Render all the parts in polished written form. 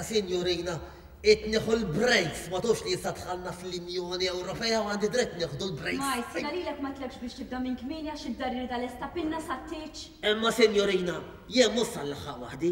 sinjurina, qed nieħu l-breaks, ma tafx li issa dħalna fl-Injoni Ewropea u għandi dritt nieħdu l-breaks. Majs, jiena lilek m'għedtlekx biex tibda minn kmieni għax id-dar irridha lesta pinna sat-tieġ. Imma sinjurina, jien mhux sa nlaħħaq waħdi.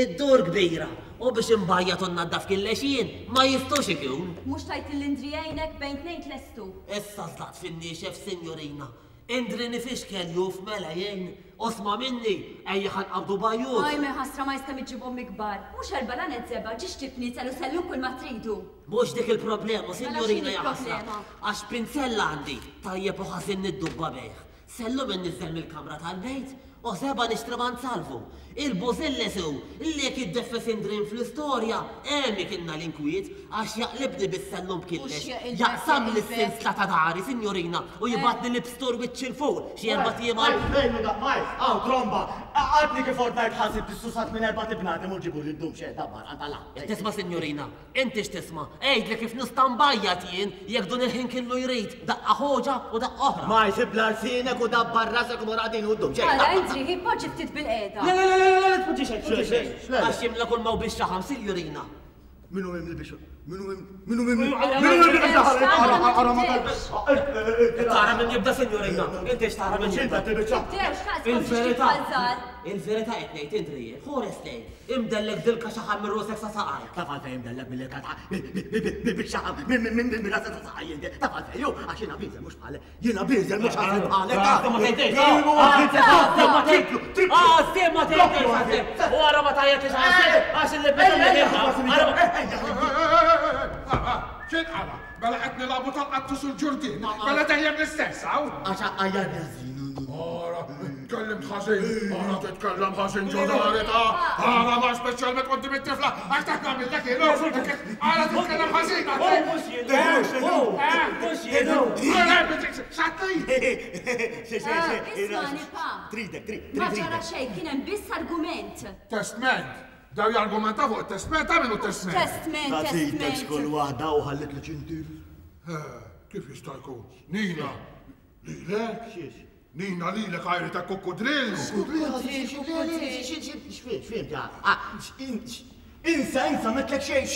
Id-dur kbira u biex inbajjad u nnaddaf killex jien ma jistgħux ikun. Mhux tgħid lil Indri jgħinek bejn tnejn tlestu. Issa żlaqt fin-niexef sinjurina. Indri nifixkel juf mela jien, u sma' minni, ejja ħa nqabbdu bajjut. Ajme ħasra ma jista' miġġib ommi kbar. Mhux erbalanet żebgħa, ġiex tibnizel u sellum kull ma tridu. Mhux dik il-problema, Mela sinjurina x'inhi ja ħasra. l-problema? Għax pinzell għandi, tajjeb u ħażin niddubba bih. Sellum inniżżel mill-kamra tal-bejt u żebgħa nixtri m'għand Salvu. Il-bużilles hu li jekk jiddeffes Indrin fl-istorja, hemm ikinna l-inkwiet, għax jaqlibni bis-sellum b'killex, jaqsamli s-sinsla ta' dari, sinjurina, u jibgħatni l-ibstur wiċċ 'il fuq, xi erbat ijiem għal. Fejn hu dak Majs? Hawn tromba! Għadni kif ordnajt ħasib tissusat minn erbat ibnadem u ġibuli ddum xejn dabbar għand Alla. Tisma' sinjurina? Inti x'tisma'? Għidli kif nista' nbajjad jien jekk dun il-ħin killu jrid, daqqa ħoġa u daqqa oħra. Ma jsib la lsienek u dabbar rasek u mur għadin u ddum xejn. Ara, Indri, hi poġġi ftit bilqiegħda. Le, le, le, le, le, tpoġġi xejn, tpoġġi xejn. Għax jimla kull ma hu bix-xaħam, sinjurina. Min hu mimli bix Min hu min hu mimli Min hu mimli bix-xaħam? Ara, ara ma talbix. Tara min jibda, sinjurina. Inti x'tara min jibda? Il-verità. Il-verità qed ngħid, Indri, ħores lejn. Imdellek dilka xaħam minn rusek sa saqajk. Taf għalfejn imdellek mill-ilka ta' bil-xaħam minn rasek sa saqajk inti. Taf għalfejn hu għax jiena bieżel mhux bħalek. Jiena bieżel mhux ħażin bħalek. Għażel ma tgħidx. Għażel ma tgħidx. U ara ma tgħajjatlix għażel għax il-libet X'inqala? Mela qed nilagħbu tal-qattus u l-ġurdien. Mela dejjem l-istess hawn. Għax għajjarni ħażin. Ara, tkellimt ħażin, ara titkellem ħażin ġo dari ta' ara ma speċjalment quddiem it-tifla, għax dak nagħmillek jien, ara titkellem ħażin. Mhux jien, mhux jien. Xatti! Ismagħni pa. Tridek, trid. Ma ġara xejn, kien hemm biss argument. Testment. Daw jargumentaw fuq it-testment, ta' min hu t-testment? Testment, Tagħtitek testment. xkull waħda u ħallitli ċintir. Kif jista' jkun? Nina, lilek? Xiex? Nina lilek għajri ta' kukkudrill. X'fim, Insa, insa, metlek xejn,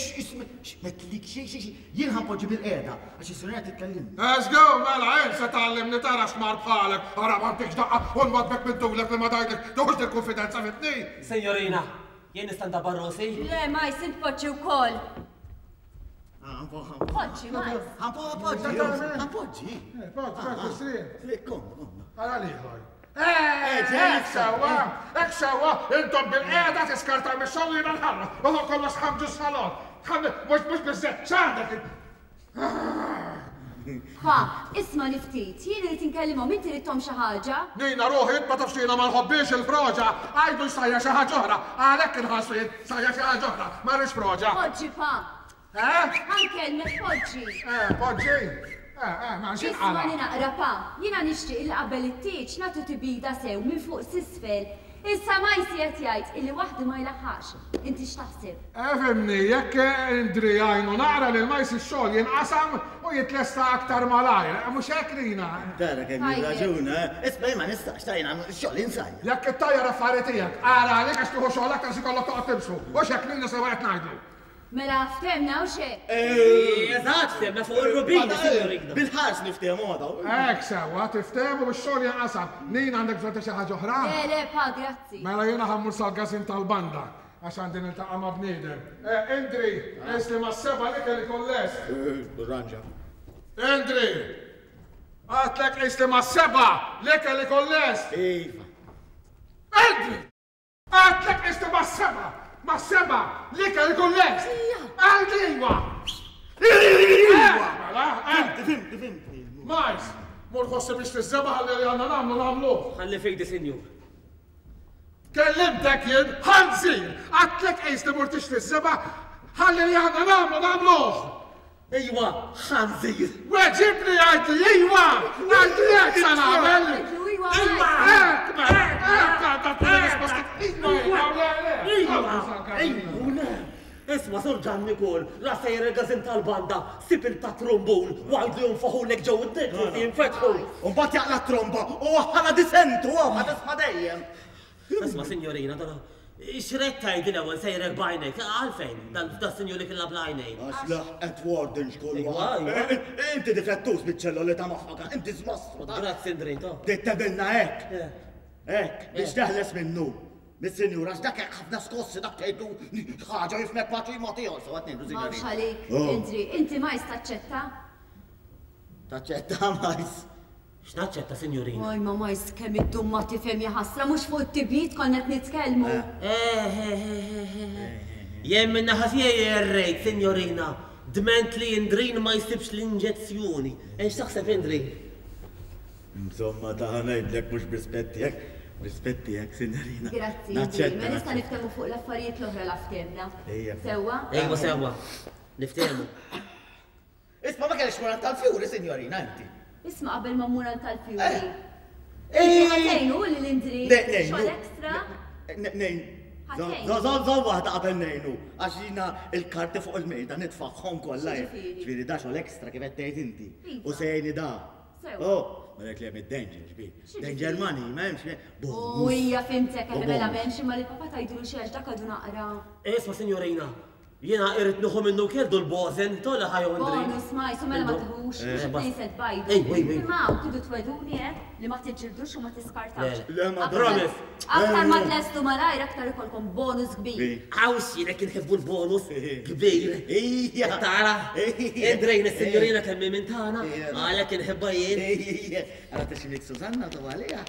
metlek xejn, xejn, jien ħanpoġġi bil-qiegħda, għax is-sinjora titkellimni. Let's go, mela, insa tgħallimni tara x'mar bħalek, ara ma ntikx daqqa u nwadbek minn tulek li ma tgħidlek, tuħux dil-kunfidenza fitni. Sinjorina, jien nista' ndabbar rusi? Le, Majs, int poġġi wkoll. Poġġi, Majs. Ħanpoġġi, ħanpoġġi. Poġġi, poġġi, srin. Kom, kom. Ara liħor. Hekk sewwa, hekk sewwa, intom bil-qiegħda tiskartaw mix-xogħol jiena nħarra, u fuq kollox tħammġu s-salon. Mhux mhux biżżejjed, x'għandek? Pa, ismagħni ftit, jien irid inkellimhom, inti ridthom xi ħaġa? Nina ruħi, int ma tafx li jiena ma nħobbhiex il-froġa, għidu jsajjar xi ħaġa oħra, għalhekk inħassu jien, sajjar xi ħaġa oħra, ma rridx froġa. Poġġi, pa. Eh? Ħa nkellmek, poġġi. Eh, poġġi. Eh, eh, ma x'inqala'? Ismagħni naqra, pa. Jiena nixtieq li qabel it-tieġ nagħtu tibida sew minn fuq s'isfel. Issa Majsi qed jgħid illi waħdu ma jlaħħaqx. Inti x'taħseb? Efhimni, jekk Indri jgħinu naqra lil Majsi x-xogħol jinqasam u jitlesta aktar malajr. Mhux hekk, Nina? Tara kemm jirraġuna, eh? Isma' jien ma nistax, ta' jiena x-xogħol insajjar. Jekk ittajjar affari tiegħek, ara għalik għax tieħu xogħol aktar x'ikollok toqgħod timxu. Hux hekk, Nina, sewwa qed ngħidlu? Mela ftehmna hux hekk? Eżatt, ftehmna fuq ir-rubini, signorina. Bil-ħars niftehmu ma dawn. Hekk sewwa, tiftehmu u x-xogħol jinqasam. Nina għandek bżonn ta' xi ħaġa oħra? Le, le, pa, grazzi. Mela jiena ħa mmur sal-każin tal-banda għax għandi niltaqa' ma' bniedem. Eh, Indri, qis li mas-sebgħa l-ikel ikun lest. Ranġa. Indri! Għedtlek qis li mas-sebgħa l-ikel ikun lest. Iva. Indri! Għedtlek qis li mas-sebgħa, mas-sebgħa l-ikel ikun lest. Għidli iwa! Iwa! Mela, eh. Fimti, fimti, fimti. Majs, mur ħossi biex tiżżeba' ħalli li għandna nagħmlu nagħmluh. Ħalli f'idi, sinjur. Kellimtek jien, ħanżir! Għedtlek qis li mur tixtri ż-żebgħa, ħalli li għandna nagħmlu nagħmluh! Iwa, ħanżir! Weġibni għidli iwa! Għidli hekk sa nagħmel! Iwa! Hekk mela, hekk għandha tkun ir-risposta. Iwa, iwa, le, le. Iwa, iwa u le. Isma' Sur Ġanni kol, la sejjer il-każin tal-banda, sib il-tat-trumbun u għidlu jonfoħulek ġew id-dejn forsi jinfetħu. U mbagħad jaqla' t-tromba u waħħalha disentu hawn ħa tisma' dejjem. Isma' sinjorina, dana. X'ridt tgħidli l-ewwel sejrek b'għajnejk? Għalfejn? Dan das-sinjur li kellha bl-għajnejn. Għax laħqet warden xkull waħda. Inti difettuż biċ-ċelloli ta' moħħok, inti żmostru ta'. Grazzi Ndrin, to. Bdejt tebilna hekk. Hekk, biex teħles minnu. Mis-sinjur, għax dak hekk ħafna skossi dak tgħidlu ħaġa jifmek paċi ma tiegħu, sewa tnejdu sinjori. M'hawnx għalik, Indri, inti majs taċċetta? Taċċetta majs. X'naċċetta, sinjurina? Oj, ma majs kemm iddum ma tifhem jaħasra, mhux fuq it-tibjid konna qed nitkellmu. Eh, Jien min-naħa tiegħi errejt, sinjorina, dment li Indrin ma jsibx l-inġezzjoni. Eh, x'taħseb Indrin? Insomma, ta' ngħidlek mhux b'rispett tiegħek, b'rispett tiegħek, sinjorina. Grazzi, Indrin. Mela issa niftehmu fuq l-affarijiet l-oħra la ftehmna. Sewwa? Ejwa sewwa. Niftehmu. Isma' ma kellekx tmur għand tal-fjuri, sinjorina, inti. Isma' qabel ma mmur għand tal-fjuri. Inti ħa tgħinu lil Indri xogħol extra? Ngħin. Żomm żomm waħda qabel ngħinu, għax jiena l-karti fuq il-mejda nitfagħhom kollha. Ġifieri da xogħol extra kif qed tgħid inti. U se jgħinni da. Oh, ma dak li hemm id-danger, ġbir. Danger money, ma hemmx. U hija fimtek, mela m'hemmx imma lil papà tgħidulu xi għax dak għadu naqra. Isma' sinjorina, Jiena irrid nieħu minnu wkoll dul bożen, tola ħa jew Indri. Bonus ma jsu mela ma tieħux, mhux it-tnejn se tbajdu. Ejwa, ejwa. Imma hawn tridu twegħduni eh, li ma tiġġildux u ma tiskartawx. Le, ma Promise. Aktar ma tlestu malajr aktar ikollkom bonus kbir. Hawn x'jinek inħibbu l-bonus kbir. Ejja. Tara? Indrejn is-sinjurina kemm hi minn tagħna, għalhekk inħibbha jien. Ejja. Ara tiximlik Susanna tu għaliha.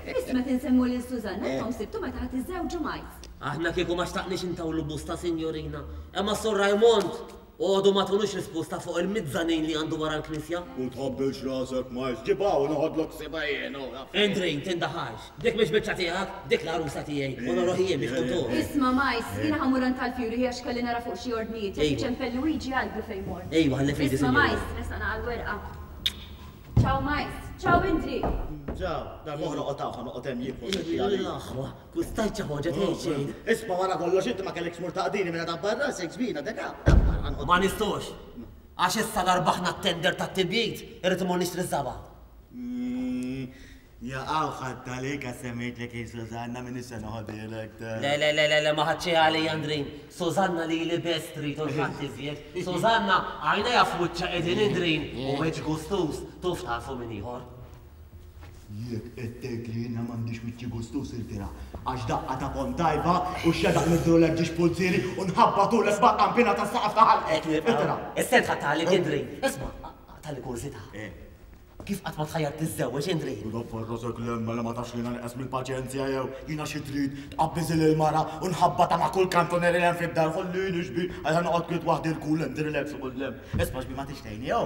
Biss meta nsemmu lil Susanna, intom sibtu meta ħa tiżżewġu Majs. Aħna kieku ma xtaqniex intawlu busta, sinjorina. Imma s-Sur Raymond għodu ma tunux risposta fuq il-mizzanin li għandu wara l-knisja. U tħabbilx rasek, Majs. Ġib hawn noħodlok ħsiebha jien, u. Indrin, tindaħalx. Dik mhix biċċa tiegħek, dik l-għarusa tiegħi, u noroh jien biex tkun turi. Isma', Majs, jiena ħa mmur għand tal-Fjuri għax kelli nara fuq xi ordnijiet. Jekk iċempel Luigi għidlu fejn mort. Ejwa, ħalli f'idi, Isma' sinjorina. Majs, resaqna għall-werqa. Ciao Majs. Ciao Indri. Ciao. Darb'oħra oqgħod hawn, ħa noqgħod hemm jien fuq setti għalik. L-aħwa, kustajt xi ħoġa tgħid xejn. Isma' wara kollox inti ma kellekx tmur taqdini minn għadha barra, sejk żbina, deka, dabbar ħa noqgħod. Ma nistgħux. Għax issa la rbaħna t-tender tat-tibjid, irrid immur nixtri ż-żaba'. Jaqaw ħadt għalik għax semmejtlek hi Susanna m'iniex se noħodhielek ta. Le le le le le ma ħadtx għalija Andrin. Susanna lili biss trid u l-ħadd iżjed. Susanna għajnejha f'wiċċha qegħdin Indrin u wiċċ gustuż tuf tafu min ieħor. Jekk qed tgħid li jiena m'għandix wiċċi gustuż irtira għax daqqa ta' ponn tajba u x-xedaq niddurlek ġiex pulzieri u nħabbatulek mal-qanpiena tas-saqaf ta' ħalqek. Irtira. Issa int ħadt għalik Indrin. Isma' tali kurżità. Kif qatt ma tħajjart tiżżewweġ, Indri? U doffer rasek 'l hemm mela ma tafx li jiena nieqes mill-paċenzja jew jiena xi trid tqabbiżi lill-mara u nħabbatha ma' kull kantunier li hemm fid-dar ħollini xbin għalha noqgħod kwiet waħdi l-cool and relax u 'l hemm. Isma' xbin ma tridx tgħinni jew?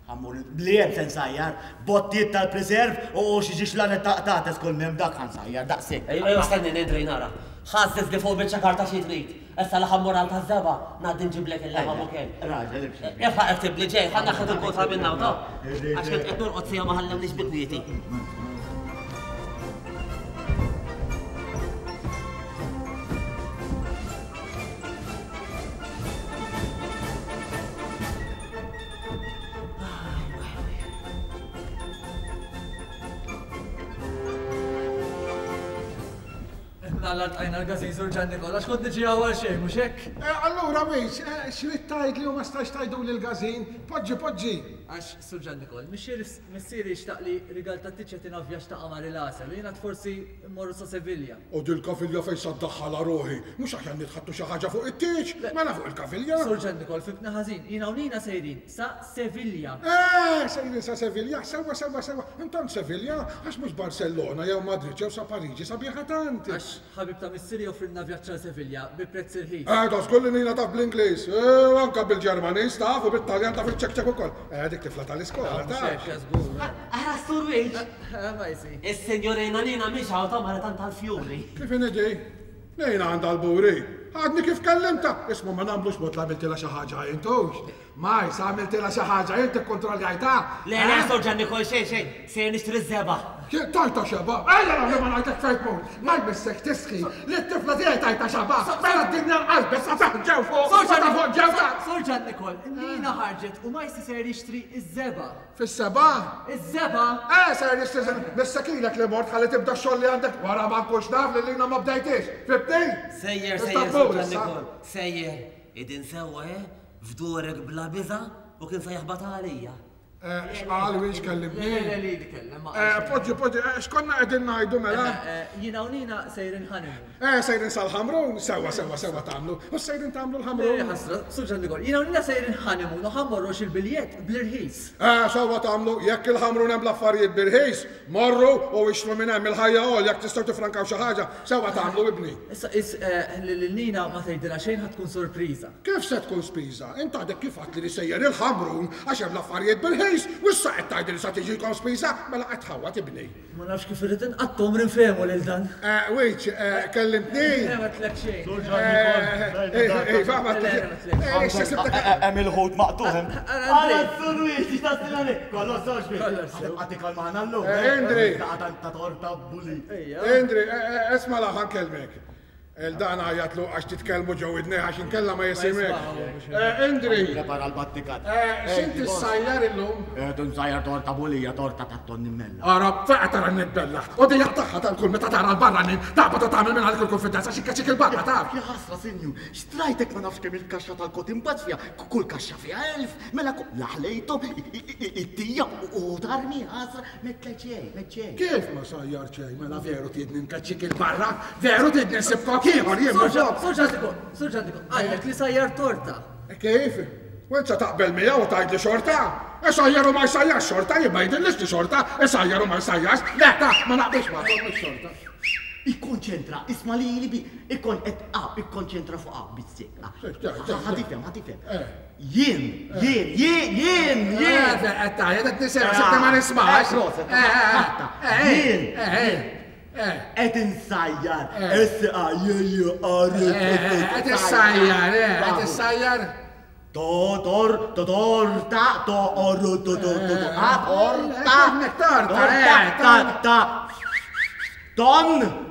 Ħa mmur li hemm se nsajjar bottijiet tal-preserve u xi ġiex lanet ta' qtates kull m'hemm dak ħa nsajjar daqshekk. Ejwa ejwa stennini Indri nara. Ħażżiżli fuq biċċa karta xi trid. Issa la ħa mmur għand taż-żebgħa, ngħaddi nġiblek il-laħam ukoll. Raġel imxi. Ilħaq iktibli ġej, ħa naħħed il-kotba minn hawn, ta? Għax kont qed norqod siegħa ma ħallewniex bi kwieti. Alla ltqajna l-każin Sur Ġan Nikola, x'kont niġi hawn għal xejn, mhux hekk? Eh, allura wis, eh, x'rid tgħidli u ma stajtx tgħiduli l-każin? Poġġi, poġġi! Għax, Sur Ġan Nikol, missieri xtaq li rigal tat-tieġ jagħtina vjaġġ ta' qamar il-għasel u jiena forsi mmorru sa Sevilja. U dil-kavilja fejn sa ddaħħalha ruħi? Mhux aħjar nitħaddtu xi ħaġa fuq it-tieġ? Mela fuq il-kavilja? Sur Ġan Nikol, fhimtni ħażin, jiena u Nina sejrin sa Sevilja. Eh, sejrin sa Sevilja, sewwa, sewwa, sewwa. Intant Sevilja, għax mhux Barcellona jew Madrid jew sa Pariġi sabiħa tant. Għax ħabib ta' missieri joffrilna vjaġġ għal Sevilja bi prezz irħis. Eh, da żgur li Nina taf bl-Ingliż, eh, u anke bil-Ġermaniż taf u bit-Taljan taf iċ-ċekċek ukoll. Eh, dik tifla tal-iskola, Mhux taf. hekk, żgur. Ara s-Sur Wiċ! Eh, ma jsir. Is-sinjorina Nina mhix hawn ta' mara tant tal-fjuri. Kif inhi di? Nina għandha l-buri. Għadni kif kellimtha. Isma' ma nagħmlux mod li għamiltilha xi ħaġa int hux. Majs, għamiltilha xi ħaġa, int ikkontrolljajtha? Le, le, Sur Ġanni, kol xejn, xejn, sejjer nixtri ż-żebgħa. Tajta xeba? Ejja nagħmlu ma ngħidlek fejn tmur. Ma jmissek tistħi li t-tifla tiegħi tajta xeba. Mela d-dinja nqalbet sa taħt ġew fuq. Sa ta' fuq ġew ta' Sur Ġan Nikol, Nina ħarġet u Majsi ser jixtri iż-żebgħa. Fis-sebgħa? Iż-żebgħa? Eh, ser jixtri żebgħa. Missek ilek li mort ħalli tibda x-xogħol li għandek wara ma nkunx naf li lina ma bdejtix. Fibtni? Sejjer, sejjer, Sur Ġan Nikol, sejjer. Idin sewwa, eh? F'durek bla biża' u kien se jaħbat għalija. Eh, x'qal wiex kellimni? Le, le, li kellem. Eh, poġġi, poġġi, eh, x'konna qegħdin ngħidu mela? Jiena u Nina sejrin honeymoon. Eh, sejrin sal-Ħamrun, sewwa, sewwa, sewwa tagħmlu. U sejrin tagħmlu l-Ħamrun? Ħasra, Sur Ġan Nikol, jiena u Nina sejrin honeymoon u ħa mmorru il-biljett bl-irħis. Eh, sewwa tagħmlu, jekk il-Ħamrun hemm l-affarijiet bl-irħis, morru u ixtru minn hemm il-ħajja għol jekk tistgħu tifrankaw xi ħaġa, sewwa tagħmlu ibni. Issa is lil Nina ma tgħidilha xejn ħa tkun sorpriża. Kif se tkun spiża? Int għadek kif għedt li li sejjer il-Ħamrun għax hemm l-affarijiet bil-ħis u issa qed tgħidli li sa tiġikom spiża, mela qed tħawwad ibni. Ma nafx kif irrid inqatta' għomri nfehmu lil dan. Eh, Wiċ, eh, kellimtni? Le, ma għedtlek xejn. Sur Ġan Nikol. Eh, iva, ma għedtlek xejn. Eh, issa sibtek. Hemm il-ħut maqtugħ hemm. Ara s-sur Wiċ, x'tassil għalik? Kollox sew xbiex. Kollox sew. Ħa tikol magħna llum. Indri. Ta' torta buli. Indri, isma' la ħa nkellmek. El dan għajatlu għax titkellmu ġo widnejh għax inkella ma jisimgħekx. Eh, Indri! Prepara l-battikat. Eh, x'inti ssajjar illum? Eh, nsajjar torta bulija, torta ta' tonni mella. Ara, fejqa tara nibbella. U dejja tagħha tal-kull meta tara l-barranin, taqbad u tagħmel minn għalik il-konfidenza xi kaċik il-barra taf. Ja ħasra, sinju, xtrajtek ma nafx kemm il-kaxxa tal-kotin bazz fiha, kull kaxxa fiha 1000, mela laħlejthom it-tija u tarmi ħasra. M'għedtlek xejn, m'għedt xejn. Kif ma sajjar xejn, mela veru tridni nkeċċik il-barra, veru tridni nsib kok ieħor jien mhux hekk. Sur Ġandiku, Sur Ġandiku, qallek li sajjar torta. Kif? U int se taqbel miegħu u tgħidli xorta? Isajjar u ma jsajjarx xorta, jien ma jidhirlix li xorta, isajjar u ma jsajjarx. Le, ta, ma naqbilx magħkom mhux xorta. Ikkonċentra, isma' lili bi, ikkon qed ikkonċentra fuq hawn biss. Ħa tifhem, ħa tifhem. Jien, jien, jien, jien, jien. Qed tgħajjat qed nisimgħek, sibni ma nismax. Jien, qed insajjar, S A J J A R. Qed issajjar, qed issajjar. To tor to torta to or to to to to a torta. Torta, ta ta ton.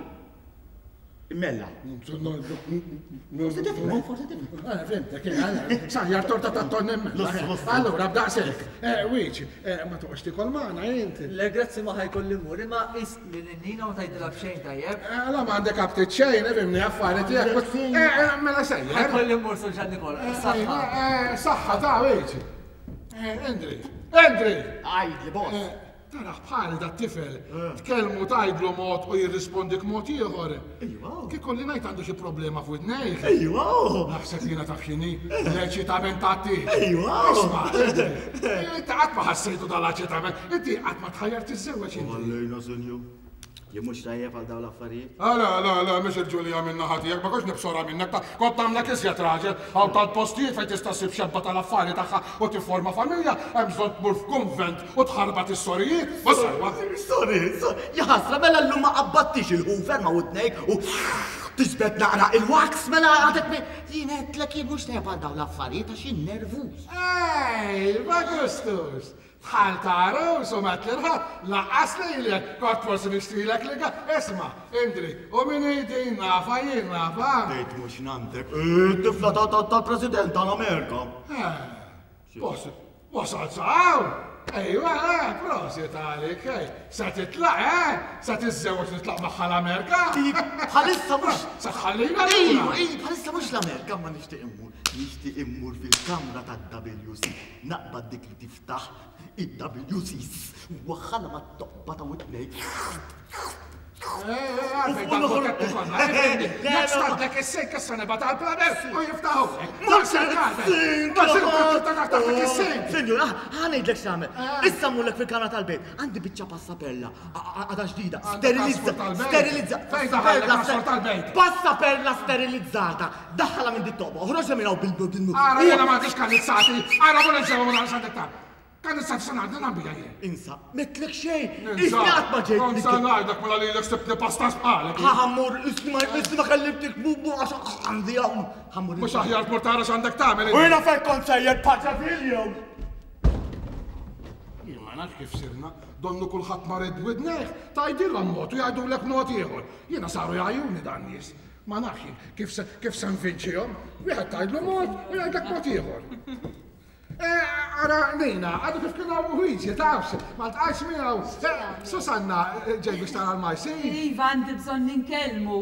Mella. Forse tifhem, forse tifhem. Eh, fimtek, eh, sajjar torta ta' tonn immella. Allura, b'daqshekk. Eh, Wiċ, ma toqgħodx tikol magħna int. Le, grazzi ma ħajkolli mmur, imma qis li lil Nina ma tgħidilha b'xejn tajjeb. La m'għandek aptit xejn, ifhimni affari tiegħek. Mela sejjer. Ħajkolli mmur Sur Ġan Nikola. Saħħa. Saħħa ta' Wiċ. Endri, Endri! Għidli, boss. Taraħ bħali dat-tifel, tkellmu tgħidlu mod u jirrispondik mod ieħor. Iva. Kif kolli ngħid għandu xi problema f'widnejh. Iva. Naħseb jiena taf x'inhi, l-eċitament tat-tieġ. Iva. Isma', inti qatt ma ħassejtu dal-eċitament, inti qatt ma tħajjar tiżżewweġ inti. Għallejna, sinjur. Jien mhux tajjeb għal dawn l-affarijiet. Ah, le, le, le, mhix il-ġulija minn naħa tiegħek, ma kontx nibsorha minnek, ta' kont nagħmlek iżjed raġel. Hawn tant postijiet fejn tista' ssib xebba tal-affari tagħha u tifforma familja, hemm bżonn tmur f'kunvent u tħarbat is-sorijiet. Mhux sewwa. Sorijiet, sorijiet. Ja ħasra, mela llum ma qabbattix il-hoover ma' widnejk u tiġbed naqra il-wax, mela għadek me. Jien għedtlek jien mhux tajjeb għal dawn l-affarijiet għax jien nervuż. Ej, ma gustux! Bħal ta' għarus u m'għedt lil ħadd, lanqas lilek, kont forsi nixtrilek l-ikel. Isma', Indri, u min hi din nafha jien, nafha. Tgħid mhux nanntek, it-tifla tal-President tal-Amerika. Eh, wasalt sa hawn? Ejwa, eh, prosit għalik, ej. Se titlaq, eh? Se tiżżewweġ titlaq magħha l-Amerika? Bħalissa mhux. Se tħallina lura. Ejwa, ejwa, bħalissa mhux l-Amerika ma nixtieq immur. Nixtieq immur fil-kamra tad-WC. Naqbad dik li tiftaħ id-WCs u waħħalha mat-toqba ta' widnejk. Jekk is-sink issa nibgħat għall-plumber u jiftaħu. Sinjur, ħa ngħidlek x'nagħmel. Issa mmurlek fil-kamra tal-bejt. Għandi biċċa passaperla, għadha ġdida, sterilizza, sterilizza. Fejn daħallek għasfur tal-bejt? Passaperla sterilizzata. Daħħalha minn dit-toqba, oħroġha minn hawn bil-bil. Ara jiena m'għandix kanizzati, ara mur insew minn hawn x'għandek Kanizzati se ngħaddi nagħmel jien. Insa, m'għedtlek xejn. Isni qatt ma ġejt. Kont se ngħidlek mela lilek sibtni pasta sqalek. Ħa ħammur, isni ma isni ma kellimtik bubu għax għandi hawn. Ħammur. Mhux aħjar tmur tara x'għandek tagħmel. U jiena fejn kont sejjer Paċa Viljo. Jien ma. Ma nafx kif sirna, donnu kulħadd marid b'widnejh, tgħidilhom mod u jgħidulek mod ieħor. Jiena saru jgħajjuni dan nies. Ma nafx jien kif se kif se nvinċihom. Wieħed tgħidlu mod u jgħidlek mod ieħor. Eh, ara Nina, għadu kif kien hawn Luigi, tafx, ma ltqajtx miegħu. Eh, Susanna, eh, ġej biex tara l-Majsi. Iva, għandi bżonn inkellmu.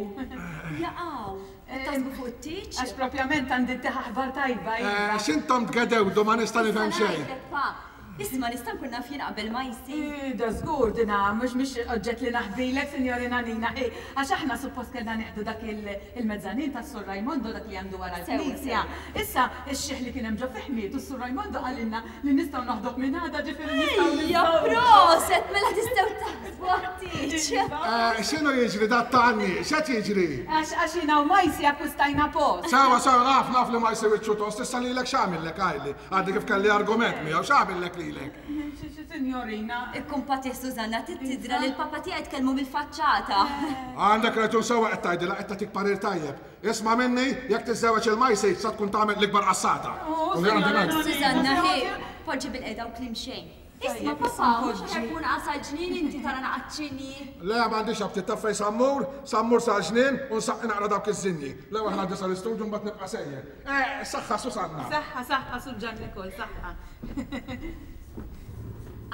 Jaqaw, qed taħsbu fuq it-tieġ? Għax propjament għandi ttih aħbar tajba, iva. Eh, x'intom tgedewdu ma nista' nifhem xejn. Pa, Isma' nista' nkun naf jien qabel ma jsir? Ih, da żgur dina mhux mhix oġġett li naħbilek, Sinjorina Nina, hi, għax aħna suppost kellna nieħdu dak il-mezzanin tas-Sur Raimondo, dak li għandu wara l-knisja. Issa, ix-xiħ li kien hemm ġo fih miet u s-Sur Raimondo qalilna li nistgħu noħduh minn għada, ġifieri nistgħu Ejja, niżżewġu. proset, mela tistgħu taħsbu għat-tieġ. Eh, x'inhu jiġri dat ta' għanni? X'qed jiġri? Għax għax jiena u Majsi akkwistajna post. Sewa, sewa, naf, naf li Majsi wiċċu tost, issa lilek x'għamillek, għidli. Għadni kif kelli argument miegħu, x'għamillek lilek? Signorina. Ikkumpatih Susanna, trid tidra li l-papa tiegħi tkellmu mill-faċċata. Għandek raġun sewwa qed tgħidilha, qed tagħtik parir tajjeb. Isma' minni, jekk tiżżewweġ il-Majsi sa tkun tagħmel l-ikbar qassata. Oh, U li għandi ngħid. Susanna, hi, poġġi bilqiegħda u kliem xejn. Isma' papa, mhux aħjar tkun qas għall-ġnien inti tara naqgħad ċinji? Le, m'għandix aptit, taf fejn sa mmur? Sa mmur sal-ġnien u nsaqqi naqra dawk iż-żinji. L-ewwel ħa ngħaddi sal-istudju mbagħad nibqa' sejjer. Eh, saħħa Susanna. Saħħa, saħħa, Sur Ġan Nikol, saħħa.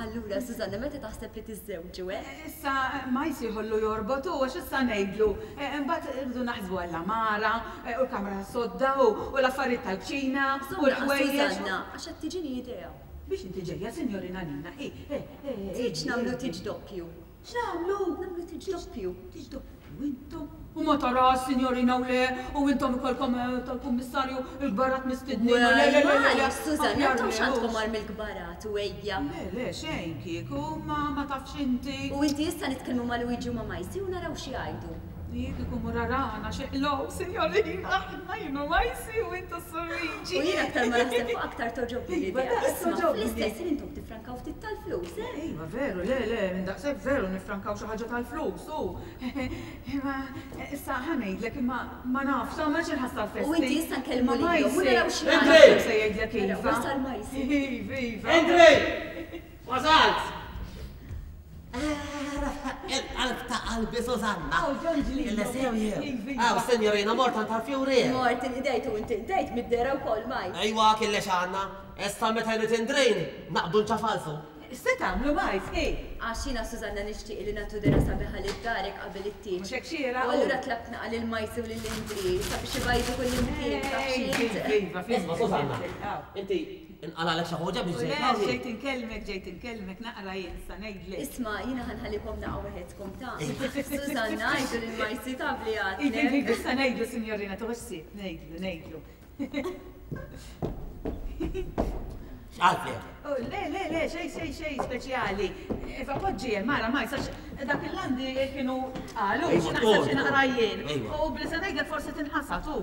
Allura, Susanna, meta taħseb li tiżżewġu, eh? Issa ma jsir ħollu jorbot hu għax issa ngħidlu. Imbagħad irridu naħsbu għall-għamara u l-kamra tas-sodda u l-affarijiet tal-kċina u l-ħwejjeġ. Susanna, għax qed tiġini idea. Biex inti ġejja, Signorina Nina, hi, eh, eh, eh. Tieġ nagħmlu tieġ doppju. X'nagħmlu? Nagħmlu tieġ doppju. Tieġ doppju intom. U ma tarax, signorina, u le, u intom ikolkom tal-kummissarju il-kbarat mistednin. Le, le, le, le, le, Għaliex, Susanna, aħjar intom le, x'għandkom hux. għar mill-kbarat u ejja. Le, le, xejn kieku, ma ma tafx inti. U inti issa nitkellmu ma' Luigi u ma' Majsi u naraw xi jgħidu. Jien kieku mur arana xi ħlow, signorina, aħna jien u Majsi u intu s-Sur Luigi. U jien aktar ma naħseb fuq aktar togħġobni Iva, l-idea. daqs Isma' togħġobni. fl-istess ħin intom tifrankaw ftit tal-flus, eh? Iva, veru, le, le, minn daqshekk veru nifrankaw xi ħaġa tal-flus, u. Imma issa ħa ngħidlek imma ma nafx, ta' ma xi nħassar festi. U inti issa nkellmu Ma lilhom u Majsi, naraw xi Indri! jgħidu. Se jgħidlek Naraw, iva. wasal Majsi. Iva, iva. Indri! Wasalt! Il-qalb ta' qalbi Susanna. Aw, Ġon Ġlino. Illa sew jew. Iva, iva. Aw, signorina, mort għand tal-fjuri. Mort inqdejt u inti nqdejt mid-dehra wkoll, Majs. Ejwa, kien x'għandna. Issa meta jrid Indrin, naqbdu nċafalsu. Se tagħmlu Majs, hi. Għax jiena Susanna nixtieq li nagħtu dehra sabiħa lil darek qabel it-tieġ. Mhux hekk xieraq, U allura tlabt naqa' lil Majsi u lil Indri sabiex ibajdu kull imkien, taf Iva, x'int. iva, Isma' Susanna, Aw. inti inqalalek xi ħoġa biex U le, ġejt hawn? ġejt inkellmek, ġejt inkellmek, naqra jien sa ngħidlek. Isma' jiena ħa nħallikom naqa' waħedkom ta' Susanna, għidu lil Majsi taf li Iva, għadlek. iva, issa ngħidlu, signorina, tuħux ħsieb, ngħidlu, ngħidlu. X'qaltlek? Oh, le, le, le, xej, xej, xej, speċjali. Iva, poġġi, mara, ma jisax, dak il-landi kienu qalu, Ejwa, xi naħseb xi tkun. naqra jien. Ejwa. U bli se ngħidlek forsi tinħasad hu.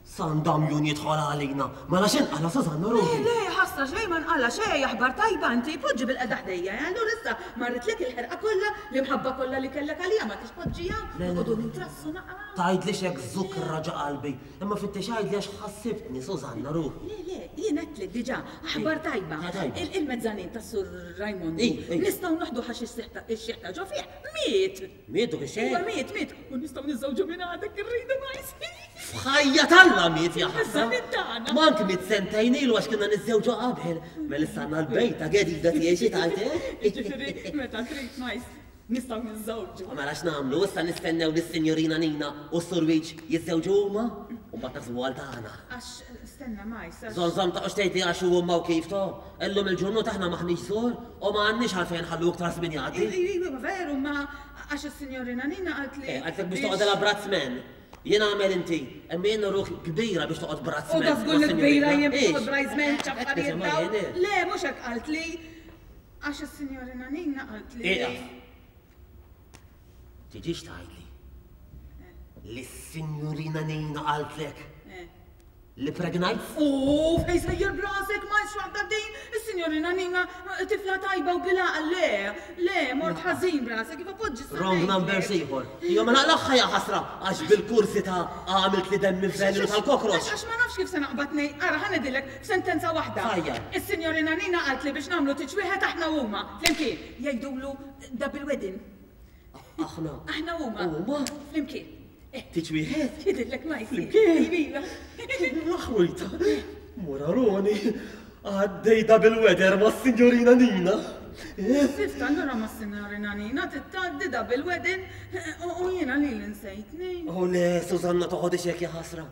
San Damjun jidħol għalina. Mela x'inqala Susanna Le, ruħi? le, ħasra xejn ma nqala xejn, aħbar tajba inti, poġġi bil-qeda ħdejja, eh, allura issa marritlek il-ħerqa kollha, l-imħabba kollha li kellek għalija ma tix poġġiha, Le, le. noqogħdu nintrassu naqra. Tgħidli x'hekk żukra ġo qalbi, imma fittex għidli għax ħassibtni Susanna ruħi. Le, le, jien għedtlek diġà, aħbar tajba. Ah, tajba. Il-mezzanin tas-Sur Rajmondu. Ej, ej. Nistgħu noħdu ħax ix-xiħ ta' ġo fih, miet. Miet dak ix-xiħ? Iva, miet, miet. U nistgħu niżżewġu minn għadek irridu ma jsir. F'ħajja t'Alla miet ja ħasra. Il-mezzanin tagħna. Mank miet sentejn ilu għax kienna niżżewġu qabel. Mela issa għandna l-bejta gedida tiegħi xi tgħid, eh? Jiġifieri meta trid ma jsir. Nistgħu niżżewġu. U mela x'nagħmlu? Issa nistennew lis-Sinjorina Nina u s-Sur Wiċ jiżżewġu huma u mbagħad naħsbu għal tagħna. Għax stenna ma jsir. Żomm żomm taqgħodx tgħidli għax hu huma u kif to. Illum il-ġurnata aħna m'aħniex żgħor u ma għandniex għalfejn nħallu iktar żmien jgħaddi. Iva, veru, ma għax is-Sinjorina Nina qalt li. Eh, qaltlek biex toqgħod għala bradsman. Jien għamel inti, imma jien ruħ kbira biex toqgħod bradsman. U da żgur li kbira jien biex toqgħod bridesman Qed ċaffarijiet nisimgħa dawn. jien, eh. Le, mhux hekk qalt li. Għax is-Sinjorina Nina qalt li. Ieqaf. Tiġix tgħidli li s-Sinjurina Nina qaltlek Eh. Li pregnajt? U fejn sejjer b'rasek ma waħda din, is-sinjorina Nina tifla tajba u bil-għaqal, le, le, mort ħażin b'rasek, iva poġġi s Wrong number ieħor. Jo ma naqlaħħa ja ħasra għax bil-kurżità għamilt li demmi velenu tal-kokroċ. Għax ma nafx kif se naqbad ngħid, ara ħa ngħidilek f'sentenza waħda. Fajja. Is-sinjorina Nina qalt li biex nagħmlu tiġ wieħed aħna u huma, flimkien, jgħidulu double wedding. Aħna. Aħna huma. Huma? Flimkien. Tiġ wieħed? Jidhirlek ma jsir. Flimkien? Iva. L-aħwita. Moraroni. Għaddej double weather ma' signorina Nina. Sift allura ma' signorina Nina tittgħaddi double wedding u jiena lili nsejtni. Oh le, Susanna toħodix hekk ja ħasra.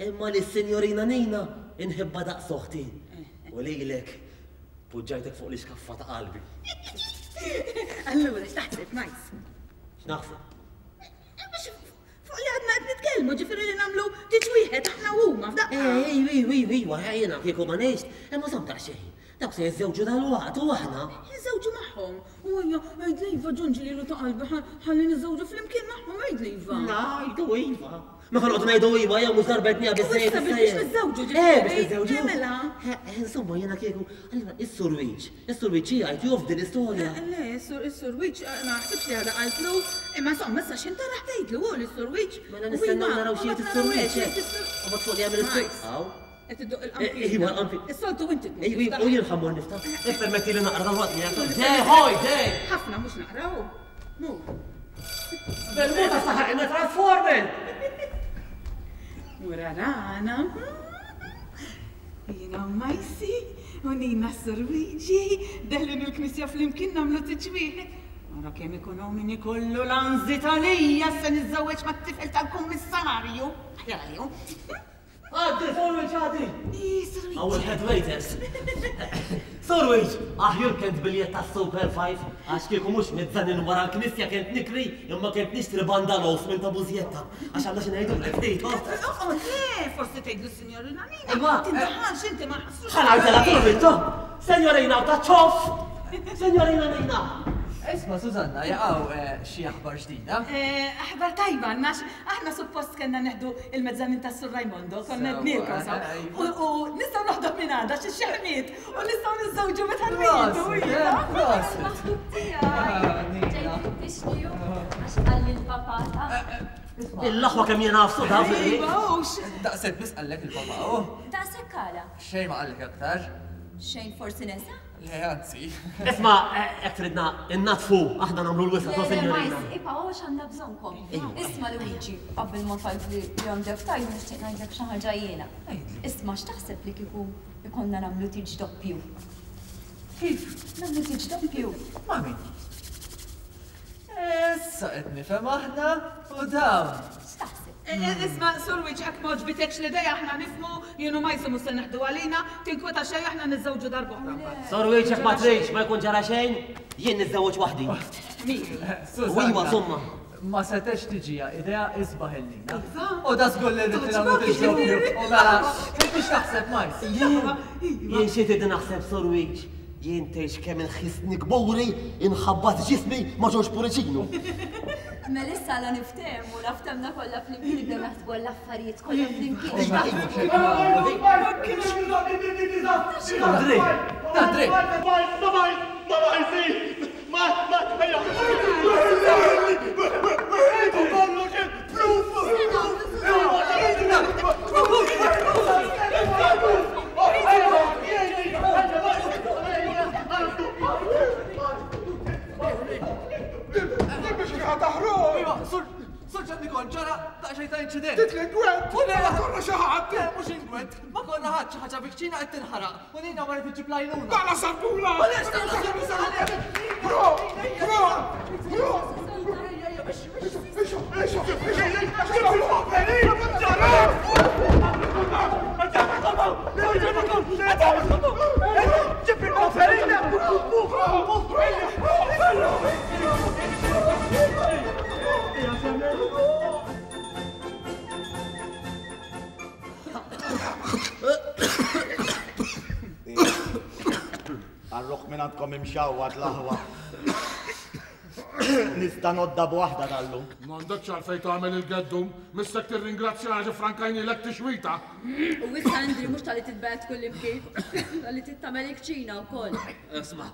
Imma li signorina Nina inħibba daqs oħti. U lilek poġġajtek fuq l-iskaffa ta' qalbi. Allura x'taħseb, Majs? X'naħseb? Fuq li għadna qed nitkellmu, ġifieri li nagħmlu tiġ wieħed aħna huma f'daqqa. Ejju, ejju, ejju, ejju, jiena kieku ma ngħix, imma żomm daqsxejn. Dawk se jiżżewġu dalwaqt u aħna. Jiżżewġu magħhom. U ejja, għidli iva ġunġi lilu ta' qalbi ħalli niżżewġu flimkien magħhom, għidli iva. Ngħidu iva. Ma ħa noqgħodu ngħidu iva jew mhux darba għedniha biżżejjed. Issa biex niżżewġu ġifieri. Eh, biex niżżewġu. Mela. Insomma, jiena kieku, allura is-Sur Wiċ, is-Sur Wiċ jgħid jof din l-istorja. Le, is-Sur Wiċ ma naħsibx li għadha qaltlu, imma insomma issa x'int tara tgħidlu hu lis-Sur Wiċ. Mela nistennew naraw xi jgħid is-Sur Wiċ. U mbagħad fuq li jagħmel is-Sur. Aw. Qed iddoqq il-qanpiena. Iva, l-qanpiena. Is-soltu inti tmur. Iva, u jien ħa mmur niftaħ. Ippermettili naqra dal-waqt miegħek. Dej, ħoj, dej! Ħafna mhux naqra hu. Mur. Bil-muta saħaq imma transformer! Murarana. Jiena u Majsi u Nina s-Surwiġi deħlin il-knisja flimkien nagħmlu tiġ wieħed. Ara kemm ikun hawn min ikollu l-anżit għalija se niżżewweġ mat-tifel tal-kummissarju. Aħjar għalihom. Għaddi, Sorwiġ, għaddi! Hawn il-head waiters. Sorwiġ, aħjur kent biljett tas-Super 5, għax kieku mhux mizzanin wara l-knisja kent nikri, imma kent nixtri bandalos minn ta' Bużjetta. Għax għandna xi ngħidulek, ftit, oh. Oqgħod, le, forsi tgħidlu s-Sinjorina Nina. Imma. Tindaħalx inti ma ħassux. Ħa ngħidilha Sorwiġ, oh! Senjorina ta' ċoff! Senjorina Nina! Isma' Susanna, jaqaw xi aħbar ġdida? Aħbar tajba għandna għax aħna suppost kellna neħdu il-mezzanin tas-Sur Raimondo, konna għednielkom sa. U nistgħu noħduh minn għada għax ix-xeħ miet u nistgħu niżżewġu meta rridu. Prosit! Maħbub tiegħi! Ġej tfittixni hu għax qalli l-papà ta'. Il-aħwa kemm jingħafsu taf li. Iva hux. Daqshekk biss qallek il-papà hu? Daqshekk għala? Xejn ma qallek aktar. Xejn forsi nesa? Le, anzi. Isma, hekk tridna innaddfu, aħna nagħmlu l-wisa' ta' sinjorina. Le, le, ma ibqgħu għax għandna bżonnkom. Isma' Luigi, qabel ma tgħidli li għandek tgħid nixtieq ngħidlek xi ħaġa jiena. Isma' x'taħseb li kieku jkollna nagħmlu tieġ doppju? Kif? Nagħmlu tieġ doppju. Ma' min? Issa qed nifhem aħna u dawn. X'taħseb? Isma' Sur Wiċċ hekk m'għoġbitekx l-idea aħna nifhmu, jien u Majsu mhux se neħdu għalina, tinkweta xejn aħna niżżewġu darb'oħra mbagħad. Sur Wiċċ jekk ma tridx ma jkun ġara xejn, jien niżżewweġ waħdi. Susanna. U iwa żommha. Ma setgħetx tiġiha idea isbaħ il-lina. Iva. U da żgur li rrid nagħmlu Togħġbok tiġ doppju. jiġifieri. U mela, inti x'taħseb Majs? Jien, jien xi trid naħseb Sur Wiċċ? Jien tgħix kemm inħissni kburi inħabbat ġismi ma' Ġorġ Puriċinu. Mela issa la niftehmu, la ftehmna kollha flimkien nibdew naħsbu għall-affarijiet kollha flimkien. Andrej! Andrej! Biex kieħa taħroq! Iva, sur, sur Ġan Nikol, ġara daqsxejn ta' inċident. Titli ingwent! U le, Ma konna xi ħadd! Le, mhux ingwent, ma konna ħadd xi ħaġa viċina qed tinħaraq u Nina marret iġġib l-għajnuna. Dala sarbula! Ma lex, dala sarbula! Bro! Bro! Bro! Għarruħ minn għandkom imxawwat l-aħwa. Nista' nodda b'waħda dallum. M'għandekx għalfejn tagħmel il-geddum, missek tirringrazzjana xi frankajnilek tixwita. U issa Andri mhux talli titbegħed kullimkien, talli trid tagħmel il-kċina wkoll. Isma',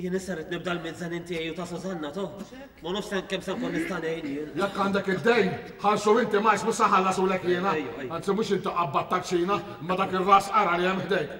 jien issa rrid nibda l-mezzanin tiegħi u ta' Susanna, to. Ma nafx kemm se nkun nista' ngħin jien. Jekk għandek id-dejn, ħallsu inti Majs mhux se nħallasulek jiena. Anzi mhux inti qabbadt tal-kċina, imma dak ir-ras qara li hemm ħdejk.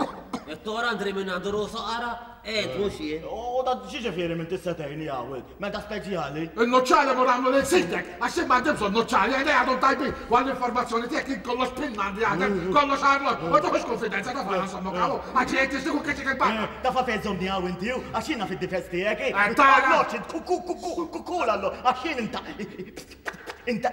It-tor Andri min għandu rusu qara, int mhux jien. U da x'jiġifieri minn tista' tgħinni hawn int? Meta speċjali? In-nuċċali mur għamlu lil sidek, għax jien m'għandi bżonn nuċċali, għajnejja għadhom tajbin, u għall-informazzjoni tiegħek jien kollox pinna għandi jaħdem, kollox arloġġ, u tieħux kunfidenza taf għala nżommok hawn, għax jgħid tixtieq u keċċik il-barra. Taf għalfejn żommni hawn inti hu? Għax jien naf id-difes tiegħek, hi. Qed tara? Arloġġ int ku ku ku ku ku l-arloġġ, għax jien inta inta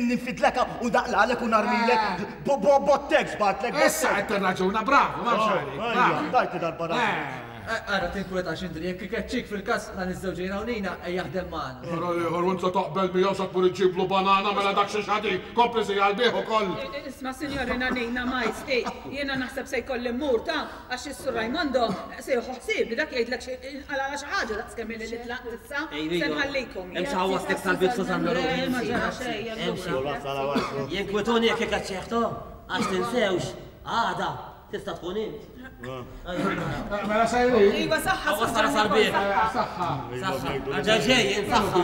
ninfidlek u naqlalek u narmilek bo bo bottek żbartlek. Issa qed tirraġuna, bravu, m'hawnx għalik. Ejja, tajtni darba raġun. Ara tinkwetax Indri, jekk ikeċċik fil-każ dan iż-żewġ jiena u Nina ejja jaħdem magħna. Ara l-ieħor u int se taqbel miegħu se tmur iġġiblu banana mela dak xi xadin, kompli żi għall-biegħ ukoll. Isma' Sinjorina Nina Majs, hi, jiena naħseb se jkolli mmur ta' għax is-Sur Raimondo se jieħu ħsiebi dak jgħidlek xi inqalgħalha xi ħaġa daqs kemm ili li tlaqt issa, se nħallikom. Hemm xi ħawwastek tal-bieb Susanna Le, ma ġara xejn allura. Jinkwetuni jekk ikeċċih to, għax tinsewx, għada Tista' tkun int. Mela sejrin. Iva, saħħa. Saħħa sarbieħ. Saħħa. Saħħa. Ġa ġej, saħħa.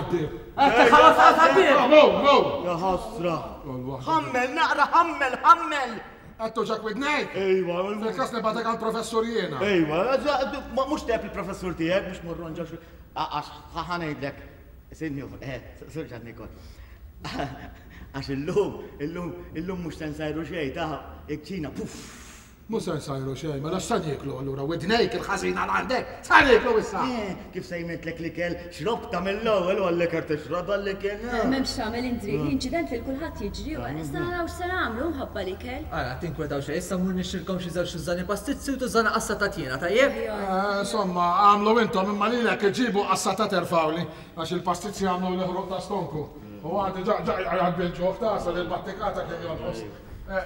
Saħħa sarbieħ. No, no. Ja ħasra. Ħammel, naqra, ħammel, ħammel. Għattu ġak widnejk? Ejwa. Fil-kas nibatek għal professur jiena. Ejwa, mux teb il-professur tijek, mux morron ġax. Għax ħanajdlek, sinjur, eh, sur ġan Nikol. Għax illum, illum, illum mux sensajru xej, ta' ikċina, puff. Mhux se nsajru xejn, mela x'se nieklu allura? Widnejk il-ħażina l għandek, x'se nieklu issa? Eh, kif sejmitlek l-ikel, xrobtha mill-ewwel u għall-iker tixrob għall-ikel. M'hemmx x'tagħmel Indri, inċident lil kulħadd jiġri u issa naraw x'se nagħmlu mħabba l-ikel. Ara, tinkwetaw xejn, issa mmur nixtrilkom xi żewġ tużżani pastizzi u tużżana qassata tiena, tajjeb? Eh, insomma, agħmlu intom imma lilek iġibu qassata terfgħuli għax il-pastizzi għamluli ħruq ta' stonku. U għandi ġa ġa jgħid bil-ġuħ ta' sa l-battikata kien jonqos.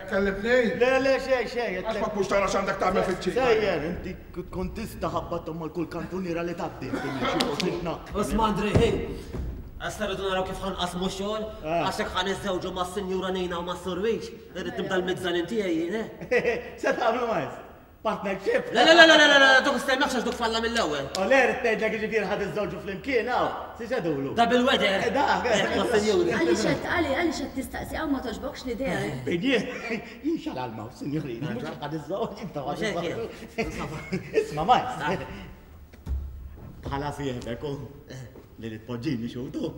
Kellimtni? Le, le, xejn, xejn. Għax ma tmurx tara x'għandek tagħmel fiċ-ċina. Sejjer, inti tkun tista' ħabbathom mal kull kantuniera li tgħaddi inti minn xi post titnaq. Isma' Andrej, ħi. Issa rridu naraw kif ħa nqassmu x-xogħol, għax jekk ħa niżżewġu mas-Sinjura Nina u mas-Sur Wiċ, irrid nibda l-mizzanin tiegħi jien, eh? Se tagħmlu maestro? Partnership? Le, le, le, le, le, le, duk stemmeħx għax duk falla mill-ewwel. O le, rrid ngħidlek jiġifieri ħa tiżżewġu flimkien hawn, si x'għedulu? Da bil-weather. Eh, dak. Eh, ma' sinjuri. Għaliex qed għaliex qed tistaqsi hawn ma togħġbokx l-idea? Min jien? Jien xalal ma' sinjurina, mhux ħa niżżewġ, intom ħa tiżżewġu. Isma' Majs. Bħala sieħbek u li li tpoġġini xutu.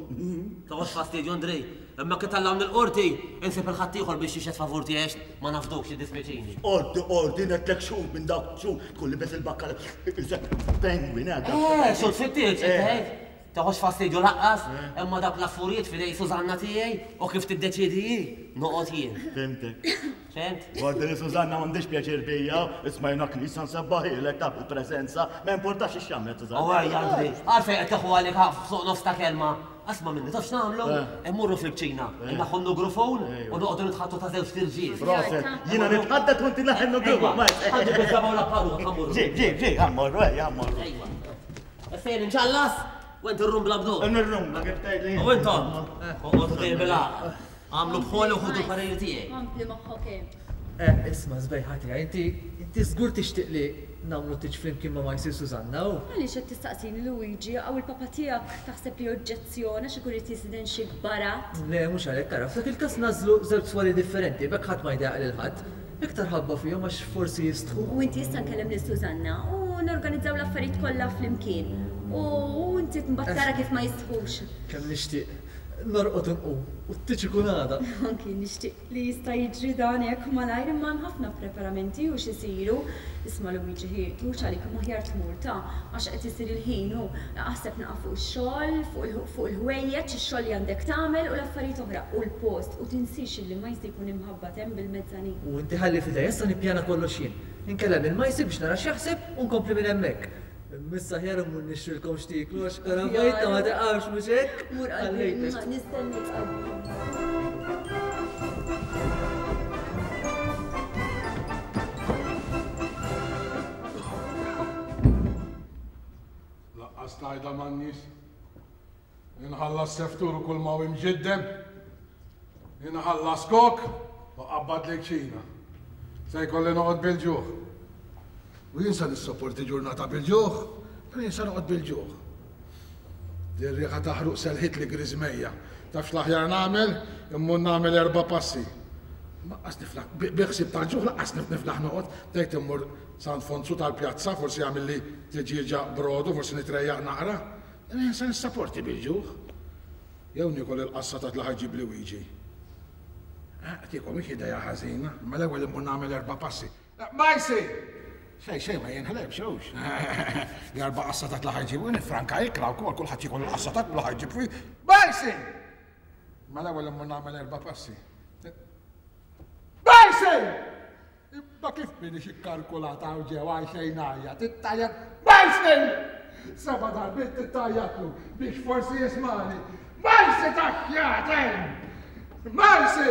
Toqgħodx fastidju Andrej, imma kif tallawni l-qorti, insib il-ħaddieħor biex jixhed favur tiegħi għax ma nafdukx jiddispjaċini. Qorti, qorti, ngħedtlek xhud minn dawk xhud tkun libes il-bakkala isek penguin eh. Eh, xhud fit-tieġ, qed tgħid? Toqgħodx fastidju laqqas, imma dawk l-affurijiet f'idej Susanna tiegħi u kif tiddeċiedi hi, noqgħod jien. Fhimtek. Fhimt? Għaddi li Susanna m'għandhiex pjaċir bija, isma' jiena knisja nsebbaħilek taf il-preżenza, ma importax x'għamlet Susanna. U ejja Andri, għalfejn qed tieħu għalik fuq nofs ta' kelma? Asma' minni, taf x'nagħmlu? Immorru fil-kċina, inneħħu n-nugrufon u noqogħdu nitħaddtu ta' żewġt irġiel. Proset, jiena nitħaddet u inti neħħi n-nugrufon. Ejwa, ħa nġibu ż-żebgħa u l-apparut, ħa mmorru. Ġib, ġib, ġib, ħa mmorru, ejja, ħa mmorru. Ejwa. Issa jien inċallas u inti rrumbla b'dur. Nirrumbla kif tgħidli. U intom, oqogħdu dejjem bil-għaqal. Agħmlu bħoli u ħudu l-pariri tiegħi. Kompli moħħok hemm. Eh, isma' sbejħa tiegħi, inti inti żgur tixtieq li nagħmlu tieġ flimkien ma' Majsi u Susanna, u? Għaliex qed tistaqsini Luigi, hawn il-papa tiegħek taħseb li joġġezzjona xi jkun irid jistieden xi kbarat? Le, mhux għalhekk, ara, f'dak il-każ nagħżlu żewġ swali differenti, b'hekk ħadd ma jdejjaq lil ħadd. Iktar ħabba fihom għax forsi jistħu. U inti issa nkellem lil Susanna u norganizzaw l-affarijiet kollha flimkien. U inti mbagħad tara kif ma jistħux. Kemm nixtieq. Norqod u nqum, u t-tieġ ikun għada. Anki jien nixtieq li jista' jiġri dan hekk malajr imma hemm ħafna preparamenti u x'isiru. Isma' Luigi ħi, tmurx għalik imma aħjar tmur ta' għax qed isir il-ħin u aħseb naqa' fuq ix-xogħol, fuq il-ħwejjeġ, ix-xogħol li għandek tagħmel u l-affarijiet oħra u l-post u tinsiex illi Majsi jkun imħabbat hemm bil-mezzanin. U inti ħalli f'idejja issa nippjana kollox jien. Inkellem lil Majsi biex nara x'jaħseb u nkompli minn hemmhekk. Imma issa aħjar immur nixtrilkom x'tieklu għax karavajta ma tiqafx mhux hekk? Mur qalbi, nistennik qalbi. Laqqas tgħidha man-nies. Inħallas seftur u kull ma hu imġiddem. Inħallas kok u qabbad li kċina. Se jkolli noqgħod bil-ġuħ. U jien se nissoporti ġurnata bil-ġuħ, però jien se noqgħod bil-ġuħ. Din riħa ta' ħruq selħitli griżmejja. Taf x'l-aħjar nagħmel? Immur nagħmel erba' passi. Lanqas niflaħ, bi ħsieb tal-ġuħ lanqas niflaħ noqgħod. Tgħid immur San Fonzu tal-pjazza, forsi jagħmilli tiġieġa brodu, forsi nitrejjaq naqra. Imma jien se nissaporti bil-ġuħ. Jew niekol il-qassata li ħa jġibli Wiġi. Tiekol mhix idea ħażina, imma l-ewwel immur nagħmel erba' passi. Majsi! Xejn, xejn ma jinħlebx, hux. L-erba' qassatat li ħa jġibu, nifranka ikla wkoll, kulħadd jiekol il-qassatat li ħa jġib fi. Majsi! Ma l-ewwel immur nagħmel erba' passi. Majsi! Imma kif minix ikkalkulata hawn ġew għal xejn ngħajjat, ittajjat Majsi! Seba' darbiet tittajjatlu biex forsi jismagħni. Majsi taxxjaten! Majsi!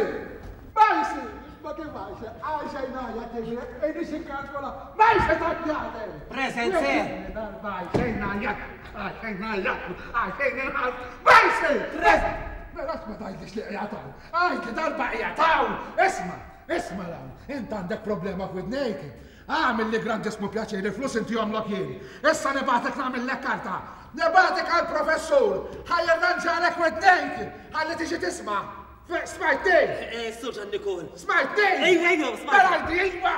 Majsi! Ma kif għajxe, għajxe jnajja tiġri, minix ikkalkula, Majsi taxxjaten! Present, sir! Darba għajxe jnajja, għajxe jnajja, għajxe jnajja, Majsi! Present! Mela ma tgħidlix li qiegħed hawn, għid li darba qiegħed hawn! Isma', isma' 'l hawn, int għandek problema f'widnejk. Agħmilli grandissmu pjaċir, il-flus intihomlok jien. Issa nibgħatek nagħmillek karta. Nibgħatek għall-professur, ħa jirranġalek widnejk, ħalli tiġi tisma'. Smajtni? Eh, Sur Ġan Nikol. Smajtni? Ejwa, ejwa, smajt. Mela għidli ejwa!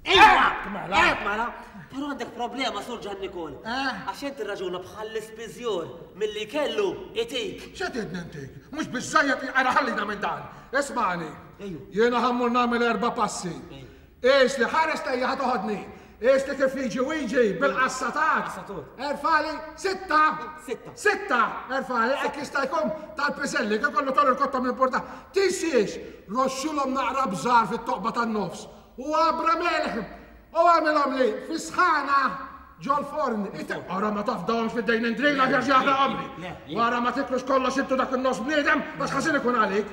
Ejwa! Mela. Eh, mela. Però għandek problema, Sur Ġan Nikol. Eh? Għax int tirraġuna bħall-ispiżjur milli kellu itik. X'qed tgħidni intik? Mhux biżżejjed ara ħallina minn dan. Ismagħni. Jiena ħa mmur nagħmel erba' passi. Qis li ħares lejja ħa toħodni. Qis li kif jiġi Wiġi bil-qassatat. Erfali sitta. Sitta. Sitta. Erfali hekk jista' jkun tal-piżelli kif kollu tollu l-kotta minn porta. Tinsiex roxxilhom naqra bżar fit-toqba tan-nofs u għabra melħ u għamilhom li fis-sħana ġol-forn. Ara ma tafdahomx fid-dejn indrina għax jaħraqhomli. Wara ma tiklux kollox intu dak in-nofs bniedem għax ħażin ikun għalik.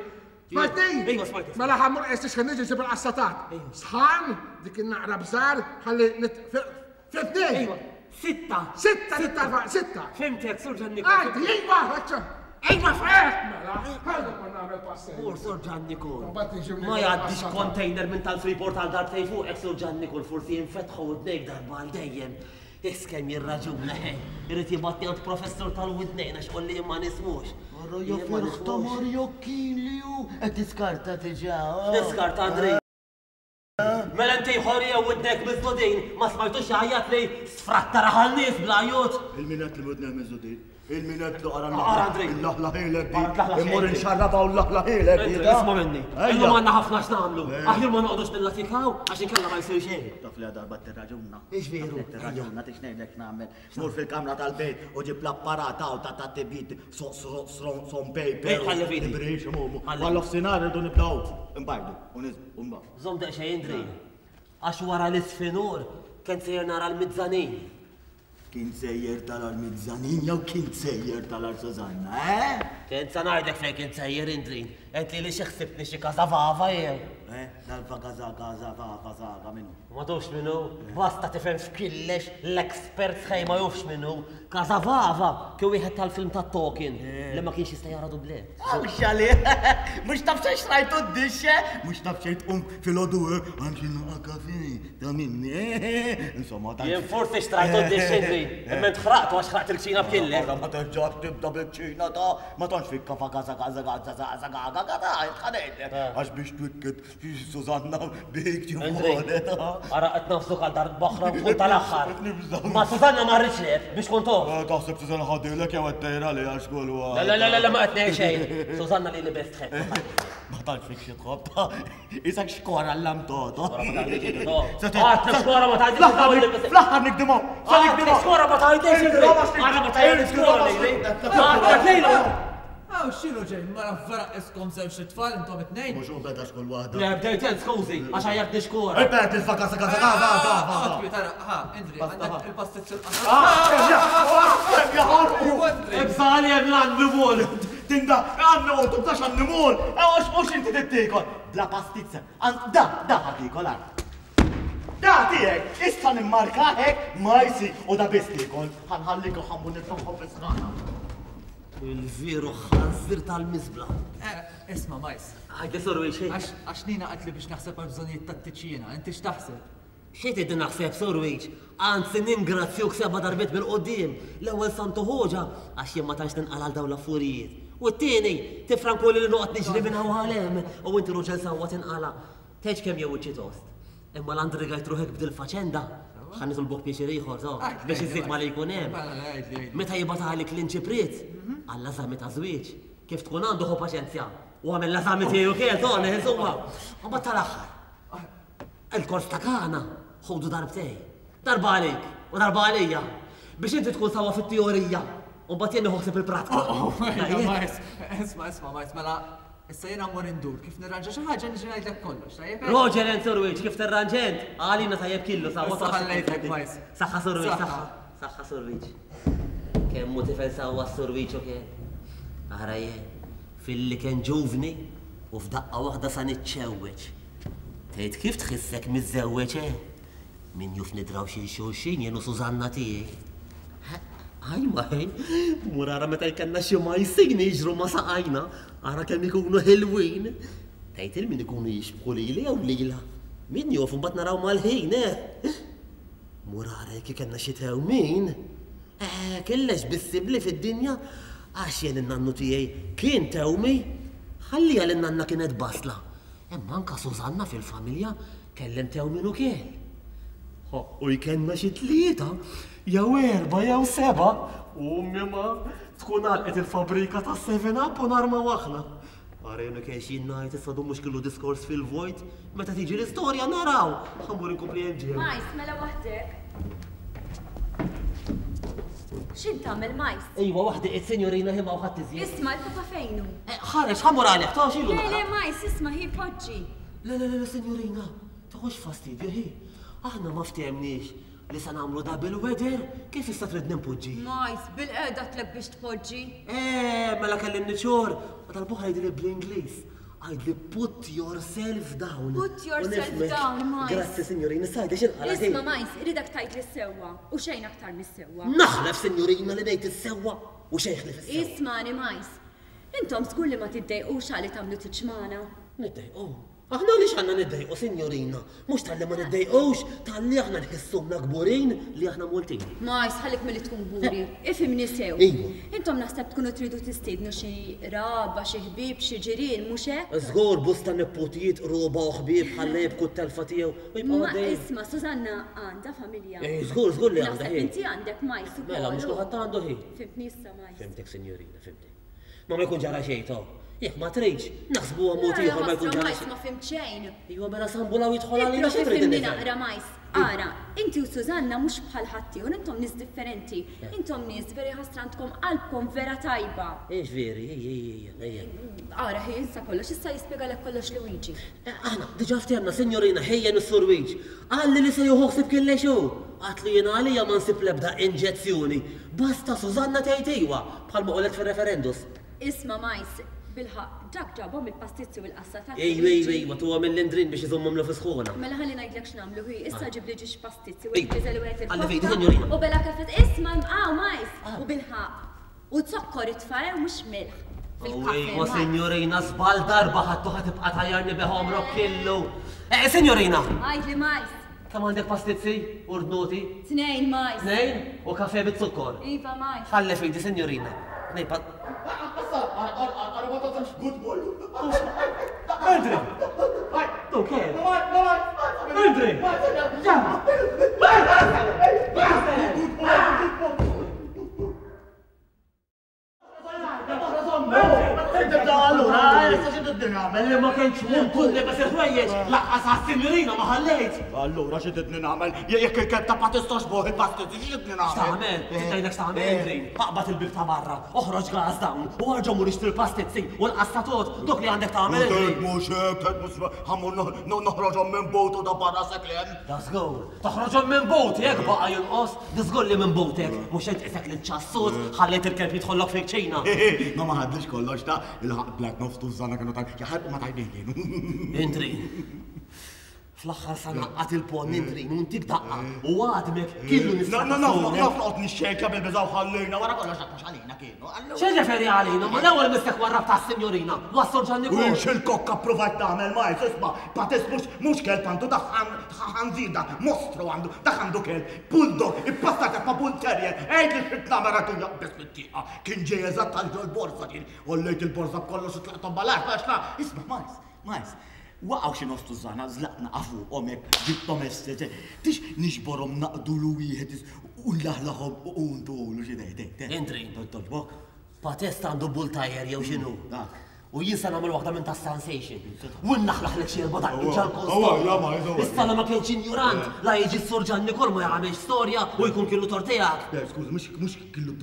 Smajtni? Iva, smajtek. Mela ħa mmur qes tixħen niġi ġib il-qassatat. Sħan, dik in-naqra bżar, ħalli nit. Fimtni? Iva, sitta. Sitta, sitta, sitta. Fimtek, Sur Ġan Nikol. Għaddi, iva, ħaċċa. Iva, Fek, mela, ħalli kont nagħmel passej. Mur, Sur Ġan Nikol. Mbagħad niġi Ma jgħaddix container minn tal-Freeport għal darbtejn fuqek, Sur Ġan Nikol, forsi jinfetħu widnejk darba għal dejjem. Is kemm jirraġuna, he. Irid jibgħatni għand professur tal-widnejn għax qolli jien ma nismux. Ara ja ferħ ta' Marjokkin li hu qed tiskarta diġà. Niskarta Andrej. Mela inti ħori jew widnejk miżdudin, ma smajtux jgħajjat li sfratta raħal nies bla għajjut. Il-min qed li widnejh miżdudin? Il-min qed li qara Qara Andrej. l-laħlaħilek di. Qara l-laħlaħilek Immur di. inxarrabha u l-laħlaħilek di. Andrej, isma' minni. Ejja. Illum għandna ħafna x'nagħmlu. Aħjar ma noqogħdux nillatikaw għax inkella ma jsir xejn. Taf li darba tirraġuna. Ix veru? Tirraġuna tix ngħidlek x'nagħmel. Mur fil-kamra tal-bejt u ġib l-apparat hawn ta' ta' tibjid son paper. Ej, ħalli f'idi. Ibrix, mumu. Ħalli. Għal nofsinhar irridu nibdew nbajdu u niżbu u nbagħdu. Żomm daqsxejn Andrej. Għax wara l-isfinur kien sejjer nara l-mizzanin. Kien sejjer tarar mizzanin jew kien sejjer tarar Susanna, eh? Kien sa ngħidlek fejn kien sejjer Indrin. Għedt lili xi ħsibtni xi każavava jew? Eh, dal-fa kaza kaza fa fa saga min hu? Ma tafx min hu? Basta tifhem f'killex l-expert sħej ma jafx min hu. Każavava kien wieħed tal-film ta' Tolkien li ma kienx jista' jara dublett. Mhux għalih! Mhux taf xejn xtrajtu d-dixx, eh? Mhux taf xejn tqum filgħodu, eh? Għand xi naqa' kafè ta' minni, eh? Insomma, tant. Jien forsi xtrajtu d-dixx Indri, imma int ħraqtu għax ħraqt il-kċina b'killek. Ara ma terġax tibda bil-kċina ta' ma tantx fik kafa kaza kaza kaza kaza kaza kaza ħa ngħidlek. Għax biex twikket Susanna bik Indri, ġifunet. ara qed nafsuk għal darb'oħra u tkun tal-aħħar. Nibża'. Ma Susanna ma rridx lef biex tkun tof. Taħseb Susanna ħadilek jew qed tgħira li għax kull Le, le, le, le, ma qed ngħid xejn. Susanna li li best tħebb. Ma tantx fik xi tħobb ta' isek xkora l-lamtoto. Għad xkora ma tgħidix Fl-aħħar nikdimhom. Sa Għad nikdimhom. xkora ma tgħidix. Ara ma tgħidix xkora lili. Għad lejlu. Aw, x'inhu ġej, mara vera iskom żewġ tfal intom it-tnejn? Mhux hu beda xkull waħda. Le, bdejt int, skużi, għax għajjatni xkora. Ipet il-faka sa kaza kaza kaza. Għatwi, tara, ha, Indri, għandek il-pastizz il-qasam. Jaħarqu. Ibżali hemm l-annimol. Tinda, għannu, tubtax annimol. Għax mhux inti tittikol. Bla pastizza. Da, da ħatikol għar. Da tiegħek, issa nimmarka hekk majsi u da biss tiekol. Ħanħallik u ħammu nitfaħħom fis-sħana. Il-veru ħanżir tal-miżbla. Eh, isma' Majs. Għajdi Sur Wiċ. Għax Nina qaltli biex naħseb għall-bżonnijiet tat-tiċ jiena, inti x'taħseb? Xi trid naħseb, Sur Wiċ? Anzi ningrazzjuk seba' darbiet bil-quddiem. L-ewwel Santu Ħoġa għax jien ma tantx ninqala' għal dawn l-affurijiet. U t-tieni, tifrankuli li noqgħod niġri minn hawn għal hemm u inti ruġel sewwa tinqala'. Tgħidx kemm jew wiċċi tost. Imma la ndrigajt ruħek b'dil-faċenda, ħa nitolbok pjaċir ieħor, to, biex iżżid ma li jkun hemm. Meta jibgħat għalik l-inċipriet, għall-eżami ta' żwieġ, kif tkun għandu ħu paċenzja u għamel l-eżami tiegħu kien, to, insomma. U mbagħad tal-aħħar. Il-kors ta' Kana ħudu darbtej. Darba għalik u darba għalija. Biex inti tkun sewwa fit-teorija u mbagħad jien nieħu ħsieb il-pratika. Oh, oh, Majs, isma', isma', Majs, mela issa jiena mmur indur, kif nirranġa xi ħaġa niġi ngħidlek kollox, tajjeb? Roger and Surwiċ, kif tirranġa int? Għalina tajjeb killu sewwa. Issa ħallejtek, Majs. Saħħa Surwiċ, saħħa. Saħħa Surwiċ. Kemm hu tifel sewwa s-Surwiċ u kien. Ara jien, filli kien ġuvni u f'daqqa waħda sa niċċewweġ. Tgħid kif tħissek miżżewweġ, eh? Min juf nidraw xi xulxin jien u Sużanna tiegħi. Ajma ħej, mur ara meta jkellna xi majsin jiġru ma' saqajna, ara kemm ikunu ħelwin. Tgħid il min ikunu jixbħu lili jew lilha. Min juf imbagħad naraw mal-ħin, eh? Mur ara jekk ikellna xi tewmin. Eh, kellex bissibli fid-dinja għax jien in-nannu tiegħi kien tewmi. Ħalliha li n-nanna kienet basla. Imma anka Sużanna fil-familja kellem tewmin ukoll. Ħaqqu jkellna xi tlieta, jew erbgħa jew sebgħa, u ommi ma tkun għalqet il-fabrika tas-Seven Up u narmaw aħna. Ara jien ukoll x'jien ngħid issa dun mhux kellu diskors fil-vojt, meta tiġi l-istorja naraw! Ħa mmur inkompli hemm ġew. Majs, mela waħdek. X'int tagħmel Majs? Ejwa waħdi qiegħed sinjorina hi m'hawn ħadd iżjed. Isma' il-papa fejn hu? Eh, ħareġ, ħa mmur għalih, ta' x'ilu Le, naqra. le, Majs, isma' hi poġġi. Le, le, le, le, sinjorina, toħodx fastidju hi. Aħna ma ftehemniex li se nagħmlu double weather, kif issa tridni npoġġi? Majs, bilqiegħda għedtlek biex tpoġġi. Eh, mela kellimni ċor, ma tal-buħra jidhirli bl-Ingliż. Għidli put yourself down. Put yourself down, Majs. Grazzi, sinjorina, issa għidli x'inqala' ħin. Isma' Majs, irridek tgħidli s-sewwa u xejn aktar mis-sewwa. Naħlef, sinjorina, li ngħid is-sewwa u xejn ħlief is-sewwa. Ismagħni, Majs. Intom żgur li ma tiddejqux għali tagħmlu tiġ magħna. Niddejqu? Aħna għaliex għandna niddejqu, sinjorina? Mhux talli ma niddejqux, talli aħna nħissuna kburin li aħna Maltin. Majs, ħallik milli tkun kburi. Ifhimni sew. Iva. Intom naħseb tkunu tridu tistiednu xi qraba, xi ħbieb, xi ġirien, mhux hekk? Żgur, bosta neputijiet, qruba u ħbieb ħalla jibku t-telfa tiegħu u jibqgħu Ma għaddejjin. isma', Susanna għandha familja. Eh, żgur, żgur li għandha, Naħseb hi. inti għandek, Majs, ukoll. Mela, mhux kulħadd għandu, hi. Fhimtni issa, Majs. Fhimtek, sinjorina, fhimtek. Ma ma jkun ġara xejn, to. Jekk ma tridx, naħsbuha mod ieħor ma jkun ġara xejn. Ma fimt xejn. Iwa mela sambulaw jidħol għalina xi trid Fimni naqra majs. Ara, inti u Susanna mhux bħal ħaddieħor, intom nies differenti. Eh. Intom nies veri ħasra għandkom qalbkom vera tajba. Ix veri, ejja, ejja, ejja. Ara, ħi insa kollox, issa jispjegalek kollox Luigi. Eh, aħna, diġà ftehemna, sinjorina, ħejja is-Sur Luigi. Qalli li se jieħu ħsieb kien lex hu. Għatlu jien għalija ma nsib l-ebda inġezzjoni. Basta Susanna tgħid iwa, bħalma qolet fir-referendus. Isma' Majs, bilħaqq, dak ġabhom il-pastizzi u l-qassa ta' Ejwa, ejwa, ejwa, tuhom mill-Indrin biex iżommhomlu fi sħuna. Mela ħalli ngħidlek x'nagħmlu, hi, issa ġibli ġiex pastizzi u wieħed piżel u wieħed Alla fidi, il-kotta sinjorina. u bela kafè. Isma' hawn Majs, u bilħaqq. U zokkor itfa' eh, u mhux milħ fil-kafè. Ejwa, sinjorina, żball darba ħadtu ħa tibqa' tgħajjarni bih għomrok kollu. Eh, sinjorina! Għidli Majs. Kemm għandek pastizzi u rdnuti? Tnejn, Majs. Tnejn? U kafè biz-zukkor? Iva, Majs. Ħalli fidi, sinjorina. Tnejn pa. Andri! Tu kien? Andri! Malli ma kienx muntu li bes il-ħwejjeġ, laqqas għas-sinjorina ma ħallejt. Allura xi tridni nagħmel? Jekk il-kelb ta' ma tistax boħ il-pastizzi, xi tridni nagħmel? X'tagħmel? Trid ngħidlek x'tagħmel, Andri? Aqbad il-bieb ta' barra, oħroġ gas dawn u arġa' mur ixtri l-pastizzi u l-qassatot, dok li għandek tagħmel, Andri. Tgħid mhux hekk, tgħid mhux ħa mmur noħroġhom minn butu ta' barra seklem. Da żgur. Toħroġhom minn buti hekk baqa' jonqos, żgur li minn butek, mhux int qisek li ċassut ħallejt il-kelb jidħollok fil-kċina. Ma ma ħadlix kollox ta' il-ħaqq black nofs tużżana kienu ta' jaħarqu ma tajbin kienu. Intri. Fl-aħħar sa naqqat il-ponn intrin u ntik daqqa u għadmek killu nista' Naf naf noqgħod nixxejkja bil-biża' u ħallejna wara kollox dak mhux għalina kienu. X'irreferi għalina, ma l-ewwel missek warrab tas-sinjorina, wassol Ġanni U jien x'il-kokka ppruvajt nagħmel Miles, isma' Patis mhux mhux kelb għandu dak ħanżir dak mostru għandu, dak għandu kelb, bulldog, ippassat ma' bull terrier, għidli x'trid nagħmel għadu jaqbeż fit-tieqa. Kien ġej eżatt għal ġol-borża kien, għollejt il-borża b'kollox u tlaqthom mal-art għax la, isma' Miles, Miles, waqgħu xi nofs tużżana, żlaqna fuqhom hekk, ġibthom esse, tix niġborhom naqdulu wieħed u nlaħlaħhom u ntulu xi dej, dej, dej. Indri. Togħġbok? Patest għandu bull tajer jew x'inhu. Dak. U jien se nagħmel waħda minn tas-sensation. U nlaħlaħlek xi erba' daqqiet ġal-konsol. Issa la ma kienx injurant, la jiġi s-Sur Ġanni Kol ma jagħmilx storja u jkun killu tort tiegħek. Le, skużi, mhux mhux killu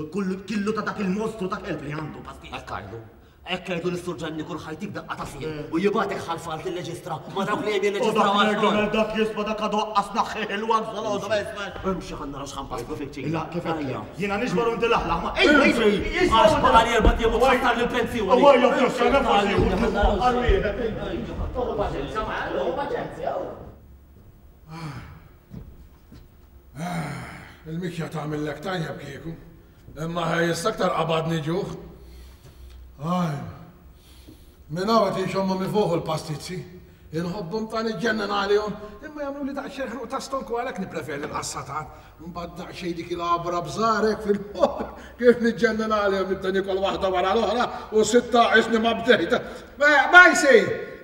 killu ta' dak il-mostru ta' kelb li għandu pastis. Hekk għidu. Hekk għidu lis-Sur Ġanni kull ħajtik daqqa ta' sien u jibgħatek ħal falt il-leġistra ma' dawk li hemm jirreġistraw għax-xogħol. Dak dak jisma' dak għadu aqqas naħħih il-wax dalgħodu isma'. Imxi ħa naraw x'ħa npasslu fiċ-ċina. La kif għedtlek. Jiena niġbor u inti laħlaħ ma. Ejja Imxi! Għax baqali erbat ijiem u tħassarli l-pensjoni. Ejja fl-ixxa nefgħu xi wħud għal wieħed. Toħu paċenzja ma' toħu paċenzja. Il-mikja tagħmillek tajjeb kieku. Imma ħej issa aktar qabadni ġuħ. Aj. Minn hawn qed inxommhom ifuħu l-pastizzi. Inħobbhom ta' niġġennen għalihom, imma jagħmluli daqsxejn ħruq ta' stonku għalhekk nippreferi l-qassatat. Imbagħad daqsxejn dik il-għabra bżarek fil-moħħ kif niġġennen għalihom nibda niekol waħda wara l-oħra u sitta qisni ma bdejt. Majsi!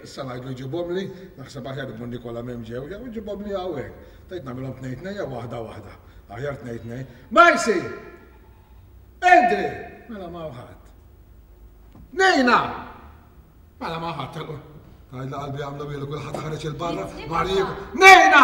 Issa ngħidlu jġibhomli, naħseb aħjar immur nikolha m'hemm ġew, jew iġibhomli hawnhekk. Tgħid nagħmilhom tnejn tnejn jew waħda waħda. Aħjar tnejn tnejn. Majsi! Endri! Mela ma ħadd. Nejna! Mela ma ħadd telqu. Tgħidla qalbi għamlu bilu kulħadd ħareġ il-barra, mar jieku. Nejna!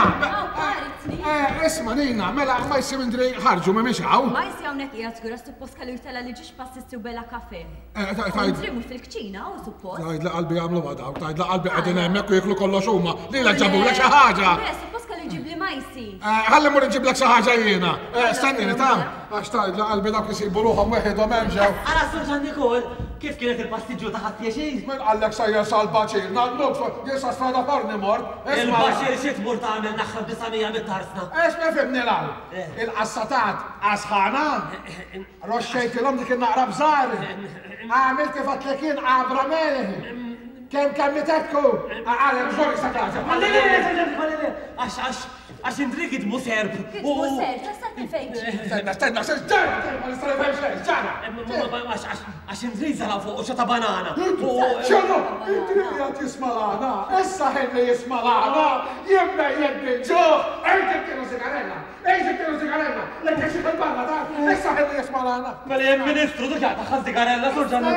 Eh, isma' Nejna, mela ma jsim Indri ħarġu ma mhix hawn. Ma jsi hawnhekk qiegħed żgur għax suppost kellu jtella' li ġiex passisti u bela kafe. Eh, Indri mhux fil-kċina u suppost. Tgħidla qalbi għamlu ma dawk, tgħidla qalbi qegħdin hemmhekk u jieklu kollox huma. Lilek ġabulek xi ħaġa. Le, suppost kellu jġibli majsi. Eh, ħalli mmur inġiblek xi ħaġa jiena. Eh, stennini ta' għax tgħidla qalbi dawk isibu ruħhom weħidhom hemm ġew. Ara Sur Ġan Nikol, kif kienet il-pastiġġu ta' ħadd pjaċir? Min qallek sejjer sal-baċir? Nannuk, jien sa Strada Forni mort. Il-baċir xi tmur tagħmel naħħa 900 mit-tarsna? Isma' fimni l-hawn. Il-qassatat għasħana? Roxxejtilhom dik in-naqra bżar. Għamilt kif għedtlek jien għabra melħ. Kemm kemm itetku? Għalek żgur issa tagħġeb. Le le le le le għax għax għax Indri kitbu serb. Kitbu serb, tista' tifhem xi. Stenna, stenna, stenna, ma nista' nifhem xejn, ġara. Għax għax għax Indri żara fuq xota banana. X'inhu? Indri qiegħed jisma' l-għana. Issa ħin li jisma' l-għana, jien mejjet bil-ġuħ. Ejja tienu sigarella. Ej, ġibtilu sigarella! Lek jekk xi barra ta' issa ħin li jisma' l-għana. Mela jien ministru diġà taħħa sigarella sur Ġanni.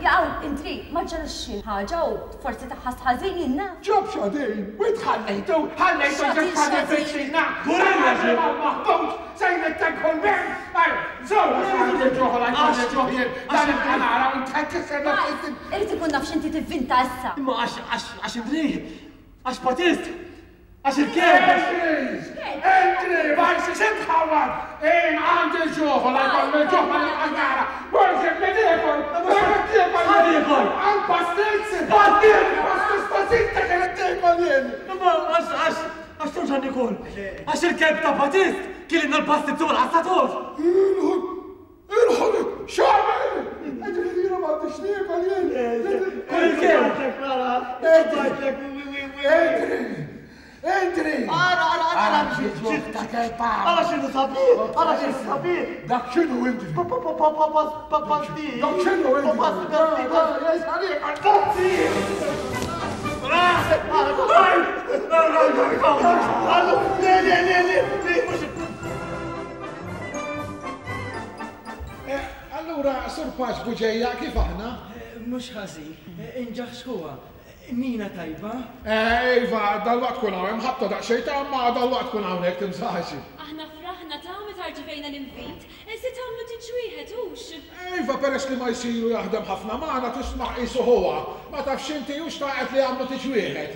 Jaqaw, intri, ma ġarax xi ħaġa u forsi taħħas ħażin jien naf. Ġob xodin, u ħallejtu, ħallejtu ġib ħaġa fiċ-Ċina. Gorilla ġib. Maħbut, sejn it-tenkħu l-bejn. Ej, żewġ, għax ġoħol għaj ġoħjien, dan il-ħanara u ntħekkisser. Irid ikun naf x'inti tivvinta issa. Imma għax għax għax Indri, għax Patist, Għax il-kelb! Entri! Ma jsirx intħawwad! Jien għandi l-ġuħ u la jkolli l-ġuħ ma nibqax nara! Mur ġibli niekol! Mur tiekol! Ħa niekol! Għal pastizz! Pastizz! Pastizz ta' sittek irid niekol jien! Imma għax għax għax terġa' niekol! Għax il-kelb ta' Patist kililna l-pastizz u l-qassatur! Il-ħolq! X'għamel? Jiġifieri jiena m'għandix niekol jien? Kull il-kelb! Entri! Entri! Ara, ara, ara! Ara ta' kelb Ara x'inhu sabiħ! Ara x'inhu sabiħ! Dak x'inhu inti? Pasti! Dak x'inhu inti? Pasti, pasti! Le, le, le, le, le, mhux Eh, allura, Sur Paċ Buġeja, kif aħna? Eh, mhux ħażin, eh, inġaħ xħuha. Nina tajba? Eh, iva, dal-waqt kun hawn, hemm ħabta daqsxejn ta' ma dal-waqt kun hawnhekk timsaħx. Aħna fraħna ta' meta rċivejna l-invit, se tagħmlu tiġ wieħed hux? Iva, peress li ma jsiru jaħdem ħafna magħna tisma' qisu ħuha. Ma tafx inti hux taqgħet li jagħmlu tiġ wieħed.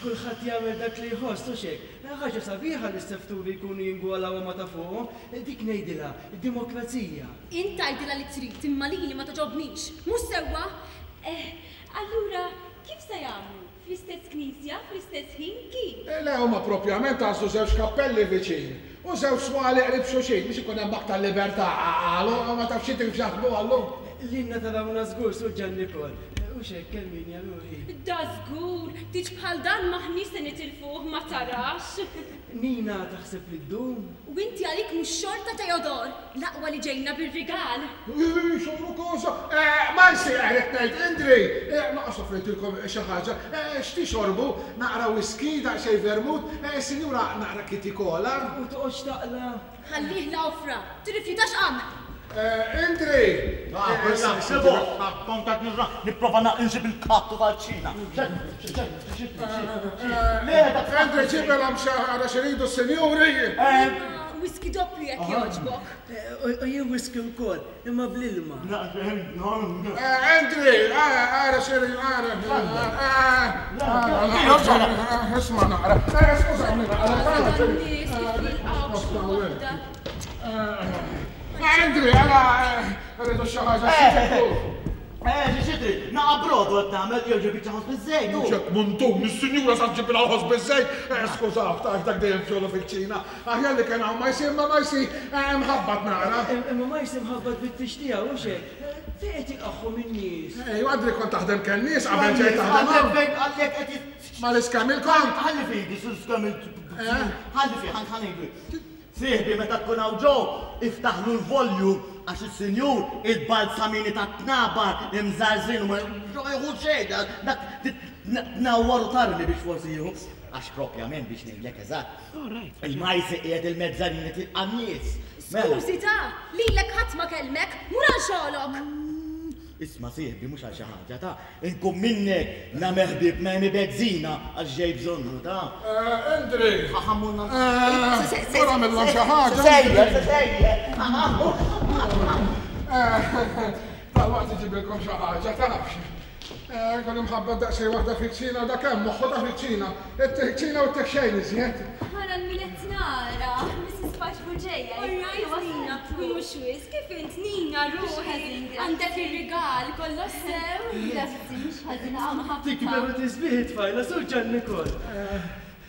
Kulħadd jagħmel dak li jħoss hux hekk. Ħaġa sabiħa li s-sefturi jkunu jingwalaw ma ta' fuqhom, dik ngħidilha demokrazija. Int tgħidilha li trid imma lili ma togħġobnix. Mhux sewwa? Eh, allura kif se jagħmlu? Fl-istess knisja, fl-istess ħin, kif? Le, huma propjament għażlu żewġ kappelli viċin u żewġ swali qrib xulxin biex ikun hemm aktar libertà, qalu, ma tafx inti kif jaħsbu għallum. Lilna tarawna żgur, Sur Ġannikol. Hux hekk, Erminia, ruħi? Dażgur! Tieġ bħal dan m'aħniex se nitilfuh, ma tarax? Nina taħseb li ddum? U inti għalik mhux xorta Teodor, l-aqwa li ġejna bir-rigal. Ii, xorru kosa! Marcy, ridt ngħid, Indri! Naqas offrejtilkom xi ħaġa. X'tixorbu? Naqra whisky, daqsxejn vermouth, is-sinjura naqra kitty cola? U toqgħodx taqla'. Ħallih l-għofra, tirrifjutax qamħ! Indri! Kont qed nipprova insib il-kattu tal-ċina. Indri ġibilhom xi ħaġa x'iridu s-sinjuri. Whisky doppju jekk jogħġbok. U jien whisky wkoll, imma bl-ilma. Indri, ara x'iridu, ara. Isma' naqra. Skużawni naqra. Nies kif jilqgħu xi waħda. Andri, għala, rridu xi ħaġa xi Eh, xi xi trid? Naqa' brodu qed nagħmel jew ġib biċċa ħobż biż-żejt. Ċek muntun, is-sinjura sa ġibilha ħobż biż-żejt. Eh, skużaw, taf dak dejjem xogħlu fil-kċina. Aħjar li kien hawn ma jsir ma ma jsir, eh, mħabbat naqra. Imma ma jsir mħabbat bit-tix tiegħu, hux hekk? Fejn qed jilqagħhom in-nies? Ejwa, Andri kont taħdem kennies qabel ġejt taħdem hawn. Fejn għalhekk qed jit. Ma l-iskamil kont. Ħalli fidi, l-iskamil. Ħalli fi, ħalli Sieħbi meta tkun hawn ġo, iftaħlu l-volume għax is-sinjur il-balzamini tat-tnabar imżarżrin u ma jieħu xejn dak tnawwar u tarmi biex forsi jieħu. Għax propjament biex ngħidlek eżatt. Il-majsi qiegħed il-mezzanini tilqa' n-nies. Skużi ta, lilek ħadd ma kellmek, mur għal xogħlok! Isma' sieħbi mhux għal xi ħaġa ta, inkun minnek nagħmel ħbieb ma' Amy Bezzina għax ġej bżonnu ta. Indri! Ħa mmur nagħmel. Mur agħmilhom xi ħaġa. Sejjer, sejjer. Dalwaqt iġibilkom xi ħaġa tafx. Kont imħabbat daqsxejn waħda fiċ-Ċina u dak hemm moħħu ta' fiċ-Ċina. Ittih ċina u ttih xejn iżjed. Ara 'l min qed nara, Mrs. Pace Bugeja. All right Nina, mhux wisq, kif int Nina ruħi, għandek ir-rigal, kollox sew? Grazzi, mhux ħażin hawn ħafna. Tikber u tisbieħ it-tfajla, Sur Ġan Nikol.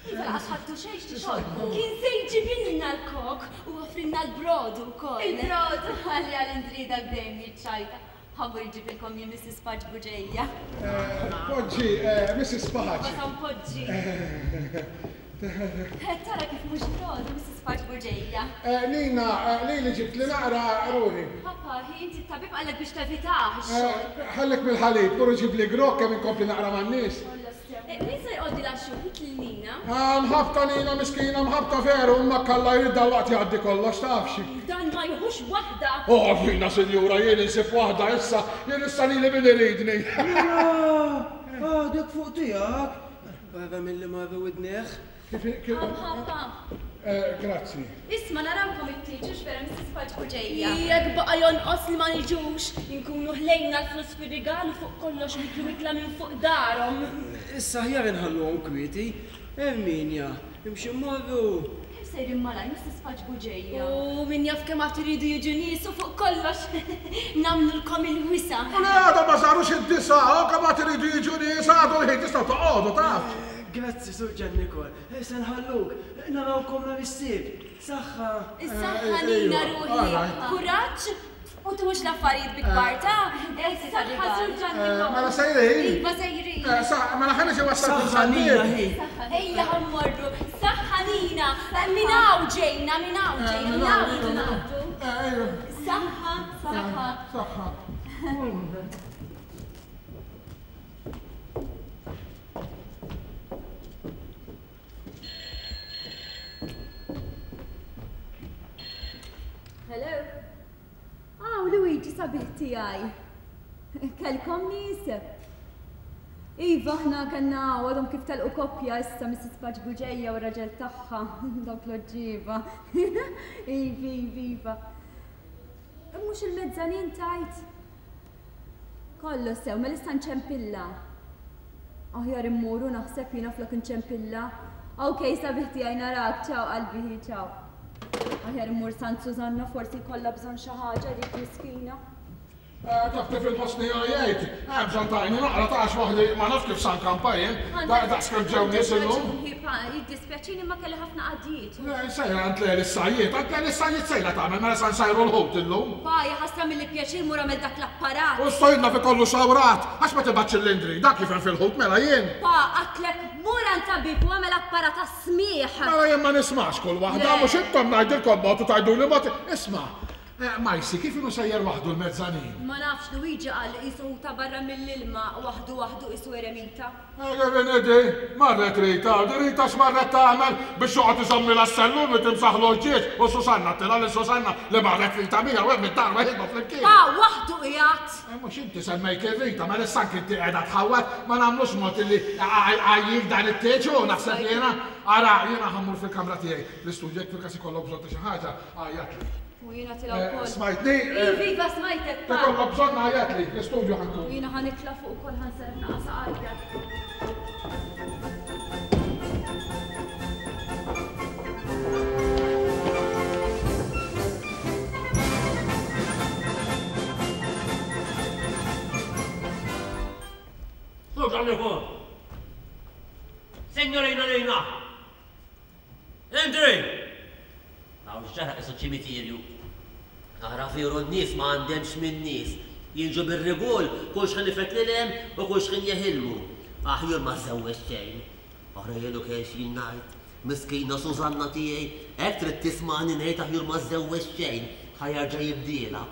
Iva laqas ħadtu xejn x'tixorbu. Kien se jġibilna l-kok u offrilna l-brodu wkoll. Il-brodu, ħalli għal Indri dak dejjem jiċċajta. Ħa mmur iġibilkom jien Mrs. Pace Bugeja. Poġġi, Mrs. Pace. Meta npoġġi. Tara kif mhux brodu, Mrs. Pace Bugeja. Nina, lili ġibtli naqra ruħi. Papa, hi inti t-tabib qallek biex tevitah ix-xorb. Ħallek mill-ħalib, mur iġibli grokk kemm inkompli naqra man-nies. Min se jqogħdi l-għaxut lil Nina? Ah, mħabbta Nina miskina, mħabbta veru, imma kalla jrid dalwaqt jgħaddi kollox, tafx. Dan ma jieħux waħda. Oh, Nina sinjura, jien insib waħda issa, jien issa lili min iridni. Nina! Għadek fuq tiegħek? Barra milli marru widnejh. Kif, kif. Mħabba. Grazzi. Isma' narawkom it-tieġ hux vera Mrs. Pace Bugeja? Jekk baqa' jonqos li ma niġux, inkunu ħlejna l-flus fir-rigal u fuq kollox niklu ikla minn fuq darhom. Issa aħjar inħalluhom kwieti. Erminia, imxi mmorru. Kemm sejrin malajr Mrs. Pace Bugeja? U min jaf kemm għad iridu jiġu nies u fuq kollox nagħmlulkom il-wisa'. U le għadhom ma sarux id-disgħa, u kemm għad iridu jiġu nies għadu l-ħin tistgħu toqogħdu taf. Grazzi Sur Ġannikol. Se nħalluk. Narawkom nhar is-Sibt. Saħħa! Is-saħħa Nina ruħi. Kuraġġ u tuħux l-affarijiet bi kbar ta'. Saħħa Sur Ġannikol. Mela sejrin? Iva sejrin. Mela ħa niġi wassalkom Saħħa Nina hi. Ejja ħa mmorru. Saħħa Nina. Minn hawn ġejna, minn hawn ġejna, minn hawn irridu ngħaddu. Saħħa, saħħa. Saħħa. Hello? Aw, Luigi sabiħ tiegħi. Kellkom nies? Iva, aħna kellna għadhom kif telqu koppja issa Mrs. Pace Bugeja u r-raġel tagħha, dawk l-oġġieba. Iva, iva, iva. Mhux il-mezzanin tajt? Kollox sew, mela issa nċempilla. Aħjar immuru naħseb jiena flok nċempilla. Ok, sabiħ tiegħi narak, ciao qalbi, hi, ciao. Aħjar immur Sant Susanna, forsi jkollha bżonn xi ħaġa dik miskina. Taf kif inħossni għajjejt. Hemm bżonn tgħinni naqra ta' għax waħdi ma nafx kif sa nkampa jien. Daqs kemm ġew nies illum. Jiddispjaċini imma kelli ħafna qadjiet. Le, sejra għand Leli s-sajjied. Għand Leli s-sajjied sejra tagħmel mela sa nsajru l-ħut illum. Pa, hija ħasra milli pjaċir mur għamel dak l-apparat. U stojna fi kollu sawrat. Għax ma tibgħatx il-Lindri, dak jifhem fil-ħut mela jien. Pa, għadtlek mur għand tabib u għamel apparat għas-smigħ. Mela jien ma nismax kull waħda, mhux intom ngħidilkom mod u tgħiduli mod. Isma', Majsi, kif inhu sejjer waħdu l-mezzanin? Ma nafx, Luigi qal li qisu ħuta barra mill-ilma, waħdu waħdu qisu eremita. Kevin Idi, marret Rita, di Rita x'marret tagħmel biex joqgħod iżommilha s-sellum li timsaħlu l-ġieġ u Susanna għedtilha lil Susanna li marret Rita miegħu hemm id-dar weħidhom flimkien. Pa, waħdu qiegħed! Mhux inti semmejt lil Rita, mela issa anki inti qiegħda tħawwad, ma nagħmlux mod illi għajjik dan it-tieġ hu naħseb jiena. Ara, jiena ħa mmur fil-kamra tiegħi, l-istudju jekk fil-każ ikollok bżonn ta' xi ħaġa, għajjatli. U jiena tilgħu wkoll. Smajtni? Iva, iva, smajtek. Pa. Ikollok bżonn għajjatli, l-istudju ħa nkun. U jiena ħa nitla' fuq ukoll ħa nserraħ naqa' saqajja. Sur Ġanniku! Signorina Nina! Indri! Hawn x'ġara qisu ċimiterju. Ara veru n-nies ma għandhemx min-nies. Jiġu bir-rigol kull x'ħin ifettlilhem u kull x'ħin jeħilmu. Aħjur ma żżewweġ xejn. Ara jien u kemm x'jien ngħid. Miskina Susanna tiegħi, hekk trid tismagħni ngħid aħjur ma żżewweġ xejn, ħa jerġa' jibdielha.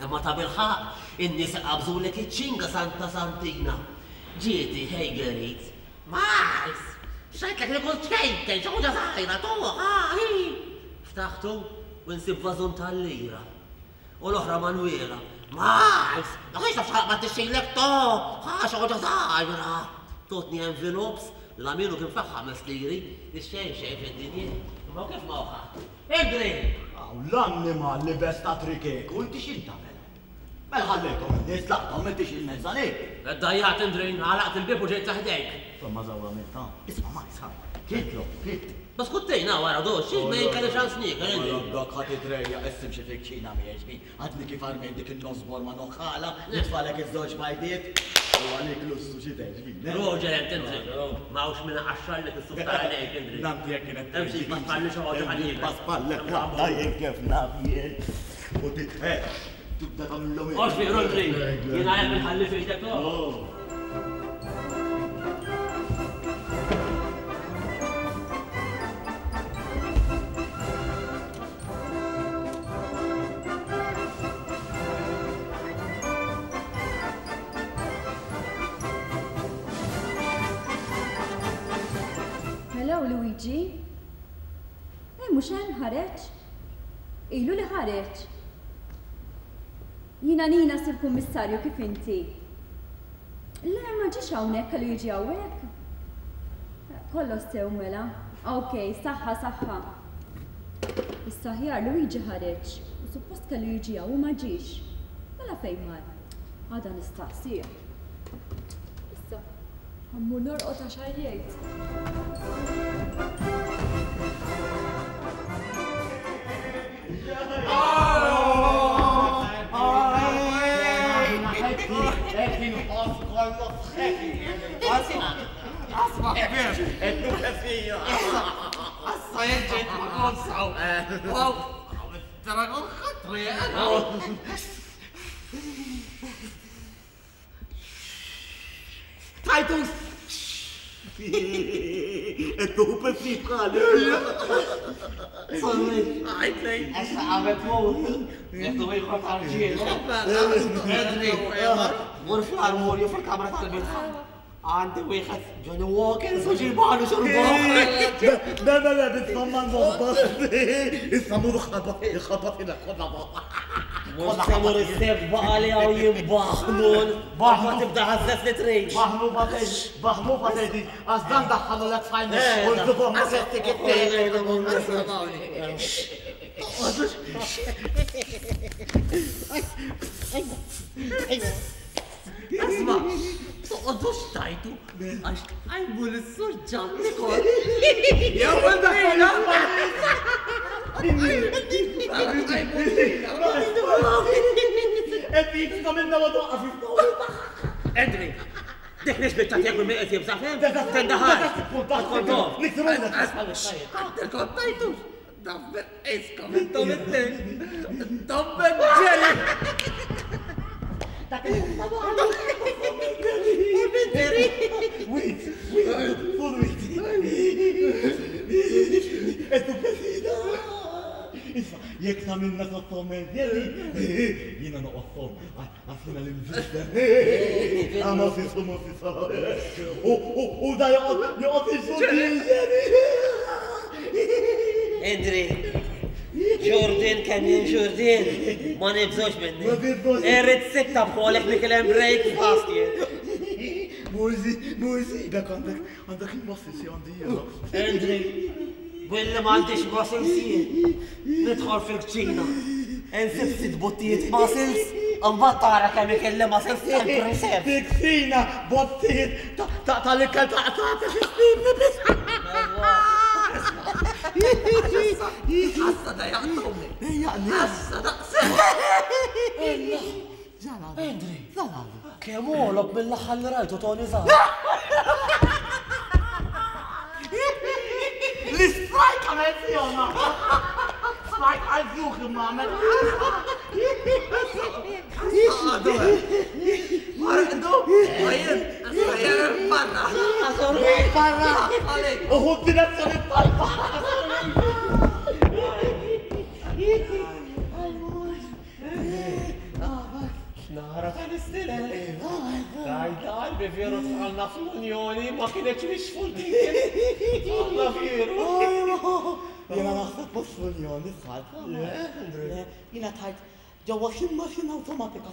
Imma tabilħaqq, in-nies iqabbżulek iċ-ċinga Santa Santina. Ġieti, ħej Gerrit. Miles! X'għidtlek li kont ċkejken, xi ħuġa żgħira, tuħ, ah, hi! Ftaħtu u nsib vażun tal-lira. U l-oħra Manwiela. Miles! Ma kienx taf x'ħalaq ma tixxilek, tuħ, ah, xi ħuġa żgħira! Totni envelopes, l-Aminu kien fih ħames liri, ix-xejn xejn fid-dinja. Imma kif ma hu ħadd? Indri! Hawn l-annimal li bes ta' trikek u inti x'int tagħmel? Mela ħallejthom in-nies tlaqthom m'intix il-mezzanin. Iddajjaqt Indrin, għalaqt il-bieb u ġejt sa ħdejk. Insomma żewwa għamilt ha. Isma' Majs ha. Kilt lok, kilt. Bas kuttejna wara do, xi ma jien kelli ċans niekel Indrin. Mela dak ħa titrejjaq issa imxi fil-kċina miegħi xbin. Għadni kif armejt dik in-nosbor ma' noħħala, nitfagħlek iż-żewġ bajdiet. U għalik lussu xi tgħid xbin, eh? Roger int Indrin. Ma hawnx min iqaxxarlek is-suf ta' għajnejk Indrin. Naf jekk kienet Hemm xi jpaspalli xi ħaġa ħalli. Paspallek waħda jien kif naf jien. U titħeq. Tibda tagħmilhom hekk. Oxbi, Rodri, jiena hekk inħalli f'idek oh. Hello, Luigi. Eh, mhux hemm ħareġ? Ilu li ħareġ. Jiena Nina Sur Kummissarju kif inti? Le ma ġiex hawnhekk kellu jiġi hawnhekk. Kollox sew mela. Ok, saħħa saħħa. Issa aħjar Luigi ħareġ u suppost kellu jiġi hawn u ma ġiex. Mela fejn mar? Għada nistaqsih. Issa, ħammur norqod għax għajjejt. Titus! It-tup ftit bħali. Issa għamet mur, jektu ieħor tal-ġiel. Edri, mur fl-armorju fil-kamra tal-bitħa. Għandi wieħed Johnny Walker su ġibanu xorbu. Le, le, le, bitfamma nħobba. Issa mur ħabba, ħabba fina kollha. Mhux se mur is-sef baqa' li hawn jimbaħnun. Baħnu tibda ħażżet li trid. Baħnu ma tgħidx, baħnu ma tgħidx, għax dan daħħalu lek f'għajnek u l-żubhom ma Isma', toqgħodux tajtu għax tqajmu lis-Sur Ġanni kol. Jew Jek minna ma toqqa fi Andri, dik mhix biċċa tiegħek minn qed jibża' fem? Tendaħal. Kontom. Kontajtu. Dabber iskom intom it-tnejn. Dabber ġeri. Wait, wait, full wait. Isma, jek ta' minna sottom jina noqgħod għax jiena l-imżister. Għama fisu ma fisu. U da joqgħod joqgħod Indri, Ġurdin kemm jien Ġurdin, ma nibżgħux minni. Irrid sitta bħolek li kien hemm break fast jien. Mużi, mużi, dak għandek għandek il-muscles għandi jiena. Indri, billi m'għandix muscles jien, nidħol fil-kċina. Insib sitt bottijiet muscles, imbagħad tara kemm ikelli muscles tal-preserv. Tiksina, bottijiet tal-ikel ta' ta' ta' xistibni biss. Ħassa da jaqtuni. Ħassa daqs. Andri, kemm għolob mill-aħħar li rajtu Tony Zahra. L-strike għamel fjona. Strike għal-fjuħ imma għamel. Marqdu, għajin, għajin, barra. Barra. Uħu direzzjoni tajba. Nara tal-istilel. Daj, qalbi veru tħallna fl-Unjoni ma kienx nixfu l-din. Tħallna veru. Jena naħseb mhux fl-Unjoni sħalt. Jena tajt ġewwa xi maċina awtomatika.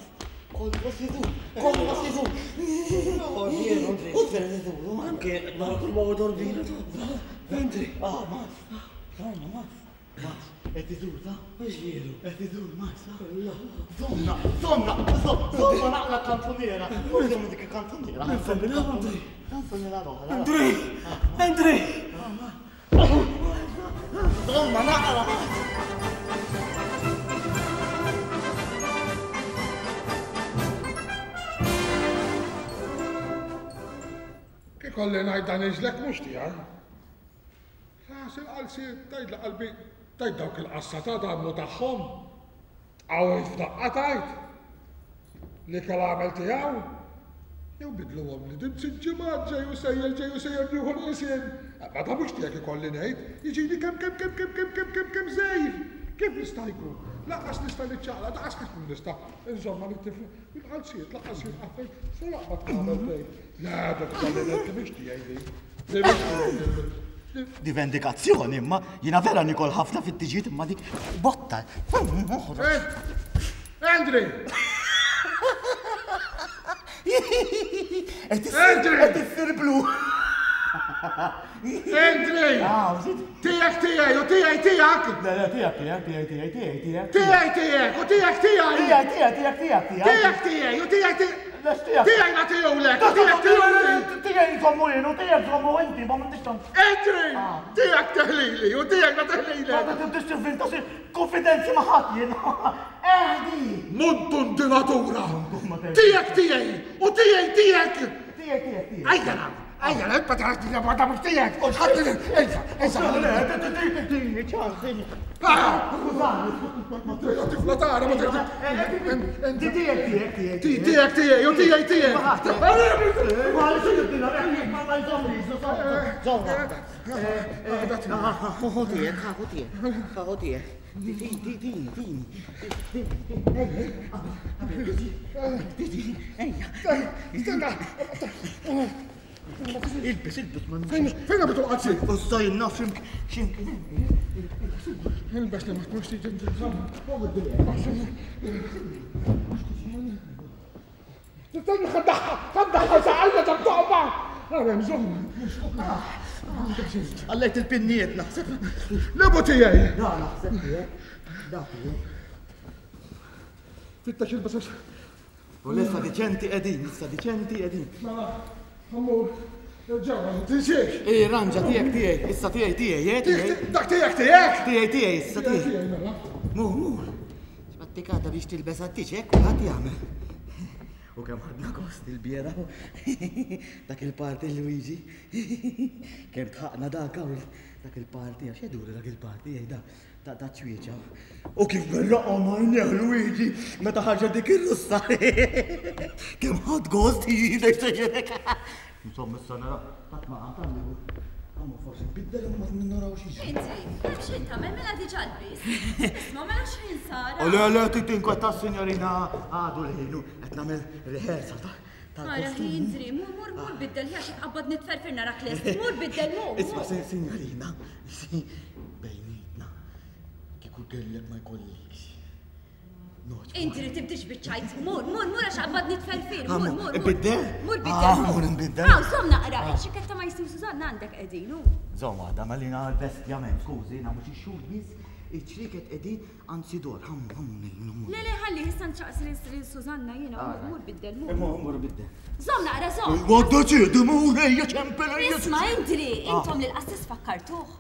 Kollox idur, kollox idur. Veru, Andri. U veru idur. Anke nara kull ma għodor bina. Andri. Ah, mas. Zomma, mas. Mas, qed idur ta' Mhux veru. Qed idur, mas. Zomma, zomma, zomma naqla kantuniera. Zomma dik il-kantuniera. Andri. Kantuniera l-oħra. Andri! Andri! Zomma naqla. Kikolli ngħid dan iġlek mhux tiegħi. Ras il-qalsi tgħid la qalbi tgħid dawk il-qassa ta' dannu tagħhom. Tqawwi f'daqqa tgħid. Li kell għamel tiegħu. Jew bidluhom li din sitt ġimgħat ġej u sejjer ġej u sejjer nieħu l-qisien. Ma ta' mhux tiegħek ikolli ngħid, jiġini kemm kemm kemm kemm kemm kemm kemm kemm żejr. Kif nista' jkun? Lanqas nista' niċċaqla, daqas kif nista' inżomma lit-tifla. Il-qalsiet lanqas jinqafel, se laqgħod tagħmel tgħid. Le, dak ikolli ngħid li mhix tiegħi din. Li mhix tiegħi. Di vendikazzjoni imma jiena vera nikol ħafna fit-tiġiet imma dik botta. Andri! Qed Andri! qed issir blu. Andri! Ah, zid. Tiegħek tiegħi u tiegħi tiegħek! Le, le, tiegħek tiegħek tiegħek tiegħek tiegħek tiegħek. Tiegħi tiegħek u tiegħek tiegħi! Tiegħek tiegħek tiegħek tiegħek tiegħek. Tiegħek tiegħi u tiegħek tiegħi! Lex tiegħek. Tiegħi nagħtihulek u tiegħek tiegħi! Tiegħi nżommu jien u tiegħek żommu inti, ma m'intix tant. Andri! Tiegħek teħlili u tiegħek ma Ma teħlilek! tibdix tivvinta xi konfidenzi ma' ħadd jien. Eħdi! Muntun di natura! ma teħdi. Tiegħek tiegħi u tiegħi tiegħek! Tiegħek tiegħek tiegħek. Ejja nagħmel! Ejja, inta tara tiegħek ma tagħmel tiegħek! Ħadd ejja, ejja! Le, tini ċans. Tifla tara ma Di tiegħek tiegħek tiegħek. Tiegħek tiegħi u tiegħi tiegħek! Ma ma jżommi, żomma. Ħu tiegħek, ħu tiegħek, ħu tiegħek. Tini, tini, tini. Ejja, Stenna! Ilbis, ilbis, ma Fejn għabitu l-qazzi? Użaj naf ximk, ximk. Ilbes li ma tkunx tiġi Tistenni ħaddaħħa, ħaddaħħa saqalna ta' toqba! Għara, bżonn. Għallejt il-pinniet naħseb. Lebu tiegħi! Da, naħseb tiegħek. Da, tiegħek. Fittax il-basas. U lissa diċenti qegħdin, lissa diċenti qegħdin. Mela, ħammur, ġewwa, tinsiex. Ej, ranġa tiegħek tiegħek, issa tiegħi tiegħi, eh, tiegħi. Dak tiegħek tiegħek! Tiegħi tiegħi, issa tiegħi. Tiegħi mela. Mur, mur. Għattik għada biex tilbes għattiċ, hekk kulħadd jagħmel. U kemm ħadna gost il-bieraħ dak il-party Luigi. Kemm tħaqna dak hawn dak il-party, għax jgħidulu dak il-party jgħidha ta' ta' ċwieċa. U kif berraqhom għajnejh Luigi meta ħarġet dik ir-russa. Kemm ħadd gost jgħidek sejjerek. Insomma, issa nara ħadd ma qam tal-libu. Għamma forsi biddel imma ma naraw xi jiġri. Inti, hemm x'ħin tagħmel mela diġà lbist. Isma' mela x'ħin sara. U le le tinkweta signorina għadu l-ħinu qed nagħmel rehearsal ta' Ara ħindri, mur mur mur biddel ħi għax tqabbad nitferfir narak lest. Mur biddel mur. Isma' signorina, bejnietna kieku kellek ma jkollikx. Inti li tibdix biċ-ċajt, mur, mur, mur għax qabad nitferfir, mur, mur. Biddel? Mur biddel. Ah, mur nbiddel. Ah, żomm naqra, xikketta ma jistim Susanna għandek qegħdin. Żomm għadha, ma li nagħmel bestjament, skużi, nagħmlu xi xhur biss, iċ-ċrieket qegħdin anzi dor, ħammu, ħammu ngħinu. Le, le, ħalli, issa nċaqs lil Susanna jiena, mur biddel, mur. Mur, mur biddel. Żomm naqra, żomm. Għadda ċedi, mur, ejja ċempel, ejja. Isma' Indri, intom lil qassis fakkartuh.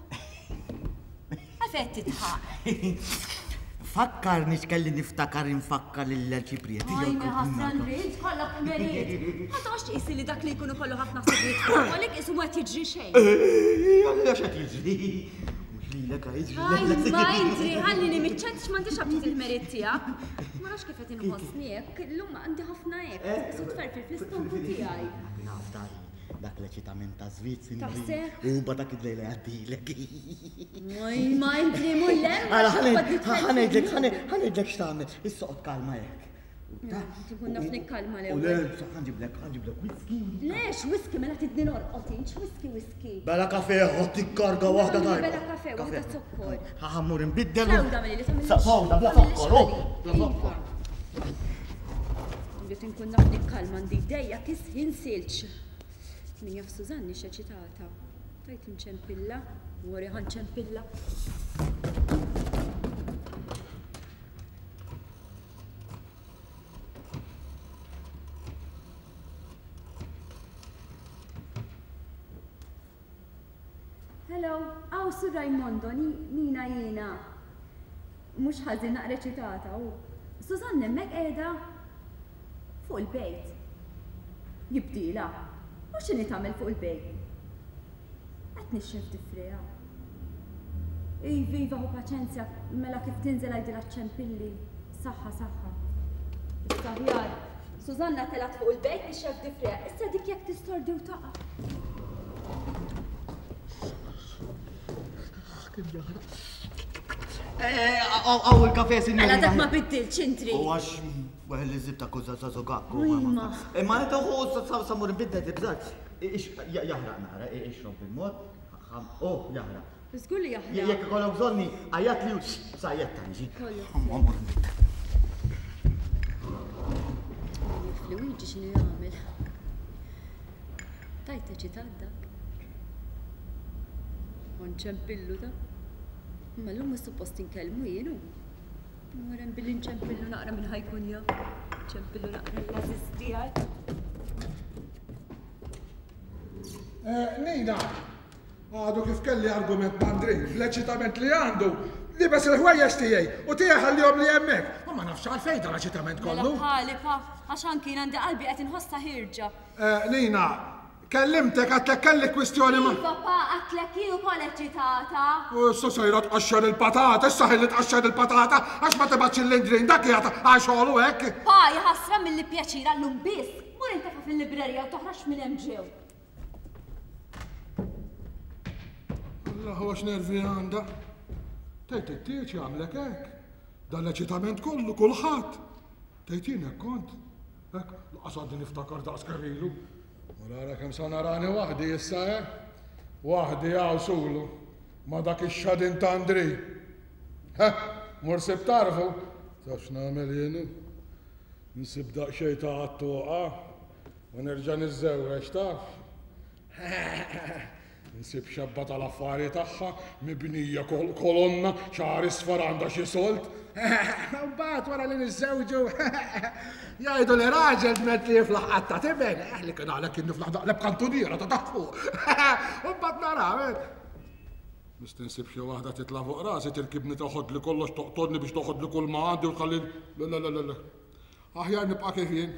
Għalfejn qed tidħaq? Fakkarni x'kelli niftakar infakkar lill-Arċipriet. Għajni ħasra nrid kollok ħmerijiet. Ma toqgħodx tqisi li dak li jkunu kollu ħafna ħsibijiet fuq għalik qisu ma qed jiġri xejn. Għalija x'qed jiġri? Mhux lilek jiġri. Għaj, ma intri, ħallini miċ-ċent x'm'għandix aptit il-ħmerijiet tiegħek. Ma nafx kif qed inħossni hekk, illum għandi ħafna hekk, qisu tferfir fl-istonku tiegħi. Naf dan. Dak l-eċitament ta' żwieġ sinjuri. Taħseb? U mbagħad dak id-lejla jgħaddilek. Moj, ma inti mullem. Ara, ħa ngħidlek, ħa ngħidlek x'tagħmel. Issa oqgħod kalma hekk. Tkun naf nikkalma l-ewwel. U le, ħa nġiblek, ħa nġiblek whisky. Lex, whisky mela tidni norqod int, whisky whisky. Bela kafe, ħodd tikkarga waħda tajba. Bela kafe, waħda zokkor. Ħa mmur inbiddel. Sewda milli tagħmel. Sewda bla zokkor, oh, bla zokkor. Rrid inkun naf nikkalma għandi jdejja kisħin silġ. Min jaf Susanni x'eċitata. Tajt inċempilla, wori ħa nċempilla. Hello, aw Sur Raimondo, Nina jiena. Mhux ħażin naqra eċitata u. Susanne hemmhekk qiegħda fuq il-bejt. Jibdilha. U x'inhi tagħmel fuq il-bejt? Qed nixxef difriha. Iva, iva, ħu paċenzja, mela kif tinżel għidilha ċċempilli. Saħħa, saħħa. Issa aħjar. Susanna telgħet fuq il-bejt tixxef difriha. Issa dik jekk tistordi u taqa'. Għaw il-kafe, sinjorina. Mela dak ma biddilx intri. U għax weħel li zibta kuza sa zogakku. Imma inta hu sa mur nbiddel tibżax. Jaħraq nara, ixrob bil-mod. Oh, jaħraq. Żgur li jaħraq. Jekk ikollok bżonni, għajat li sajjetta niġi. Luigi x'inhu jagħmel. Tajt eċitat dak. Ma nċempillu ta. Imma llum mhux suppost inkellmu jien hu. Mur hemm billi nċempillu naqra minn ħajkun jaf. Nċempillu naqra l-għażiż tiegħi. Eh, Nina, għadu kif kelli argument ma' Andrej, bl-eċitament li għandu, libes il-ħwejjeġ tiegħi u tiegħi ħallihom li hemmhekk. U ma nafx għalfejn dan l-eċitament Mela kollu. bħali pa, għax anki jien għandi qalbi qed inħossha ħierġa. Eh, Nina, kellimtek għatlek kelli kwistjoni ma. Iva pa, għatlek jien ukoll eċitata. U issa sejra tqaxxar il-patata, issa ħilli tqaxxar il-patata għax ma tibgħatx il-Lindrin dak qiegħed għal xogħlu hekk. Pa, jaħasra milli pjaċir għallum biss. Mur intefa' fil-librerija u toħroġx minn hemm ġew. Allah huwa x'nervi għandha. Tgħid it-tieġ jagħmlek hekk. Dan l-eċitament kollu kulħadd. Tgħid jien hekk kont. Hekk, laqas għadni niftakar daqs kemm ilu. U nara kemm sa narani waħdi issa, eh? Waħdi hawn sulu. Ma dak ix-xadin ta' Andri. Heh, mur sib tarfu. Taf x'nagħmel jienu? Nsib daqsxejn ta' għattuqa u nerġa' niżżewweġ, taf? Nsib xebba tal-affari tagħha mibnija kolonna, xagħar isfar għandha xi sold. Mbagħad wara li niżżewġu jgħidu li raġel dment li jiflaħ qatta tiben, eh li kien għalhekk kien niflaħ daqleb kantuniera ta' taħt fuq. U mbagħad naraw. Eh. Nista' nsib xi waħda titla' fuq rasi tirkibni toħodli kollox toqtolni biex toħodli kull ma għandi u tħalli le le le le. Aħjar nibqa' kif jien.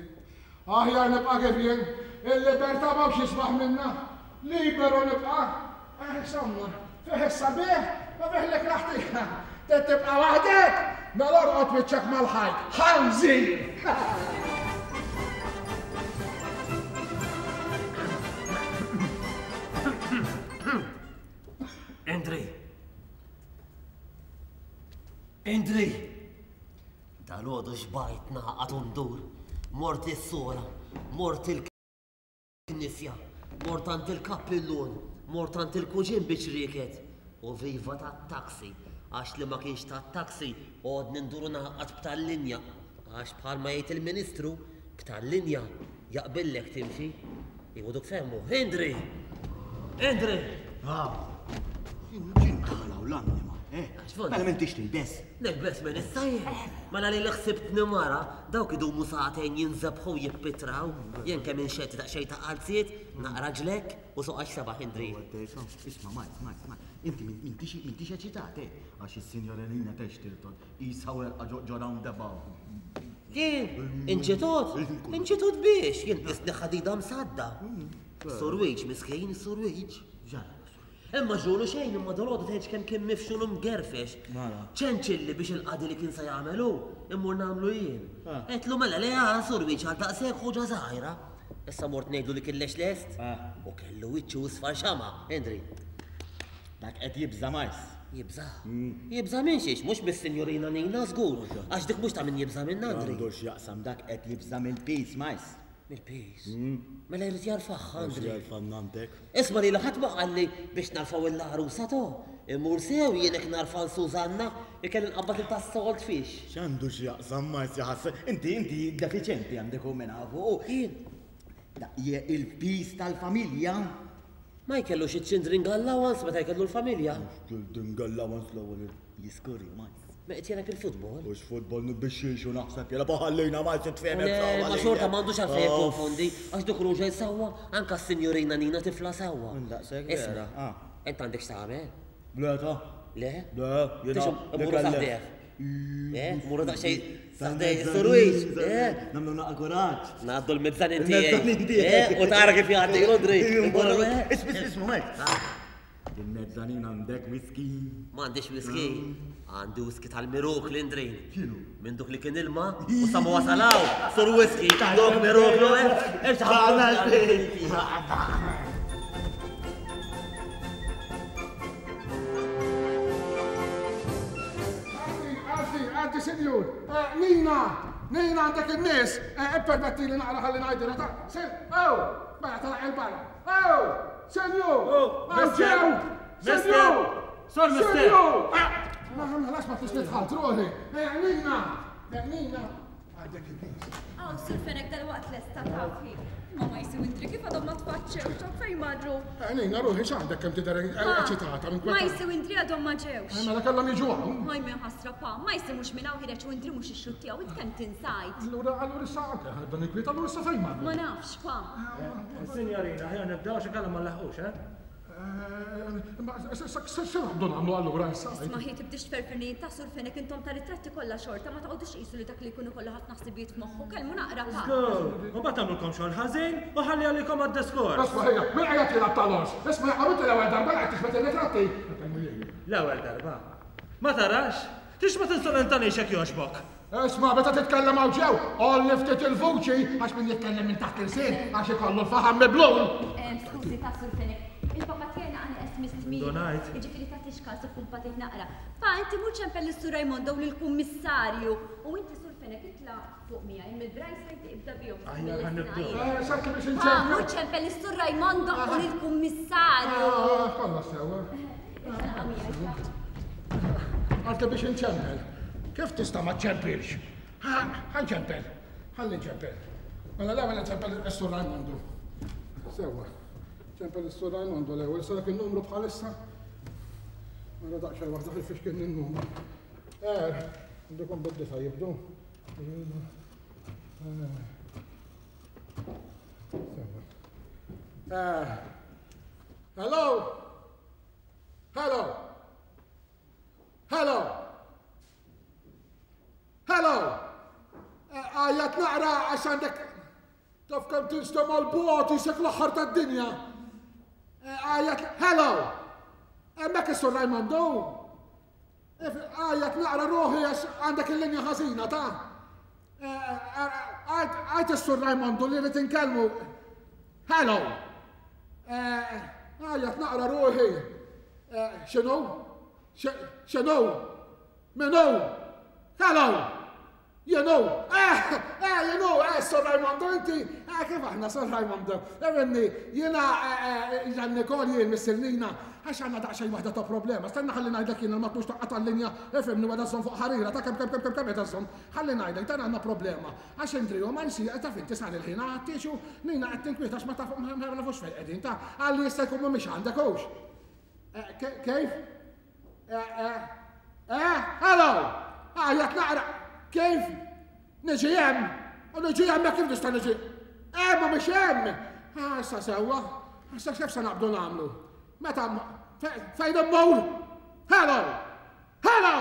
Aħjar nibqa' kif jien. Il-libertà m'hawnx jisbaħ minnha. Liberu nibqa'. Eh, insomma, fih is-sabiħ u fih l-ikrah tiegħek. Trid tibqa' waħdek? Mela orqod wiċċek mal-ħajt. Ħanżir! Indri! Indri! Dalgħodu xbajt nagħqad u ndur. Mort is-sora, mort il-knisja, mort għand il-kappillun, mort għand il-kuġin biex rieket. U viva tat-taxi, għax li ma kienx tat-taxi għodni ndur u nagħqad b'tal-linja. Għax bħalma jgħid il-Ministru, b'tal-linja jaqbillek timxi. Iwa duk femmu. Indri! Indri! Ah, ġin tħalaw l-annima, eh? Mela m'intix tilbes. Nilbes minn issa jien. Mela li l-ħsibtni mara, dawk idumu sagħtejn jinżebħu jippitraw. Jien kemm inxetti daqsxejn ta' qalziet, naqra ġlek u soqgħax sebaħ Indri. Isma' Mike, Mike, Mike, inti m'intix eċitat, eh? Għax is-sinjora Nina Textilton Qisha werqa ġo roundabout. Jien? Inċitut? Inċitut biex? Jien qisni ħadida msadda. Surwiġ, miskin, surwiġ. Imma ġulu xejn, imma dolodu tgħidx kemm kien mifxul u mgerfex. Ċenċilli biex il-qadi li kien se jagħmel hu, immur nagħmlu jien. Għedtlu mela le ah, surwiġ għal daqshekk ħuġa żgħira. Issa mort ngħidlu li kien lex lest. U kellu wiċċu isfar xama', Indri. Dak qed jibża' Majs. Jibża'? Jibża' minn xiex? Mhux mis-Sinjurina Nina żgur, għax dik mhux ta' min jibża' minnha, Andri. Għandu x'jaqsam dak qed jibża' mill-piż, Majs. Mill-piż? Mela jrid jarfagħha, Andri. Mhux jarfa' nanntek. Isma' lili ħadd ma qalli biex narfgħu l-għarusa to. Immur sew jien hekk narfa' 'l Susanna, ikelli nqabbad lil tas-salt fish. X'għandu x'jaqsam, Majs, jaħasra. Inti, inti defiċenti għandek u min hawn. Jien? Dak il-piż tal-familja. Ma jkellux iċ-children allowance meta jkellu l-familja. Children allowance l-ewwel jiskurri Majs. Ma qed jilgħab il-futbol. Mhux futbol nibixxix u naħseb jilgħab ħallejna Majs itfehmek Le, ma xorta m'għandux għalfejn jikkonfondi għax dik ruġel sewwa, anke s-sinjurina Nina tifla sewwa. Daqshekk vera. Isma', int għandek x'tagħmel? Le ta. Le? Le, jiena. Immorru sa ħdejh. Eh, morru daqsxejn sa ħdejh is-surwiġ. Eh? Nagħmlu naqa' kuraġġ. Ngħaddu l-mezzanin tiegħi. Eh, u tara kif jgħaddi Rodri. Isma' isma' Mike. Il-mezzanin għandek whisky? M'għandix whisky. Għandi whisky tal-miruk l-indrin. Minn duk li kien ilma u sa ma wasalaw. Sur whisky, dok miruk l Għaddi, għaddi, sinjur. Eh, Nina, Nina għandek in-nies, eh, ippermetti li naqra ħalli ngħidilha ta' se, oh, mela telaq il-barra. Oh, sinjur, ġew, sinjur, Sor Mister. Ah, ma ħalas ma tix nidħal, truħi. Eh, Nina, Nina, Għandek il-piż. Aw, Sur Fenech dalwaqt lesta taf hi. Imma ma jsiw indri kif għadhom ma tfaċċewx dawk fejn marru. Għenina ruħi x'għandek kemm tidher eċitata minn Ma jsiw indri għadhom ma ġewx. Eh, mela kellhom jiġu hawn. Ħaj minn ħasra pa, ma jsiw mhux minn hawn ħireġ u indri mhux ix-xut tiegħu int kemm tinsajt. Allura allura issa anke ħadda nikwiet allura issa fejn marru. Ma nafx pa. Eh, Signorina, ħja nibdew xi kellhom ma nlaħqux, eh? X'naqbdu nagħmlu allura issa? Isma' ħi tibdix tferfirni ta' Sur Fenech intom ta' ritratti kollha xorta ma toqgħodux tqisu li dak li jkun ikollu ħafna ħsibijiet f'moħħu, kellmu naqra pa. Żgur! U mbagħad tagħmlulkom xogħol ħażin u ħalli għalikom għad-diskors. Isma' ħija, min qiegħed jilgħab tal-ors? Isma' jaqaw inti l-ewwel darba li qed tiġbed ir-ritratti? L-ewwel darba? Ma tarax? Tix ma tinsolentanix jekk jogħġbok! Isma' meta titkellem hawn ġew, għolli ftit il-vuċi għax min jitkellem minn taħt l-ilsien għax ikollu l-faħam miblul. Skużi ta' Sur Fenech, il-papa tiegħi naqa' neqes mis-tmiem. Ndunajt. Jiġifieri tagħtix każ u kumpatih naqra. Pa, inti mur ċempel lis-Sur Raimondo u lill-Kummissarju. U inti Sur Fenech itla' fuq miegħi mill-Brightside ibda bihom. Aħjar ħa nibdew. Sakki biex Pa, inċempel. mur ċempel lis-Sur Raimondo u lill-Kummissarju. Kollox sewwa. Itla' naqa' miegħi, itla'. Għalke biex inċempel. Kif tista' ma ċċempilx? Ħa nċempel. Ħalli nċempel. Mela l-ewwel nċempel is-Sur Rajmondu. Sewwa. Ċempel is-Sur Rajmondu l-ewwel, sa dak in-numru bħalissa. Mela daqsxejn waħda fil-fiex kien in-numru. Eh, għandukom bid-disa jibdu. Sewwa. Eh. Hello? Hello? Hello! Hello! Għajjat naqra għax għandek taf kemm tinstema' l-bogħod jisek l-aħħar tad-dinja. Għajjat, hello! Hemmhekk is-Sur Raimondo? Għajjat naqra ruħi għax għandek il-linja ħażina ta' Għajt is-Sur Raimondo li rrid inkellmu. Hello! Għajjat naqra ruħi. X'inhu? X'inhu? Min hu? Hello! Jien hu! Eh, eh, jien hu, eh, Sir Raimondo, inti, eh, kif aħna, Sir Raimondo? Evenni, jiena, eh, eh, Jan Nikol, jien, Missir Nina, għax għandna daqsxejn waħda ta' problema. Stenna ħalli ngħidlek jiena ma tmux taqqa' tal-linja, ifhimni weda żżomm fuq ħarira, ta' kemm kemm kemm kemm kemm qed żżomm. Ħalli ngħidlek dan għandna problema. Għax Andrew ma nsi, taf inti sar il-ħin għattiex u Nina qed tinkwieta għax ma taf ma nafux fejn qegħdin ta' għalli jista' jkun mhumiex għandek hux. Eh, kif? Eh, eh, eh, hello! Għajat naqra, kif? Niġi hemm? U niġi hemm kif nista' niġi? Eh, ma mhix hemm! Ah, issa sewwa, issa kif se naqbdu nagħmlu? Meta fejn immur? Hello! Hello!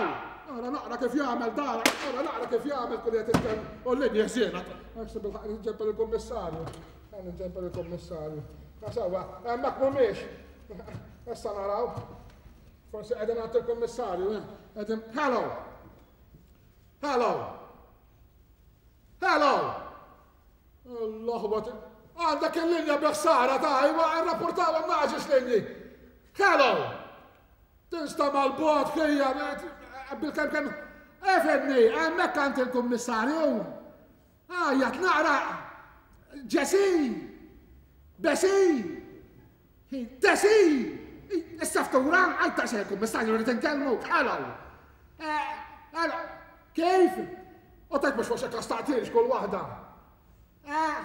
Ara naqra kif jagħmel dar, ara naqra kif jagħmel kull qed jitkellem u l-linja ħsiena. Għax bil-ħaq nġempel il-kummissarju. Nġempel il-kummissarju. Ma sewwa, hemmhekk mhumiex. Issa naraw. Forsi qegħdin għand il-kummissarju, eh? Qegħdin Hello! Hello! Hello! L-aħwa għandek il-linja biħsara ta' iwa rrapportawhom naġis linji. Hello! Tinsta mal-bot ħija bil-kemm kemm. Efemni, hemmhekk għand il-kummissarju. Għajjat naqra Ġesi! Besi! Tesi! Issa ftura, għal ta' xejn kummissarju rrid inkellmu, hello! Eh, hello! Kif? U tajt mhux forsi kastaqtilx kull waħda. Eh,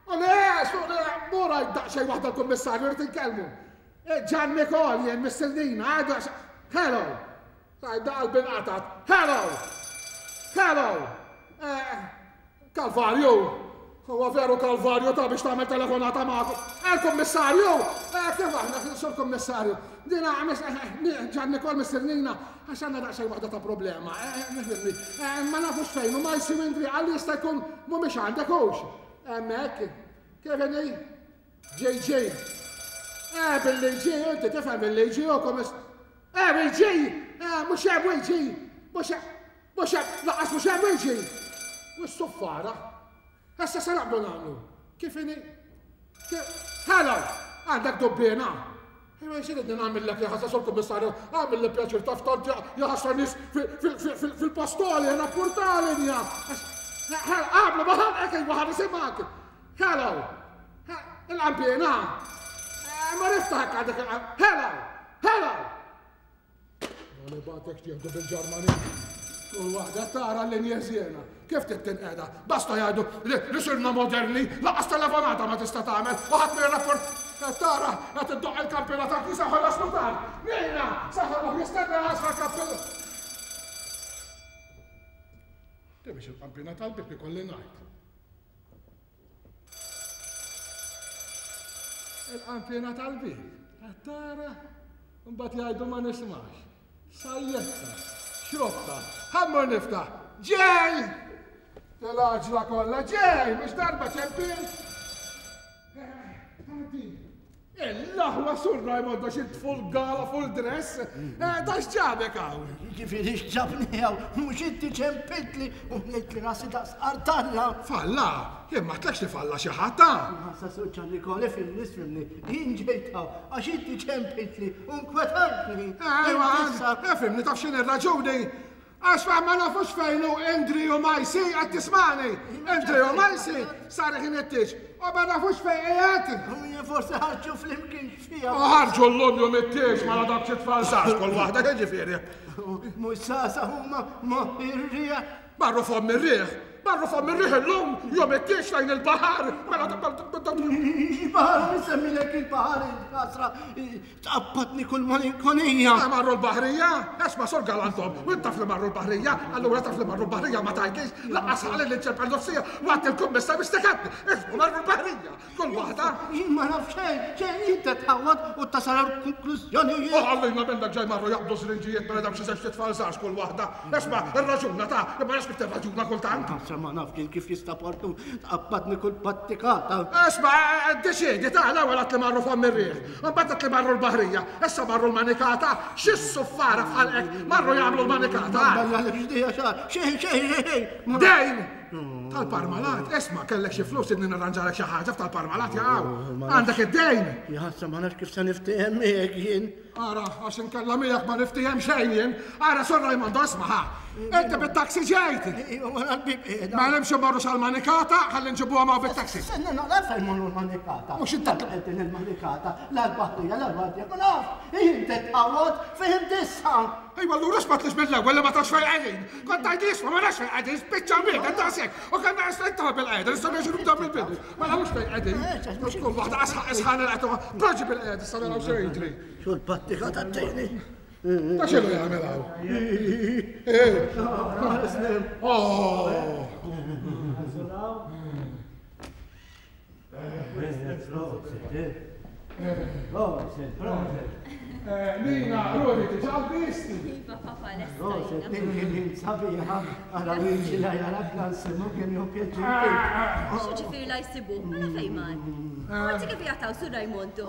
u le, su le, mura daqsxejn waħda l-kummissarju rrid inkellmu. Eh, Ġan Nikol jien missildina, għadu hello! Tajt qalbi nqatgħet. Hello! Hello! Eh, Kalvarju! Huwa veru kalvarju ta' biex tagħmel telefonata magħkom. Eh, kummissarju! Eh, kif aħna, sur kummissarju? Dina, eh, Ġan Nikol missirnina, għax għandna daqsxejn waħda ta' problema. Ma nafux fejn, u ma jsir indri għalli jista' jkun mhumiex għandek hux. Hemmhekk, kif inhi? JJ. Eh, bil-liġi, inti tifhem bil-liġi u komis. Eh, bil-ġi! Eh, mhux hemm bil-ġi! Mhux hemm, mhux hemm, laqas mhux hemm bil-ġi! U s-suffara. Issa se naqbdu nagħmlu. Kif inhi? Hello! Għandek dubbina. Imma xi ridni nagħmillek jaħasra sur kummissarju, għamil li pjaċir taf tant jaħasra nies fil-pastoli, rapportali nja. Għamlu ma ħanqek iva ħan nisimgħek. Hello! Il-qampiena! Ma niftaħ għandek il-qampiena. Hello! Hello! Ma nibatek tieħdu bil-Ġermani. Kull waħda tara l-linja żiena. Kif tittinqeda? Basta jgħidu li sirna moderni, laqas telefonata ma tista' tagħmel, u ħadd mir rapport tara qed iddoq il-kampina ta' kisa ħolas tard. Nina, saħħa jistenna għasra kappella. Biex il-kampina tal-bib ikolli ngħid. Il-qanpiena tal-bib, qed tara? Mbagħad jgħidu ma nismax. Sajjetta, xrobta, ħammur niftaħ. Ġej! L-għaġla kollha ġej, mhux darba ċempil. Eh, L-aħwa sur Raimondo xi full gala full dress, eh, da x'ġabek hawn? Jiġifieri x'ġabni hawn, mhux inti ċempiltli u mlejtli rasi daqs qartalla. Falla? Jien ma għedtlekx li falla xi ħadd, ha? Ħassa sur Ġannikol, ifhimni, ifhimni, jien ġejt hawn għax inti ċempiltli u nkwetajtni. Ejwa, ifhimni taf x'inhi r-raġuni? Għax ma nafux fejn hu Indri u Majsi, qed tismagħni? Indri u Majsi sar ħin it-tieġ u ma nafux fejn qiegħed. U jien forsi ħarġu flimkien x'fiha. U ħarġu llum jum it-tieġ mela dawk xi tfal żgħar kull waħda jiġifieri. Mhux żgħażagħ huma ma ir-riħ. Marru fomm ir-riħ. Marru fomm ir-riħ illum, jum it-tiex lejn il-baħar. Mela Il-baħar, nsemmilek il-baħar, il-kasra, tqabbadni kull malinkonija. Ah, marru l-baħrija? Esma sur galantom, u taf li marru l-baħrija, allura taf li marru l-baħrija ma tgħidlix, laqqas ħalli li ċempel nofsija, waqt il-kummissar biex tekatni. Isma marru l-baħrija, kull waħda. Jien ma naf xejn, xejn inti tħawwad u tasal għal konklużjonijiet. U ħallina minnek ġej marru jaqbdu żrinġijiet mela dawk xi żewġ tfal żgħar kull waħda. Isma, irraġuna ta' imma nafx kif tirraġuna kultant. Ħasra ma naf kien kif jista' portu tqabbadni kull pattikata. Isma, deċiedi ta' l-ewwel għat li marru fomm ir-riħ, imbagħad għat li marru l-baħrija, issa marru l-manikata, xi suffara f'ħalqek marru jagħmlu l-manikata. Xejn, xejn, xejn. Dejn! Tal-parmalat, isma, kellek xi flus idni nirranġalek xi ħaġa f'tal-parmalat jaqgħu. Għandek id-dejn! Jaħasra ma nafx kif se niftiehem miegħek jien. Ara, għax inkella miegħek ma niftiehem xejn jien. Ara, Sur Raimondo, isma' ħa. Inti bit-taxi ġejt. Iva, wara l-bieb qiegħda. Ma hemmx immorru sal-manikata, ħalli nġibuha ma' bit-taxi. Stenna naqra fejn morru l-manikata. Mhux inta Din il-manikata, la l-baħrija, la l-għadja, ma naf. Inti tqawwad, fhimt issa. Ejwa, allura x'ma tlix mill-ewwel li ma tafx fejn qegħdin. Kont tgħidli isma' ma nafx fejn qegħdin, spiċċa miegħek, daqshekk. U kellna qed bil-qiegħda, nistgħu nerġgħu nibdew mill-bidu. Ma nafux fejn qegħdin. Kull waħda asħaq isħan il-qed Proġi bil-qiegħda issa naraw se jiġri. Xu l-pattika tat-tieni. Ta' x'inhu jagħmel hawn? Oh! Nina, Rudi, diġà lbist? Iva, papa, lesta. Proset, din kien sabiħa, għara Luigi la jara blansimu kien jew pjaċir. Xi ġifieri la jsibu? Mela fejn mar? Għanti kif jataw sur Raimondo?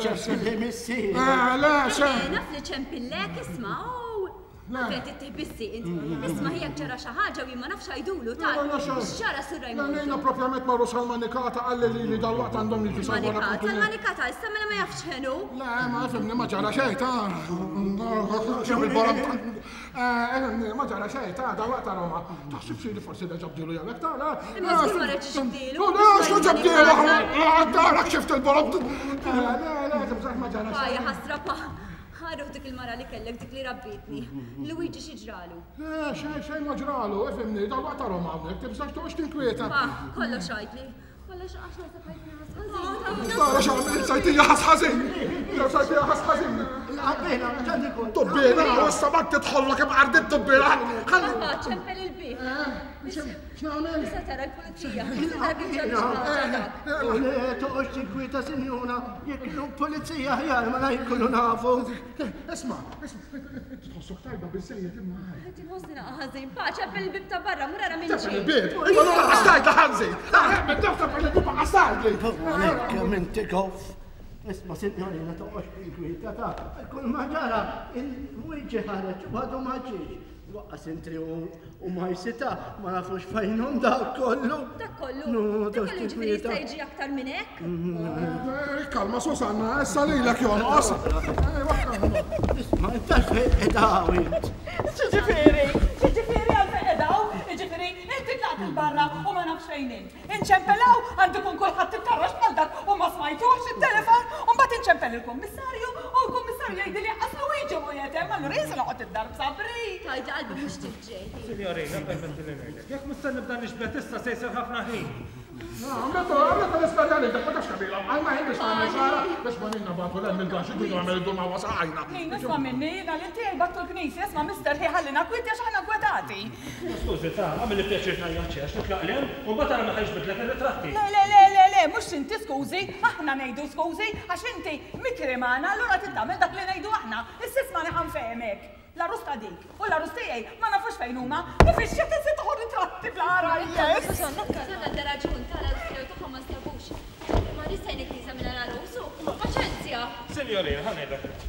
Ċess li missier. Le, xe. Naf li ċempillek, isma' Għet it-tihbissi, Isma' ħijak ġara xi ħaġa u jien ma nafx għajdulu ta' x'ġara sur Raimondo. Nina propjament marru sal-manikata għalli li li dal-waqt għandhom jiġu sal-manikata. Sal-manikata, issa mela ma jafx ħenu. Le, ma fimni ma ġara xejn ta' ġeb il-borom. Ma ġara xejn ta' dal-waqt ta' Roma. Taħsib xi li forsi reġa' bdilu jew hekk ta' le. Imma żgur ma reġgħux bdilu. Le, x'lu ġab bdilu? Darak xift il-borom. Le, le, tibżax ma ġara xejn. Ħajja ħasra pa. Ħaruh dik il-mara li kellek dik li rabbitni. Luigi xi ġralu? Le, xejn xejn ma ġralu, ifhimni, dal-waqt tarhom hawnhekk, tibżax toqgħodx tinkwieta. Pa, kollox għidli. Kollox għax naħseb ħajtni ħas ħażin. Tara x'għamil, sajtija ħas ħażin. Sajtija ħas ħażin. Il-qabbina, ġan ikun. Tubbina, u issa ma tidħollok imqardit tubbina. Ħalli. Pa, ċempel il-bieb. X'nagħmel? Issa tara l-pulizija. Issa tara kif ġara xi ħaġa dak. Le, toqgħodx tinkwieta, sinjura, jekk kienu pulizija aħjar ma jkunu nafu. Isma', isma', inti tħossok tajba biżejjed imma. Qed inħossni naqa' ħażin. Pa, ċempel il-bieb ta' barra, mur ara min ġie. Ċempel il-bieb? Imma allura lanqas tgħidli ħanżin. Minn taf ċempel il-bieb lanqas tgħidli. Għalhekk kemm inti goff. Isma' sinjorina toqgħodx tinkwieta ta' kull ma ġara il-Luigi ħareġ u għadu ma ġiex. Waqqas intri u majsita ma nafux fejnhom dak kollu. Dak kollu? Dak kollu ġifieri jista' jiġi aktar minn hekk? Kalma Susanna, issa lilek jonqos. Isma' inta fejn qegħdaw int. X'ġifieri? X'ġifieri għal fejn qegħdaw? Jiġifieri inti tlaqt 'il barra u ma nafx fejn int. Inċempel hawn, għandu jkun kulħadd ittarrax bħal dak u ma smajtux it-telefon, u mbagħad inċempel il-kummissarju u l-kummissarju jgħidli li qas Luigi mhu qiegħed hemm, allura jien se noqgħod id-dar b'sabri. Tgħidli qalbi mhux tiġġej. Sinjorina, permettili ngħidlek, jekk mhux se nibda niġbed issa se jsir ħafna ħin. Għamlet għamlet l-istorja li dak ma tafx kemm ilha għal ma biex tagħmel xara biex ma nina bagħtu l-hemm il-gaxx idu jagħmel idu ma wasaqajna. Min isma' minni jiena lil tiegħi bagħtu l-knisja, isma' mister ħi ħallina kwieti għax aħna nkwetati. Skużi ta, għamilli pjaċir tgħajjat xi għax nitlaq 'l hemm u mbagħad ara meta jiġbidlek ir-ritratti. Le le le le le mhux inti skużi, aħna ngħidu skużi għax inti mikri magħna allura trid tagħmel dak li ngħidu aħna. Issa ismagħni ħa nfehmek. L-għarus ta' dik u l-għarus tiegħi ma nafux fejn huma. Kif ix-xita se tieħu ritratti bla għarajjes. Susanna għandha raġun, ta' l-għarus tiegħu tagħhom ma nstabux. Imma nista' jgħin il-knisja mingħajr għarus u paċenzja! Sinjorina, ħa ngħidlek hekk.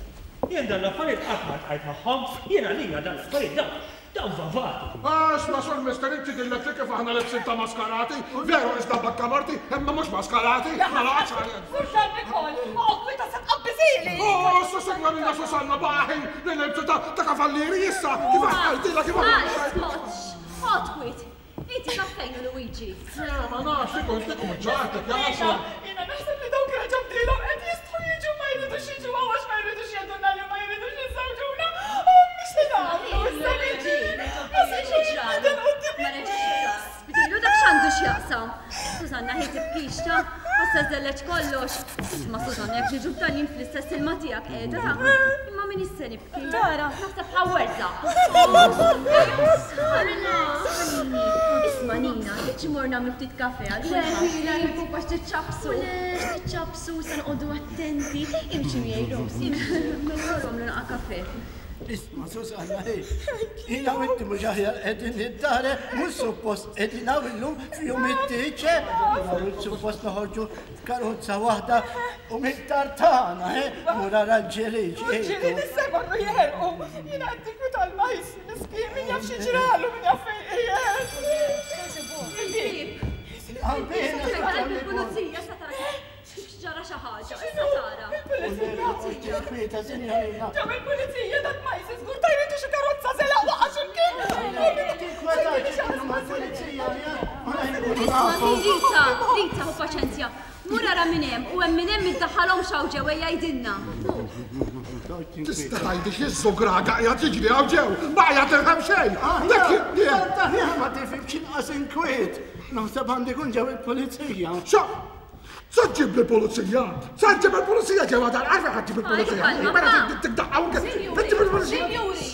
Jien dan l-affarijiet qatt ma ltqajt magħhom, jien għalija dan l-affarijiet dawn Dawn vavati! Għax ma sur mister inti dillek li kif aħna lebsin ta' maskarati, veru iżda bakka marti, imma mhux maskarati, ma noqgħodx għalih. Sur San Nikol, oqgħod kwieta se tqabbiżili! Oh, issa signorina Susanna baħi li libsu ta' kavallieri issa, kif għaltilha kif għal. Oqgħod kwiet. Inti taf fejn hu Luigi? Eh, ma nafx, ikun ikun ġartek, ja Jiena, jiena naħseb li dawk reġgħu bdielhom qed jistħu jiġu ma jridux jiġu hawn għax ma jridux jgħidulna li ma jridux jiżżewġuna. Ommi x'se nagħmlu issa Luigi? Ma se jkun jinbidel quddiem in-nies. x'jaqsam. Susanna hi tibkix ta' issa żelleġ kollox. Isma' Susanna jekk ġiġu f'dan jien fl-istess ilma tiegħek qiegħda ta' imma min isse nibki. Tara. Naħseb ħawerza. Isma' Nina, trid xi mor nagħmlu ftit kafe għal Le, ħila jibuk għax tiċċabsu. Le, tiċċabsu, se noqogħdu attenti. Imxi miegħi Rose, imxi. Mela nagħmlu naqa' kafe. Isma' Susanna, hi. Jiena u inti mhux aħjar qegħdin id-dar, mhux suppost qegħdin hawn illum f'jum it-tieġ, mhux suppost noħorġu f'karozza waħda u mid-dar tagħna, mur ara l-ġirien. Il-ġirien issa jmorru jeħerqu. Jiena qed tinkwita l-majs, miskin, min jaf xi ġralu, min jaf fejn qiegħed. Il-bieb. Il-pulizija sa tara. Ġara xi ħaġa, issa tara. Il-pulizija. Kwieta, sinjorina. Ġew il-pulizija dak ma jisir żgur tajritu xi karozza żelaq waqa' x'imkien. Isma' Rita, Rita, ħu paċenzja. Mur ara minn hemm u hemm minn hemm iddaħħalhom x'hawn ġew ejja jgħidilna. Tista' tgħidli xi żugraga qiegħed jiġri hawn ġew? Ma qiegħed nifhem xejn. Dak ma tifhimx inqas inkwiet. Naħseb għandi kun ġew il-pulizija. Sa ġib il-pulizija! Sa ġib il-pulizija ġewwa dar, għalfejn ħadd ġib il-pulizija? Mela tikdaqqa u ġib il-pulizija. Sinjuri,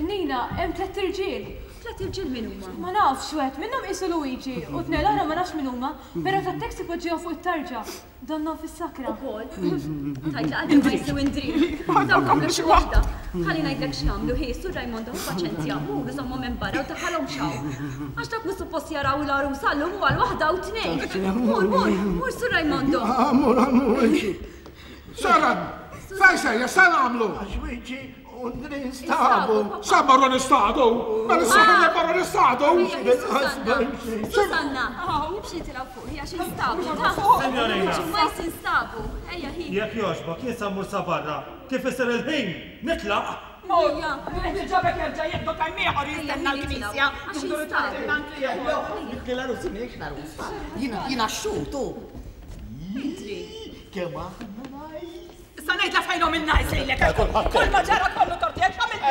Nina, hemm tlett irġiel. Tlett irġiel min huma? Ma nafx, wieħed minnhom qisu Luigi u tnejn l-oħra ma nafx min huma, però tat-taxi poġġihom fuq it-tarġa. Donnhom fis-sakra. Ukoll. Tgħid li qalbi ma jsew indri. Dawk għamlu xi waħda. Ħalli ngħidlek x'nagħmlu, hi, Sur Raimondo, ħu paċenzja, mur żommhom hemm barra u daħħalhomx hawn. Għax dawk mhux suppost jaraw il-għarusa llum u għal waħda u tnejn. Mur, mur, mur Sur Raimondo. Mur, mur, Sara, fejn sejjer, se nagħmlu? Għax wiċċi u nistadu. Sa marru nistadu? Mela s-saħħa marru nistadu? Susanna, imxi tilgħu fuq, hija xi nstabu. Signorina. Ma jinstabu. Ejja hi. Jekk jogħġbok, jien sa mmur sa barra. Kif isir il-ħin, nitlaq. Mur, ġabek jerġa' jieħdu kemm ieħor jistenna l-knisja. Jiena x-xut, u. Kemm aħna nice. Issa ngħidla fejnhom in-nice lilek. Kull ma ġara kollu tort tiegħek x'għamilt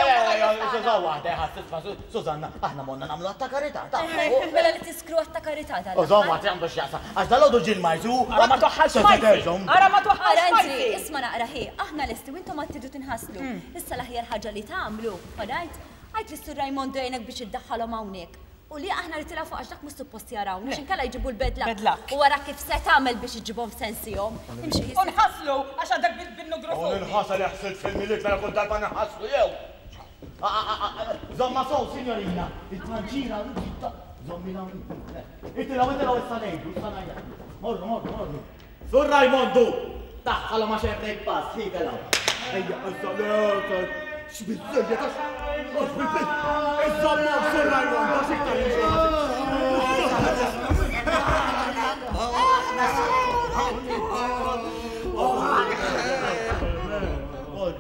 Suża waħda, ħassisma Sużanna, aħna monna nagħmlu għatta karità. Mela li tiskru għatta karità tal. Użom għat għandu x'jaqsam. Għax dal-għodu ġil majzu. Ara ma toħħalx majzi. Ara ma toħħalx majzi. Isma' naqra ħi, aħna lesti u intom għad tridu tinħaslu. Issa l-aħjar ħaġa li tagħmlu, alright? Għid lis-Sur Raimondo jgħinek biex iddaħħalhom hawnhekk. U li aħna li tilgħu fuq għax dak mhux suppost jarawna, għax inkella jġibu l-bad luck. Bad luck. U wara kif se tagħmel biex iġġibhom f'sensihom. Imxi. U nħasslu għax għadek bin-nugrufun. U ninħasel ħsilt fil-Milied mela kull darba ninħasslu jew. Żomma sew, signorina, il-panċina żommilha hawnhekk. Itilgħu, itilgħu issa ngħidu, issa ngħidlu. Morru, morru, morru. Sur Rajmondu! Daħħalhom għax hemm pass, hi telgħu. Ejja, issa, le, x'biżżejjed għax għax bil-biss. Iżommhom Sur Rajmondu għax iktar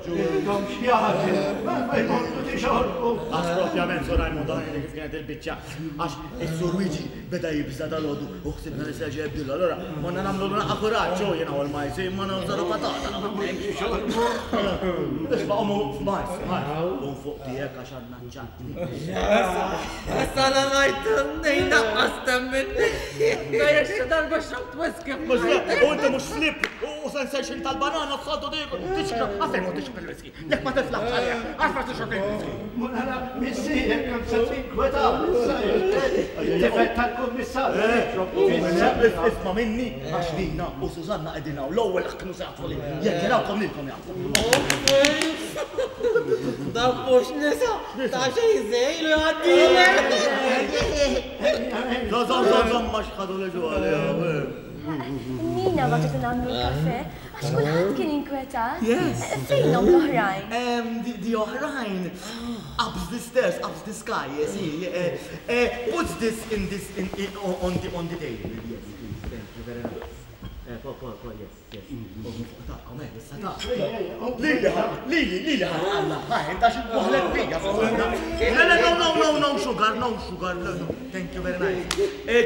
Intom x'jaħdem, ma jmorru tixorbu. Għax propjament Sur Rajmondu għajni kif kienet il-biċċa. Għax is-Sur Luigi beda jibża' dalgħodu u ħsibna li se jerġa' jibdilha. Allura konna nagħmlu naqqa kuraġġ u jiena u l-majs imma nagħżaru patata. Isma' qomu majs, majs. Qum fuq tiegħek għax għandna ċ-ċattni. Issa la ngħid ngħid naqqas temminni. Għajja xi darba xrobt whisky. Mhux u inti mhux flip u sensation tal-banana s-soltu tixrob. Għalfejn ma tixrob il-whisky? Jekk ma tiflaħx għalih, għax ma tixrob il-whisky? Mara, missierek kemm se tinkweta issa it-tifel tal-kummissarju jixrob fis-sengħa. Isma' minni, għax Lina u Susanna qegħdin hawn l-ewwel kienu se jaħtfu lili. Jekk jarawkom lilkom jaħtfu. Dawk mhux nisa, ta' xejn żejl u jgħaddilek. Żomm, żomm, żomm, ma x'ħadu li ġu għaliha. Nina bagħtet nagħmlu l-kafè. Għax kulħadd kien inkwetat. Yes. Fejnhom l-oħrajn? The oħrajn ups the stairs, ups the sky, yes, he, puts this in this in, in, on the on the table. Yes, please, thank you very much. Po, po, po, yes, yes. U fuq tagħkom, issa ta'. Lili, lili, lili ħa ħa, inta xi waħlet bija, Susanna. Le, le, no, no, no, no sugar, no sugar, no, no, thank you very nice.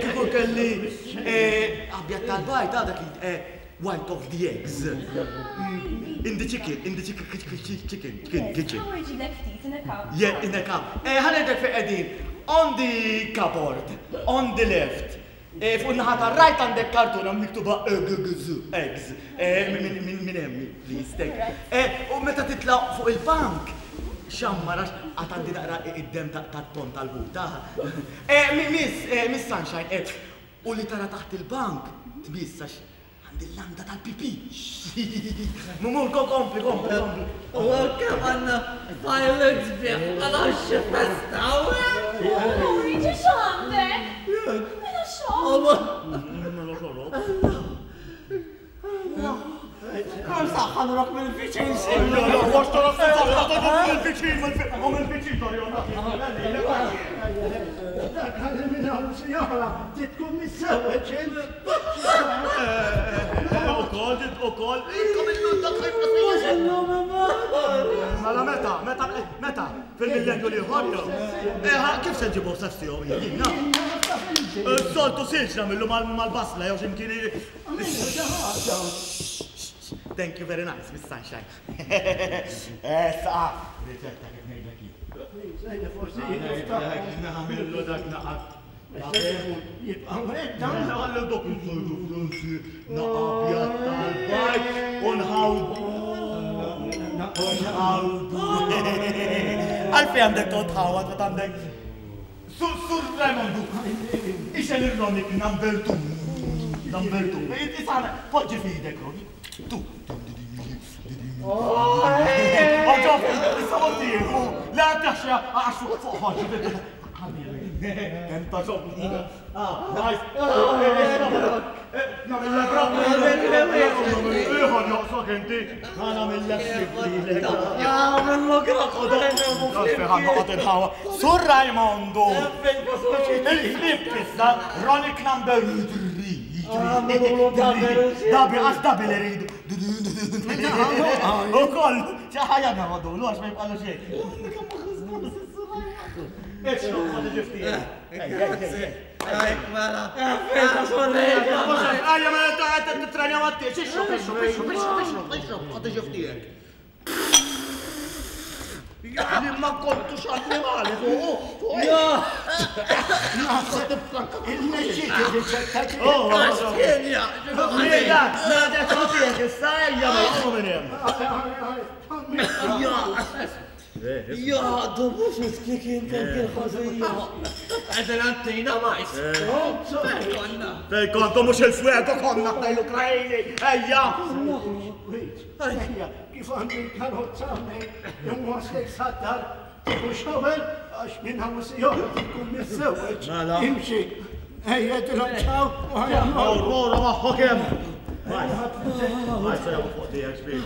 Kieku kelli abjad tal-bajd, għadha eh, White of the eggs. In the chicken, in the chicken, chicken, chicken, kitchen. Ħa jġiblek ftit in a cup. Yeah, in a cup. Eh, ħa ngħidlek fejn qegħdin. On the cupboard, on the left. Fuq in-naħa tar-right għandek kartuna miktuba eggs, eggs. Minn hemm, please, thank you. U meta titla' fuq il-bank, xammar għax għad għandi naqra id-demm tat-ton tal-ħuta. Miss, Miss Sunshine, u li tara taħt il-bank, tmiss għax Għandi l-landa tal-pipi. Mumur, kompli, kompli, kompli. U kemm għandna fireworks sbieħ għal xi festa Luigi, x'għandek? Mela xogħol. Mela xogħol. Kemm saħħa nurok mill-viċin mill-viċin, mill-viċin, Dak għalli minn hawn sinjora, trid tkun miżżewweġ int. Ukoll, ukoll, intom illum dak Mela meta, meta, meta, fil-millenju li ieħor jew? Kif se nġibu sessiju jiena? Soltu silġ nagħmillu mal-basla jew x'imkien. Thank you very nice, Miss Sunshine. Issa, riċetta kif ngħidlek jien. Forsi Nagħmillu dak naqat. Jibqa' hekk dan. Għallu dok il-soltu Franzi naqabjat tal-bajt u nħawdu. Nħawdu. Għalfej għandek toqgħod tħawad meta għandek Sur Sur Raimondu, ixgħel ir-Ronic number 2. Number 2. Isana, poġġi f'idek Ronic. 2. Oġof, issa mod tieħu. La taxxa għax fuq ħoġġi. Kemm ta' xogħol. Ah, nice. Ieħor joqsok inti. Ħana Sur Raimondo! Il-flip issa, Ronic number 3. Dabi, għax dabi li rridu. U koll, ċaħajja għadu, l-għax ma jibqalu xejn. Ixrob, ma tiġi Mela. Ejja, mela ta' titrenja ma t-tiex, ixrob, ixrob, ixrob, ixrob, ixrob, ixrob, ma tiġi ftijek. Li ma kontux annimali fuq, fuq. Naħseb il-mexxi riċetta Oh, Ejja, nagħtek tiegħek issa ejja ma jqomu minn hemm. Ja, du mux miskikin kien kien ħażija. Għedin għantina majs. Konna. Fej kontu mhux il-fuego konna ħdej l-Ukrajni. Ejja! Ejja, kif għandi l-karozza hawnhekk, inwaslek sad-dar, tieħu shower għax minn hawn sinjora tkun miżżewweġ. Mela. Imxi. Ejja, tilhom ċaw u ħajja. Aurora magħhok hemm. Majs, fuq tiegħek xbiex.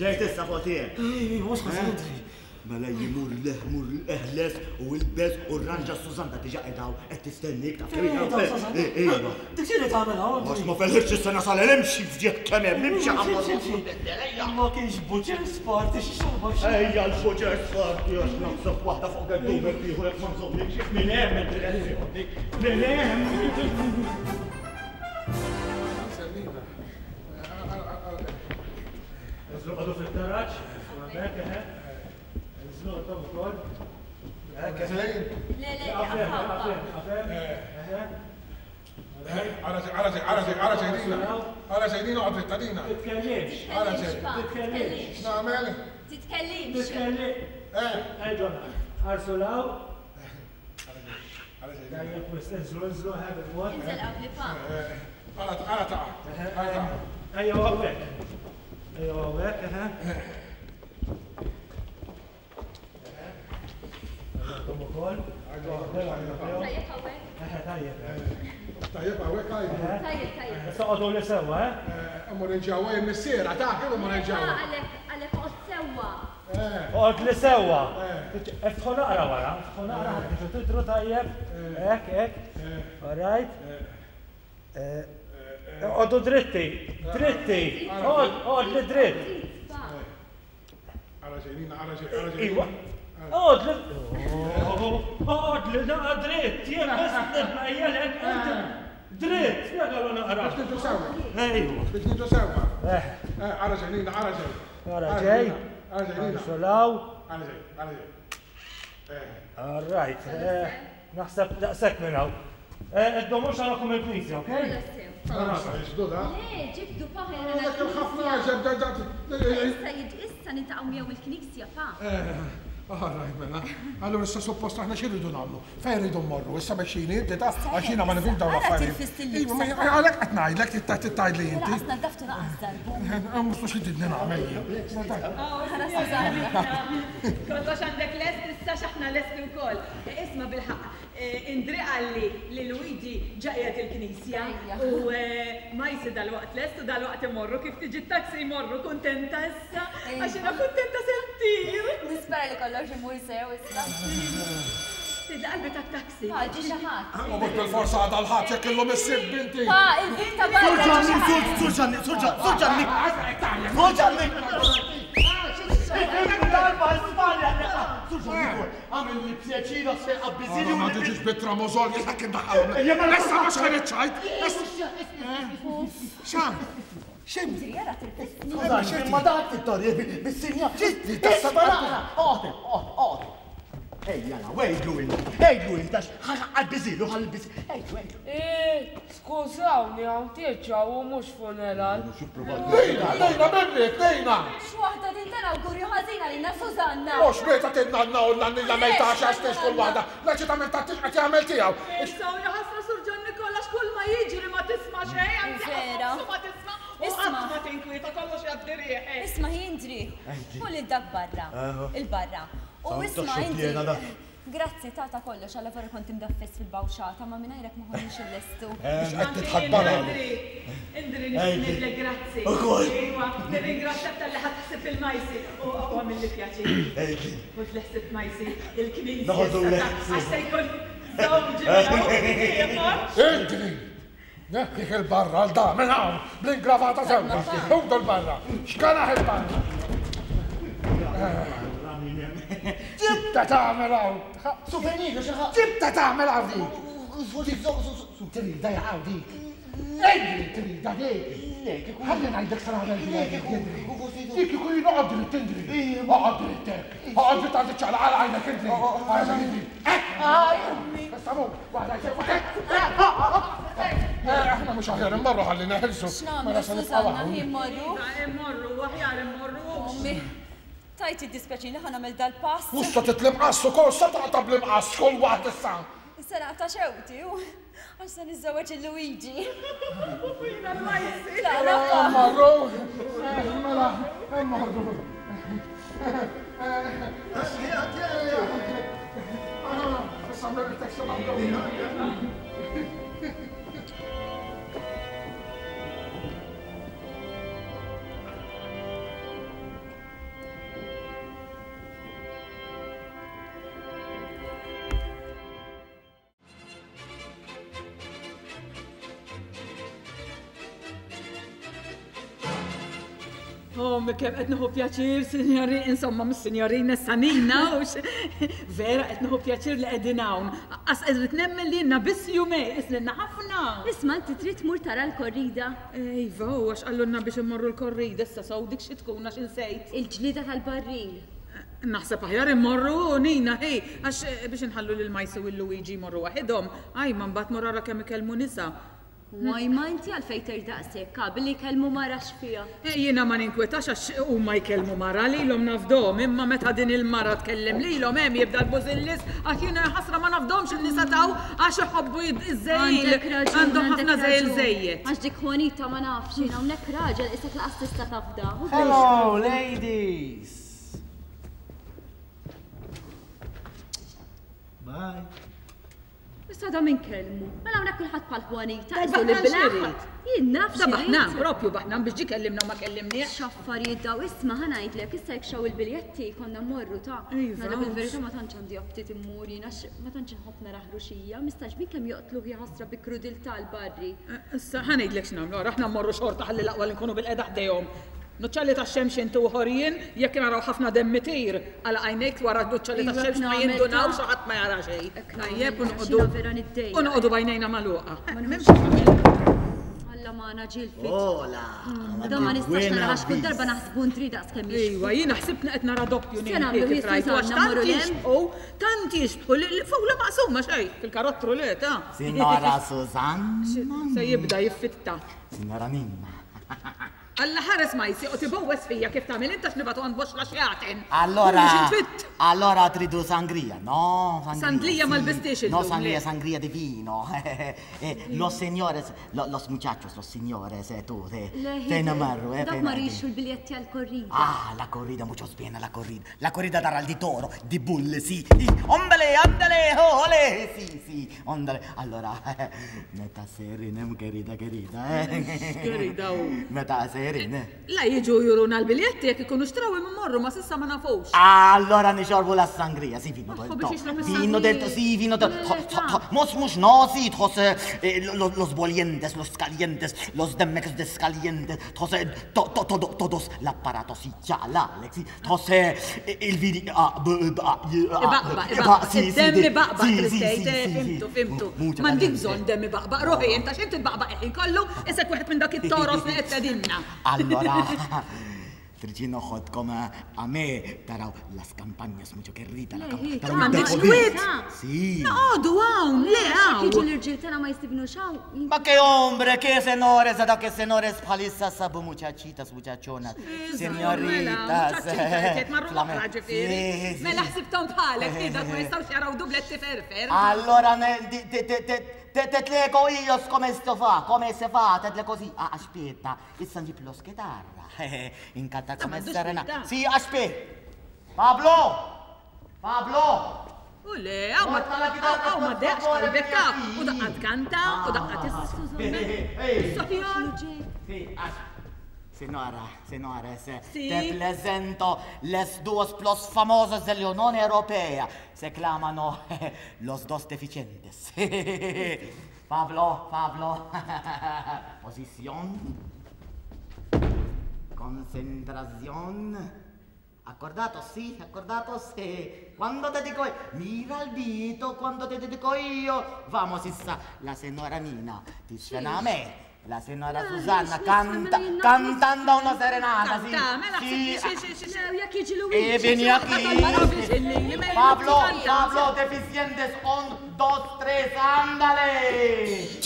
Ġejt issa fuq tiegħek. Ej, mhux ħażin. Mela jimur leħ mur eħles u ilbes u rranġa Susanna diġa qedaw qed tistennik taf kemm hija. Iva. Dik xi tagħmel hawn? Għax ma felħitx is-sena sal imxi fġieħ kemm hemm imxi Ma kienx butcher's party xi xorba xi. Ejja l-butcher's party għax naħseb waħda fuq geddumek ieħor jekk ma nżommikx minn hemm id-direzzjoni. Minn hemm. Nżlu għadu fit-taraġ, hemmhekk, eħe. Nżlu għadhom ukoll. Hekk, eħe. Le, le, Għafem, għafem, għafem, għafem. Eħe. Ara ara ara ara ġejdina. Ara ġejdina għad dritta dina. Titkellimx. Ara ġej. Titkellimx. X'nagħmel? Titkellimx. Titkellimx. Eh. Ejġon, ħarsu law. Ara ġejdina. Tajjeb, wis, inżlu, inżlu, eħe, bil-mod. Inżel qabli pa. Ara ara taqa'. Ara taqa'. Ejja, hawnhekk. Ejja, hawnhekk, eħe. Għandhom ukoll. Tajjeb hawnhekk. Eħe, tajjeb. Tajjeb hawnhekk għajdu. Tajjeb, tajjeb. Issa qogħdu li sewwa, eh? Immur il-ġewwa jien missiera ta' kif immur il-ġewwa. Għalek, għalek oqgħod sewwa. Oqgħod li sewwa. Iftħu naqra wara, iftħu naqra ħalli tiġu tidru tajjeb. Hekk, hekk. All right. Oqgħodu dritti, dritti. Oqgħod li dritt. Pa. Ara ġejdina, ara ġej, ara ġejdina. Iwa. Oqgħod li Oqgħod li naqa dritt. Jien biss nitmejjelek inti. Dritt, spjegalu naqra. Biex niġu sewwa. Ejwa. Biex niġu sewwa. Ara ġejdina, ara ġej. Ara ġej. Ara ġejdina. Solaw. Ara ġej, ara ġej. All right. Naħseb daqshekk minn hawn. Iddomux narakom il-knisja, okej? Mela sew. Le, ġibdu pa ħajja Dak il-ħafna għaġeb Issa issa niltaqgħu miegħu il-knisja pa. All right, mela. Allura issa suppost aħna xi rridu nagħmlu? Fejn rridu mmorru? Issa mexxini inti ta' għax jiena ma nifhimx dawn l-affarijiet. Iva, ma għalhekk qed ngħidlek trid tgħidli inti. Laqas naddaftu laqas darbu. Mhux xi tridni nagħmel jien. Kollox għandek lest issa x'aħna lesti wkoll. Isma' bilħaqq, Indri qalli li Luigi ġa qiegħed il-knisja u Majsi dalwaqt lest u dalwaqt imorru kif tiġi t-taxi jmorru kuntenta issa għax jiena kuntenta se ntir. Nispera li kollox imur sew issa. Tgħid li qalbi tat-taxi. Pa, ġie xi ħadd. U mhux bilfors għada l-Ħadd jekk illum is-Sibt binti. Pa, il-bieb ta' barra ġie xi ħadd. Sur Ġanni, Sur Ġanni, Sur Ġanni! Sur Ġanni! Darba Spanja! Sur Ġanni, Għamilli pjaċir għax se jqabbiżili u. Ma tiġix bit-tramozol jien hekk indaħħalhom. Issa mhux ħa niċċajt. Xa? X'inti? Ma dak it-torri bis-sinja. Issa naqra. Oqgħod, oqgħod, oqgħod. Ejja la, wejdlu inti, ejdlu inti għax ħalbiżilu, ħalbiżilu. Ejdlu, ejdlu. Eh, skużawni hawn tieġa u mhux funeral. Lejna, lejna minnek, lejna! X'waħda din tal-awgurju ħażin għalina Susanna! Mhux meta tinnanna u n-nannina mejta għax għax kull waħda, l-eċitament tat-tieġ qed jagħmel tiegħu. Issa u ħasra Sur Ġon Nikola x'kull ma jiġri ma tisma' xejn, anzi ħafna ma tisma' u qatt ma tinkwieta kollox jgħaddi riħ. Isma' Indri, u lil dak barra, il-barra. U isma' Indri. Grazzi ta' ta' kollox, alla vera kont imdaffes fil-bawxata, ma mingħajrek ma konniex illestu. Biex qed tidħak barra. Indri, Indri, nixtieq ngħidlek grazzi. Ukoll. Iwa, nirringrazzjak talli ħadt ħsieb il-Majsi u għamilli pjaċir. Ħudt li ħsieb Majsi, il-knisja. Noħodulek. Għax se jkun żewġi minn hawn ieħor. Indri! Neħħih 'il barra għal da minn hawn bl-ingravata sewda. Ħudu 'l barra. Xkanaħ 'il barra. Ġibta tagħmel hawn. Souvenir, xi ħadd. Ġibta tagħmel hawn dik. Trida jaqaw dik. Ejri trida dik. Ħalli ngħidlek sa nagħmel dik. Dik ikun jien oqgħod dritt Indri. Oqgħod dritt hekk. Oqgħod dritt għandi ċaqlaq għal għajnek Indri. Għajnek Indri. Issa mur. Aħna mhux aħjar immorru ħalli neħilsu. X'nagħmlu Susanna, hi mmorru? Immorru, aħjar immorru. Ommi, tajt jiddispjaċini ħa nagħmel dal-pass. Mhux se titlimqass ukoll, se taqta' bl-imqass kull waħda issa. Issa naqta' xewti u għax se niżżewweġ il Luigi. Jiena l-Majsi. Immorru, mela, immorru. Oh, kemm qed nieħu pjaċir, sinjori, insomma, mhux sinjorina Sanina, hux vera qed nieħu pjaċir li qegħdin hawn. Qas qed nemmen li ilna biss jumejn, isnilna ħafna. Isma' inti trid tmur tara l-korrida? Iva, u għax qallulna biex immorru l-korrida issa sew dik xi tkun għax insejt. Il-ġlieda tal-barril. Naħseb aħjar immorru, Nina, hi, għax biex inħallu lil Majsi u l-Luigi jmorru waħidhom, ajma mbagħad mur ara kemm ikellmu nisa. Ajma inti għalfejn tgħid daqshekk, ah, billi jkellmu mara x'fiha? Jiena ma ninkwetax għax huma jkellmu mara lilhom nafdhom, imma meta din il-mara tkellem lilhom hemm jibda l-bużillis għax jiena ħasra ma nafdhomx in-nisa t'hawn għax iħobbu iż-żejl. Għandek raġun, Għandhom ħafna għandek żejl raġun. żejjed. Għax dik Juanita ma nafx jien hawnhekk raġel qisek laqas tista' tafda. Hello, ladies! Bye. Issa da min kellmu. Mela hawnhekk kulħadd bħal Juanita. Dal qisu li baħnan bilaħ. x'irid? Jien naf Da baħnan, x'irid. propju baħnan biex ġie kellimna u ma kellimniex. X'affarijiet daw isma' ħa ngħidlek issa jekk xaw il-biljetti konna mmorru ta'. Iva. Ngħidlek il-verità ma tantx għandi aptit immur jien għax ma tantx inħobb nara ħruxija. Mistagħġbin kemm joqtluh jaħasra bi krudiltà l-barri. Issa ħa ngħidlek x'nagħmlu, ara aħna mmorru xorta ħalli l-aqwa li nkunu bilqiegħda ħdejhom. Nuċċali tax-xemx inti u ieħor jien, jekk naraw ħafna demm itir, għalaq għajnejk wara n-nuċċali tax-xemx ma jindunawx u ħadd ma jara xejn. Tajjeb u noqogħdu u noqogħdu b'għajnejna magħluqa. M'hemmx x'tagħmel. tella magħna ġilfit. Ola! Da ma nistax nara għax kull darba naħsbu ntri daqs kemm jixbħu. Iwa, jiena ħsibtni qed nara doppju Se nagħmlu kif rajtu għax Susanna, tant mmorru 'l hemm? jixbħu, tant jixbħu li fula maqsuma xejn fil-karottru le ta. Signora Susanna. Se jibda jiffitta. Signora Ninna. Alla ħares ma jsieq u tibowwes fija kif tagħmel int għax nibgħatu għand boxxla xjaten. Allora, Mhux intfitt. allora tridu sangria, no? Sangria, Sandlija sì. ma lbistiex illum, No, sangria, le. sangria di vino. Eh, Los señores, los muchachos, los señores, eh, tu, te, fejn marru, eh, Dak fejn ma għaddi? rixu l-biljetti għal-korrida. Ah, la corrida, muchos bien, la corrida. La corrida darà di toro, di bulle, sì. sì. Ondale, andale, oh, ole, sì, sì, ondale. Allora, meta serinem, querida, querida, eh. Querida, oh. Meta serine. La jiġu juruna l-biljetti jekk ikunu xtraw immorru ma s'issa ma nafux. Allora nixorbu la sangria, sì, vino del biex to. jixrob Vino del to, sì, vino del to. Mos mux no, sì, tħoss eh, los bolientes, los calientes, los demex descalientes, tħoss eh, to, to, todo, todos l-apparato si ċala, Alex, sì, tħoss eh, il-vini, a, b, b, a, j, a, Ibaqbaq, b, ibaqbaq, sì, sì, id-demm di- ibaqbaq, sì, sì, Kristej, sì, te, sì, sì. fimtu, fimtu. Mucha M'għandix caliente. bżonn demm ibaqbaq, ruħi, inta x'int tbaqbaq il-ħin kollu, isek wieħed minn dak it-toros li qed tgħidilna. Allora, Tricino ħodkom a me taraw las campañas mucho que rita la campagna. Taraw M'għandekx il-deco- kwiet? Sì. Noqogħdu hawn, le Jiġu hawn. l-irġiel tagħna ma jistibnux hawn. Ma che hombre, che senores, da che senores bħalissa sabu muchachitas, muchachonas, señoritas. Marru oħra ġifieri. Sì, sì. Mela ħsibthom bħalek, li dak ma jistgħux jaraw dubletti ferfer. Allora, ne, di, te, te, te, te, te tleco io come sto fa, come se fa, te tle così. Ah, aspetta, issa nġib lo chitarra. Incanta come m'għandux serena. verità. Sì, aspetta. Pablo! Pablo! U le, hawn ma hawn ma deqx qalbek ta' u daqqa tkanta u daqqa tis. Sì, as- Senora, senores, Sì. te presento les dos plus famosos dell'Unione Europea. Se clamano los dos deficientes. Pablo, Pablo. Posición. Concentración. Accordato, sì, accordato, sì. Quando te dico io, mira il dito, quando te dico io. Vamos, issa, la signora Nina ti suona a me. La signora Susanna canta, cantando una serenata, sì. Kanta, mela sì. sì, sì, sì, sì. Jekk jiġi Luigi. E vieni aquí. Pablo, Pablo, deficientes, un, dos, tres, ándale.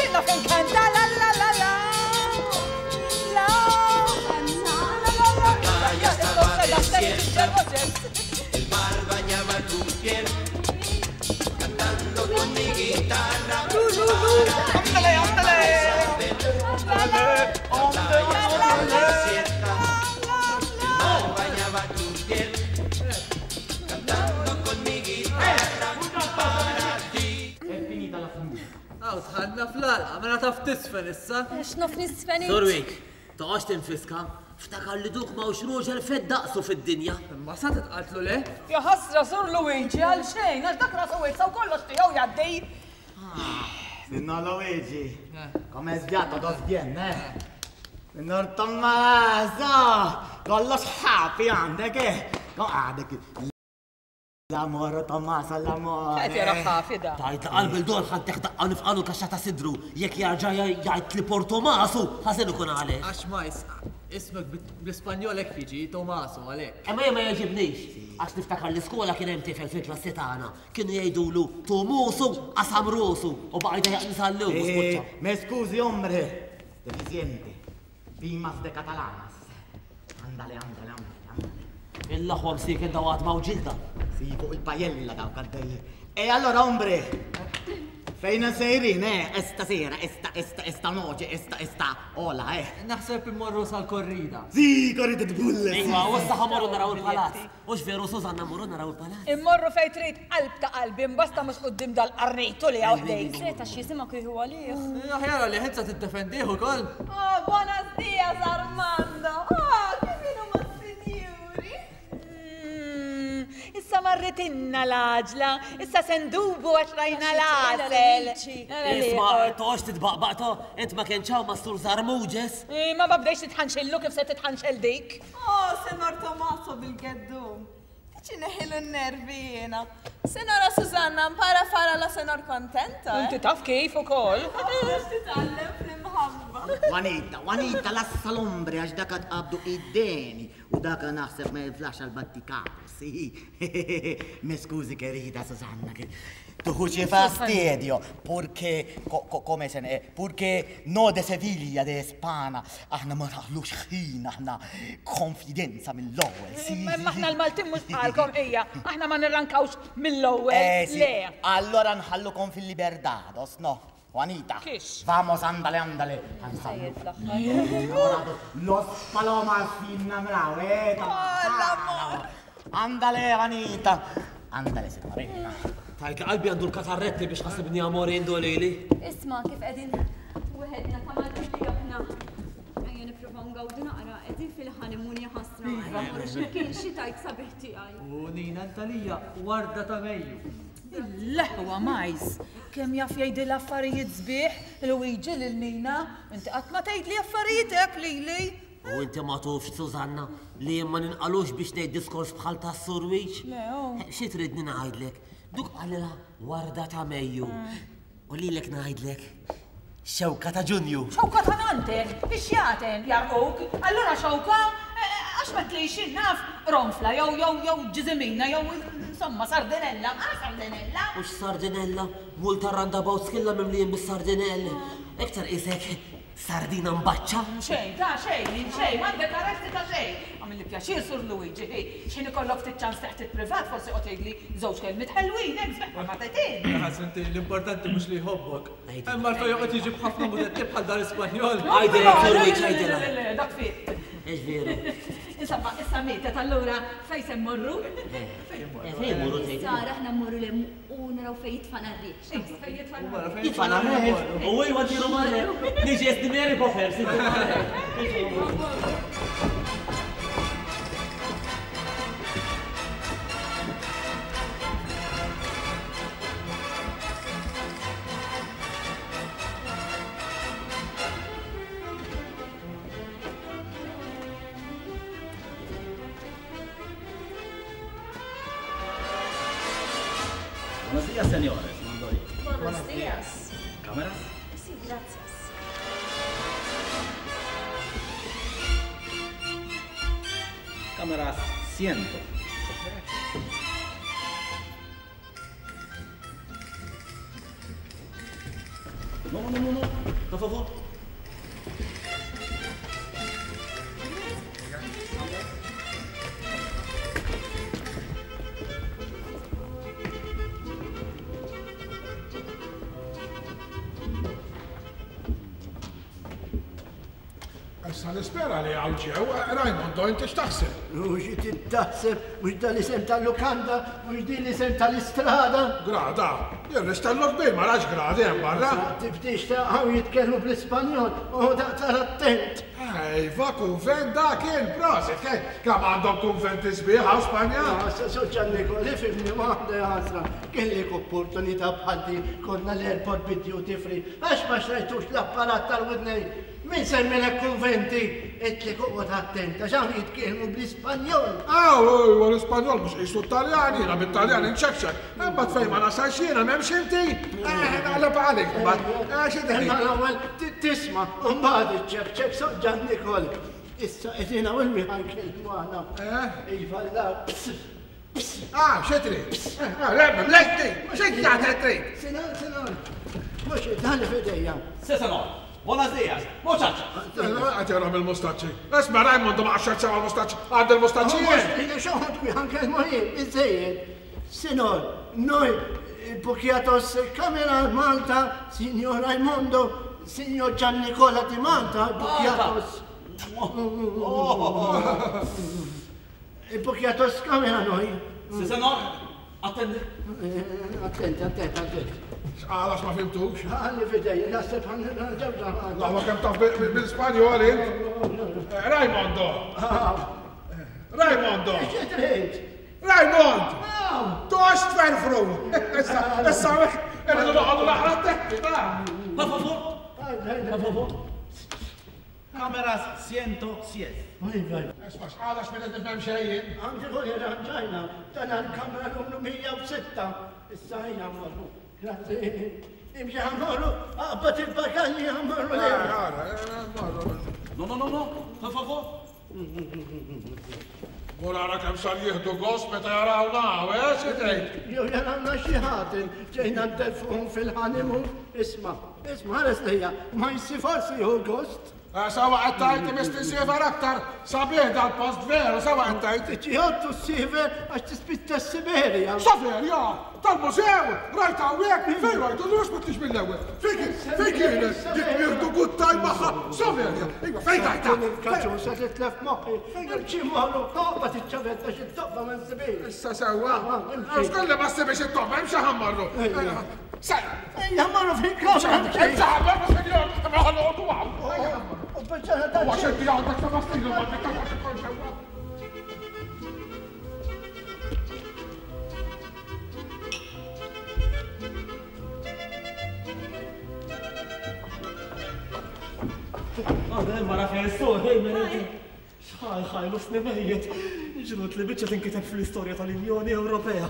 Sinna fejn kanta la la la la. La. La la la la. El mar bañaba tu piel, cantando con mi guitarra. Ándale, ándale. Desierta, el mar bañaba tu piel, cantando con mi guitarra para ti. È finita la musica. Aw, tħanna fl-għalqa, mela taf tisfen issa. X'nof nisfen int? Sorwik, toqgħodx tinfiska, ftakar li duk ma hux ruġel fed daqsu fid-dinja. Ma sa titqatlu le? Ja ħasra sur Luigi għal xejn, għax dak rasu wietsa u kollox tiegħu jgħaddi. Signor Luigi, come è sviato, dos bien, eh? Signor Tommaso, kollox ħafi għandek, eh? Ko għandek l-amore, Tommaso, l-amore. Qed jara ħafi da. Tajt qalb il-dor ħan teħdaqqa nifqalu kaxxa ta' sidru, jekk jarġa' jgħid li Portomasu, ħażin ikun għalih. Għax ma ismek bl-Ispanjol hekk jiġi Tomaso għalhekk. Imma jien ma jogħġibnix, għax niftakar l-iskola kien hemm tifel fil-klassi tagħna, kienu jgħidulu Tomusu qasam rusu u baqa' jdejjaq nisallum u spiċċa. Eh, me scusi, hombre, deficiente, pimas de catalanas. Andale, andale, andale, andale. Il-laħwa msiken dawat ma' ġilda. Sì, fuq il-pajella dawk għaddej. E allora, hombre, fejn sejrin, eh? Esta sera, esta, esta, esta noche, esta, esta, ola, eh? Naħseb immorru sal-korrida. Sì, corrida di bulle, sì. Iva, u issa ħamorru naraw il-palazz. Hux veru, Susanna, mmorru naraw il-palazz. Immorru fejn trid qalb ta' qalbi, imbasta mhux quddiem dal-qarnejtu li hawn ħdejk. Seta x'jisimgħek kieku għalih. Aħjar għalih int sa tiddefendih ukoll. Oh, buenos dias, Armando. Oh, kif inhuma s-sinjuri? Issa marritinna l-għaġla, issa se ndubu għax rajna l-għasel. Isma, toqgħodx titbaqbaq to, int ma kienx hawn ma' Sur Zarmuġes. Eh, Ma ma bdejx titħanxillu kif se titħanxel dik. Oh, Senor Tommaso bil-geddum. Ċineħilu n-nervi jiena. Senora Susanna, mpara fara la senor contento. Inti taf kif ukoll. Titgħallem fl-imħabba. Juanita, Juanita, lassa l-ombre għax daka tqabdu id-deni u daka naħseb ma jiflax għal-battikato, sì. Mi scusi querida Susanna, che tu ci fastidio, purché, co, co, come se ne, purché no de Seviglia, de Espana, aħna ma naħlux ħin, aħna konfidenza mill-ewwel, sì. Imma aħna l-Maltin mhux bħalkom ejja, aħna ma nirrankawx mill-ewwel. Eh, sì. Le. Allora nħallukom fil-libertados, no? Juanita. Kix? Vamos, andale, andale. Ansallu. Los palomas innamorao, eh? Oh, Andale, Juanita. Andale, signorina. Tajt qalbi għandu l-katarretti biex ħasibni amorindo lili. Isma' kif qegħdin weħedna ta' Malti li aħna. Ejja nippruvaw ngawdu naqra, qegħdin fil-honeymoon ja ħasra. Iva. Ejja mmorru x'imkien xi tajt sabiħ tiegħi. U Nina Ntalija, warda ta' Mejju. L-eħwa majs, kemm jaf jgħidilha affarijiet sbieħ Luigi lil Nina, inti qatt ma tgħidli affarijiet hekk lili. U inti ma tufx, Susanna, li jien ma ninqalux biex ngħid diskors bħal tas-Sur Wiċ? Le, oh. Xi tridni ngħidlek? Duk qalilha warda ta' Mejju. U lilek ngħidlek xewka ta' Ġunju. Xewka ta' nanten, ix-xjaten jarquk. Allura xewka, għax ma tlix jien naf ronfla jew jew jew ġiżimina jew insomma sardinella. Ah, sardinella! Mhux sardinella, multa roundabouts kollha mimlijin bis-sardinell. Iktar qisek sardina mbaċċa. Xejn, ta' xejn, minn xejn, m'għandek arresti ta' xejn. Għamilli pjaċir, Sur Luigi, hi, x'ħin ikollok ftit ċans taħt il-privat forsi qgħod tgħidli żewġ kelmiet ħelwin, hekk sbieħ bħal ma tgħid int. Ħas inti l-importanti mhux li jħobbok. Hemm għalfejn joqgħod jiġi b'ħafna mudetti bħal dan l-Ispanjol. Għidilha, Sur Luigi, għidilha. Le, le, le, dak fit. Hux veru? Insomma, issa mietet allura fejn se mmorru? Fejn immorru tgħid? Sara aħna mmorru 'l hemm u naraw fejn jitfana r-riħ. Jitfana r-riħ? U iwa ntiru marre. Niġi qed Mary Poppers. Buenos días, señores. Mandolí. Buenos días. ¿Cámaras? Sí, gracias. Cámaras ciento. No, no, no, no. Por favor. Issa nispera li hawn ġew, Raimondo, inti x'taħseb? U xi trid taħseb, mhux dan l-isem tal-lukanda, mhux din l-isem tal-istrada. Grada? Jien ristellu kbir ma rax gradi hemm barra. Tibdix ta' hawn jitkellmu bl-Ispanjol, oqgħod aktar attent. Iva, kunvent dak kien, prosit, kemm għandhom kunventi sbieħ hawn Spanja. Sur Giannico, li fimni waħda ja ħasra, kellek opportunità bħal din, konna l-airport bid-duty free, għax ma xtrajtux l-apparat tal-widnejn? Min semmilek kunventi? Għedtlek oqgħod attent għax hawn jitkellmu bl-Ispanjol. Aw, iwa l-Ispanjol mhux qisu t-Taljan, jiena bit-Taljan inċekċek. Imbagħad fejn ma nasalx jiena m'hemmx inti. Eh, naqleb għalik imbagħad. Eh, xi tgħid? Imma l-ewwel tisma' u mbagħad iċċekċek Sur Ġan Nikol. Issa qegħdin hawn il-miħan nkellmu aħna. Eh? Iva la, Ah, xi trid? Ah, le, mlejtni! Xi trid trid? Sinan, sinan. Mhux dan f'idejja. Sí, senor. Buenos días, muchacha. Qed jarahom il-mustaċċi. Isma' Raimondo ma qaxxar sew għall-mustaċċi. Għand il-mustaċċi jien. Xoħod kwi ħankellmu jien, biżejjed. Sinor, noi bukjatos kamera Malta, Signor Raimondo, Signor Gian Nicola di Malta, bukjatos. Bukjatos kamera noi. Si, senor. Attendi. Attenti, attenti, attenti. X'qal għax ma fimtux? Għalli fidej, naħseb ġewġa. La kemm taf bil-Spanjol int. Raimondo! Raimondo! Xi trid? Raimond! Tox tferfru! Issa, issa, irridu noqogħdu naqra attenti, ta. Per favor. Per favor. Cámaras 107. Isma' x'qal għax minn qed nifhem xejn jien. Għandi kun irranġajna dan għall-kamra numru 106. Issa ejja mmorru. Grazzi. Imxi ħa mmorru, aqbad il-bagalji ħa mmorru. Ara, mmorru. No, no, no, no, per favor. Mur ara kemm sar jieħdu gost meta jarawna hawn, eh, xi tgħid? Jew jarawna xi ħadd ġejna ntelfuhom fil-honeymoon. Isma', isma' ħares lejja, ma jsir forsi jieħu gost. Eh, sawa qed tgħid imiss tinsiefer aktar sabiħ dal-post veru, sawa qed tgħid. Ġiħodtu s-siefer għax tispiċċa s-Siberja. Siberja? Tal-mużew! Rajt hawnhekk? Fejn rajtu? Mhux ma tlix mill-ewwel. Fejn fejn kienet dik nieħdu good time magħha? Siberja! Iva, fejn rajtha? Il-kaċusa titlef moħħi. Imxi morru, toqgħod iċ-ċavetta xi toqba ma nsibhiex. Issa sewwa. Skolli ma ssibhiex it-toqba, imxi ħa mmorru. Ejja mmorru fil-kamra. Ejja mmorru sinjor, imma ħa noqogħdu hawn. U biċċa ta' Għax inti għandek ta' fastidju ma titgħax ikun sewwa. Għadha mara fejn suq, ej mela. Xħaj ħaj nofsni mejjet. Ġrut li biċċa tinkiteb fl-istorja tal-Unjoni Ewropea.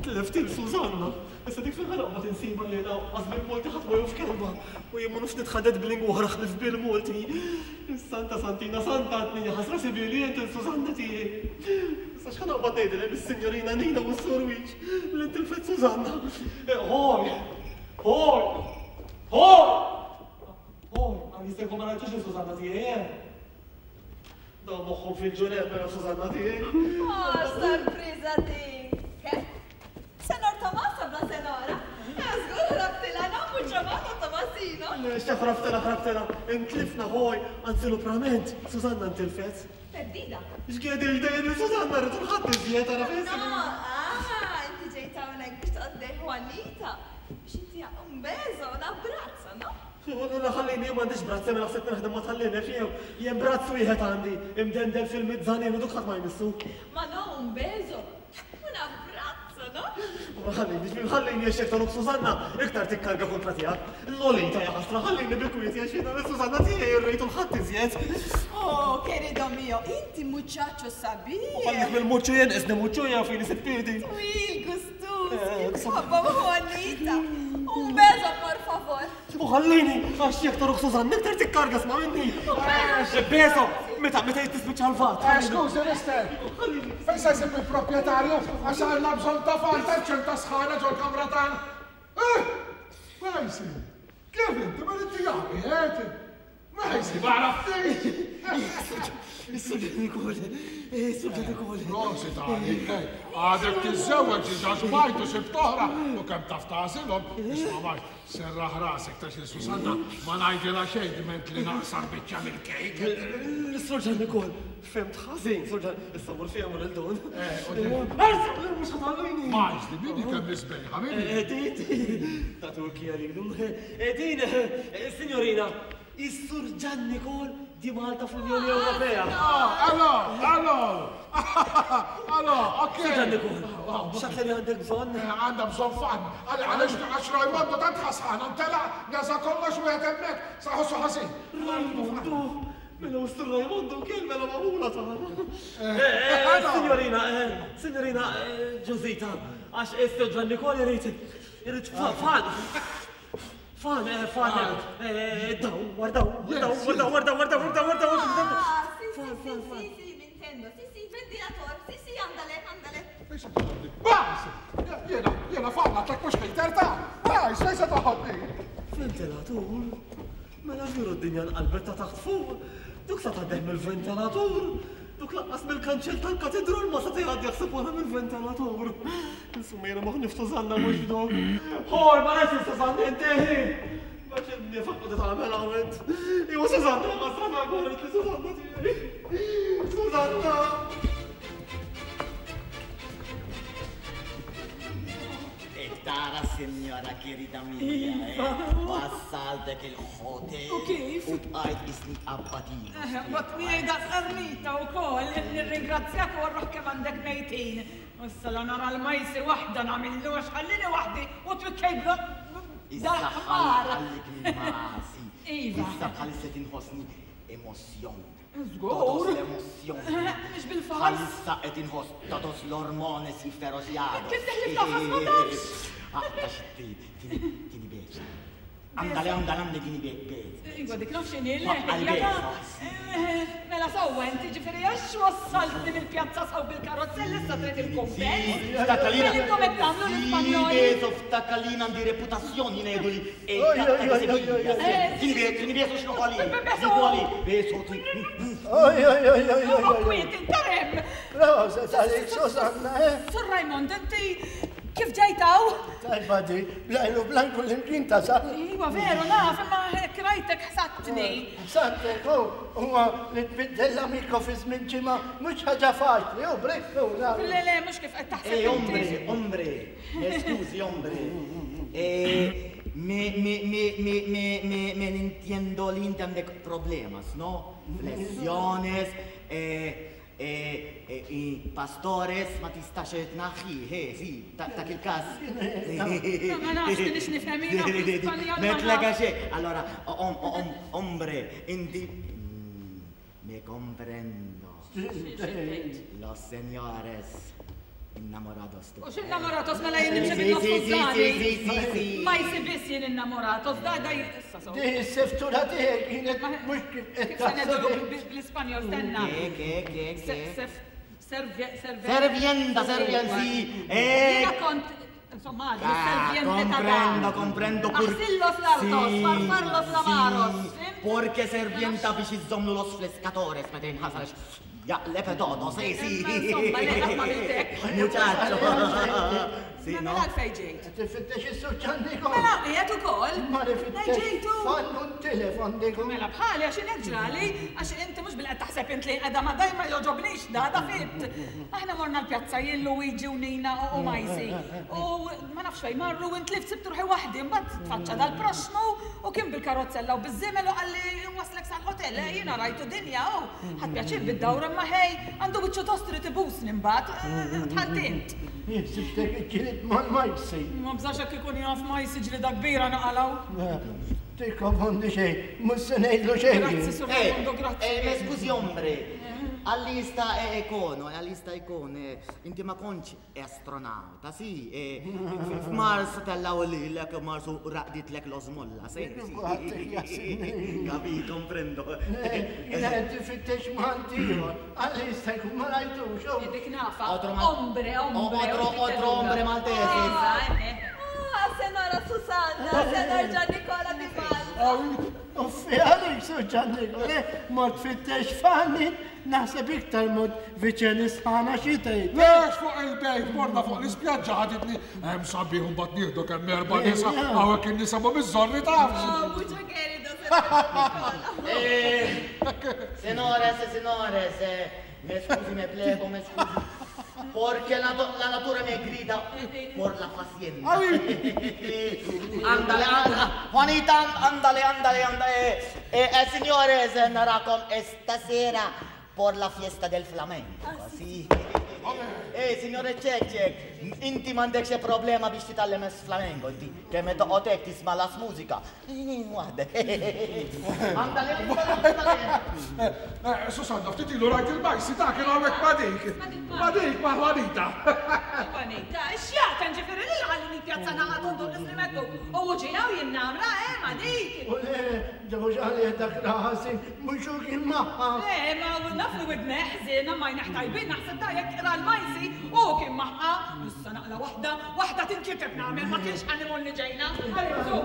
Tlift il Susanna. Issa dik fejn ħanoqgħod insiba li lanqas bil-Malti ħadd ma jaf kelma. U jien ma nafx nitħaddet b'lingwa oħra ħlief bil-Malti. Is-Santa Santina Santa għadni ħasra sibili int il-Susanna tiegħi. Issa x'ħa noqgħod ngħidilha lis-Sinjorina Nina u s-Sur Wiċ li ntilfet Susanna. Ħoj! Ħoj! Ħoj! Ħoj! Għal jista' jkun ma rajtux il-Susanna tiegħi, eh? Dawn moħħhom fil-ġureb mela Susanna tiegħi. Oh, sorpriża din! Che? Senor Tommaso bla senora. Żgur ħrabtilha no mucho modo Tommasino. Le, x'ta ħrabtilha ħrabtilha. Intlifna ħoj, anzi luprament, Susanna ntilfet. Perdida. X'qiegħed il-dejjem Susanna rrid ħadd iżjed ara fejn. No, ah, inti ġejt hawnhekk biex toqgħod Juanita. Biex inti un beso, un abbraccio, no? Le, ħallini, jien m'għandix brazz, jien naħseb naħdem ma' tal-linef jew jien brazz wieħed għandi, imdendel fil-mizzanin u duk ħadd ma jmissu. Ma no, un beso, un abbraccio, no? Ma ħallini, ġbir ħallini għax jekk tagħluk Susanna, iktar tikkarga kontra tiegħek. Lolita ja ħasra, ħallini bil-kwiet għax jiena lil Susanna tiegħi rrejtu l-ħadd iżjed. Oh, querido mio, inti muchacho sabiħ. U ħallik mill-muċċu jien, isni muċċu jew fejn isib piedi. Twil, gustus, kif tħobbha Juanita. Un beso, por favor. U ħallini, għax jekk tarok Susanna, iktar tikkarga sma' minni. Beso, meta meta jittispiċċa l-vat. Eh, skużi, mister. Fejn se jsib il-proprjetarju għax għandna bżonn ta' fan ta' ċerta sħana ġol-kamra tagħna. Eh, Majsi, kif inti ma inti jagħmel, eh? Majsi, ma għaraftix. Is-sultan ukoll, is-sultan ukoll. Prosit għalik, eh. Għadek tiżżewweġ diġà xbajt u sibt oħra u kemm taf tagħżilhom, isma' Majs, Serraħ rasek ta' xi Susanna, ma ngħidilha xejn diment li naqsam biċċa mill-kejk. L-Surġan ukoll, fhimt ħażin, Surġan, issa mur fiha mur il-dun. Mhux ħatallini. Majs, di min hi kemm isbejħa, min hi? Din, ta' Turkija lilu. Din, signorina, is-Sur Ġan Nikol di Malta fl-Unjoni Ewropea. Ah, allo, allo, allo, ok. Sur Ġan Nikol, x'aktar li għandek bżonn? Għandha bżonn fan. Għaliex għax Rajmondo tant ħasħana ntela' neża' kollox wieħed hemmhekk sa ħossu ħażin. Rajmondo, mela u Sur Rajmondo kien mela magħmula tagħna. Signorina, signorina Ġosita, għax is-Sur Ġan Nikol irid irid fan. Fan, fan, dawwar, dawwar, dawwar, dawwar, dawwar, dawwar, dawwar, dawwar. Ah, sì, sì, sì, sì, sì, mi intendo. Sì, sì, ventilator. Sì, sì, andale, andale. Bas! Jiena, jiena fan, għatlek mhux ħejter ta' Bas, fejn se toħodni? Ventilatur? Mela veru d-dinja nqalbet ta' taħt fuq. Duk sa tgħaddih mill-ventilatur. Duk lanqas mill-kanċell tal-katidral ma seta' jgħaddi jaħseb wara mill-ventilatur. Insomma jiena moħħni f'Susanna mhux f'dok. Ħor, ma rajtx Susanna inti! Ma x'in-nifaq qed tagħmel hawn int. Iwa Susanna, ma strana għaret li Susanna tiegħi. Susanna! Tara sinjora querida mia, eh? Wassaltek il-hotel. U kif? U bqajt isni abbatino. Eh, Waqt miegħi daqs qarnita wkoll, nirringrazzjak u għarruħ kemm għandek mejtin. U issa la nara l-majsi waħda nagħmillu għax ħallini waħdi u twikkejblu Issa dal-ħmar. ħallik il-masi. Iva. Issa bħalissa tinħossni emozzjon. Żgur. Todos l-emozzjoni. Mhux bil-fors. Bħalissa qed inħoss todos l-ormones jifferoxjados. Kif teħlif tafas ma tafx. Aqta xi tieni beċ. Andale, andale, andale, tieni beċ. Iva dik naf x'inhi le. Mela sewwa inti ġifieri għax wassaltni mill-pjazza saw bil-karozzell issa trid il-kumpens. Ftakalina. Intom qed tagħmlu l-Ispanjoli. Ftakalina għandi reputazzjoni ngħidu li Tieni beso, tieni beso x'nu għali. Għali, beso. Oj, oj, oj, oj, oj. Kwiet, interem. Proset għalik, Susanna, eh? Sur Raymond, inti kif ġejt hawn? Tajba di, blajlu blanku l-imkien tasal. Iva, veru, naf, imma hekk rajtek ħsadtni. Ħsadtek, u huwa li tbiddel l-amico fi żmien ġimgħa mhux ħaġa faċli, u brikkuna. Le, le, mhux kif qed taħseb. Eh, hombre, hombre, scusi, hombre. Eh, me, me, me, me, me, me, me entiendo li inti għandek problemas, no? Flessiones, eh, eh, eh, pastores ma tistax tnaħħi, he, si, ta' il-kas. Ma nafx minix nifhem jiena bl-Ispanjol. Metlega xe. Allora, hombre, inti me comprendo. Los señores innamorados tu. U x'innamoratos mela jien nimxi bin-nofs skużani. Ma jsibis jien innamoratos, da da issa so. Di s-seftura tiegħek kienet mhux kif qed Kif se ngħidu bl-Ispanjol stenna. Ke, ke, ke, ke. Servienda, Servienda, servien, si. Eh. Jiena kont Insomma, għadni serviente ta' Comprendo, comprendo. Aħsillos l-artos, farfarlos l-amaros. Porque servienta biex iżommu los flescatores meta jinħasal jaqleb todo, si, si. Insomma, le, qatt ma għamiltek. Muchacho. Si, no? Mela għalfejn ġejt? Tifittex is-suċ għandikom. Mela, qiegħed ukoll. Ma rifittex. Ġejtu. Fannu t-telefon dikom. Mela bħali għax hekk ġrali, għax inti mhux bil-qed taħseb int li qiegħda ma dajma jogħġobnix da da fit. Aħna morna l-pjazza jien Luigi u Nina u Majsi. U ma nafx fejn marru u intlift sibt ruħi waħdi, mbagħad tfaċċa dal-proxxmu u kien bil-karozzella u biż-żiemel u qalli nwaslek sal-hotel, eh, jiena rajtu dinja u ħadt pjaċir bid-dawra imma ħej għandu wiċċu tost irid ibusni mbagħad, dħalt int. Jien sibtek iġġieled mal-Majsi. Ma bżax hekk ikun jaf Majsi ġlieda kbira naqalgħu. Tikkonfondi xejn, mhux se ngħidlu xejn. Grazzi Sur Raimondo, grazzi. Eh, me scusi hombre, għal-lista ikon, għal-lista ikon, inti ma kontx astronauta, si, f'Mars tellaw lilek Mars u raqditlek l-osmolla, si. Kapi, comprendo. Jiena qed tifittex Malti ieħor, għal-lista jkun ma rajtux. Dik nafa, ombre, ombre. Otro ombre maltese. Ah, senora Susanna, senor Gian Nicola Di Malta. Uffi għalik, Sur Gian Nicola, mort tfittex Fanny, naħseb iktar mod viċin is-sħana xi tgħid. Lex fuq il-bejt, morna fuq l-ispjaġġa ħaditni, hemm sabiħ u mbagħad nieħdu kemm erba' nisa, hawnhekk in-nisa mhumiex żorri tafx. Oh, mucho querido, senor Nicola. Eh, senores, senores, me scusi, me plego, me scusi. Porque la, la natura me grida por la fazienda. Andale, andale, Juanita, andale, andale, andale. Eh, eh, señores, narakom esta sera por la fiesta del flamenco. Sì. Eh, signore Cecek, inti m'għandekx xi problema biex titgħallem flamenco, inti kemm toqgħod hekk tisma' las mużika. Waħdek. Andale, andale, andale. Eh, Susanna, ftit ilu rajt il-bajsi ta' kien hawnhekk ma' dik. Ma' dik, ma' Juanita. Juanita, x'jaqta ġifieri li ħallini pjazza naqgħod u ndur nislimettu. U ġi hawn jien namra, eh, ma' dik. U le, ġew għalih dak raħasin, mhux hu kien magħha. Le, ma naf li widneh ħżiena ma jneħ tajbin, naħseb da jekk qra l-majsi u kien magħha. Issa naqla waħda, waħda tinkiteb nagħmel, ma kienx honeymoon li ġejna. Għalek, zu,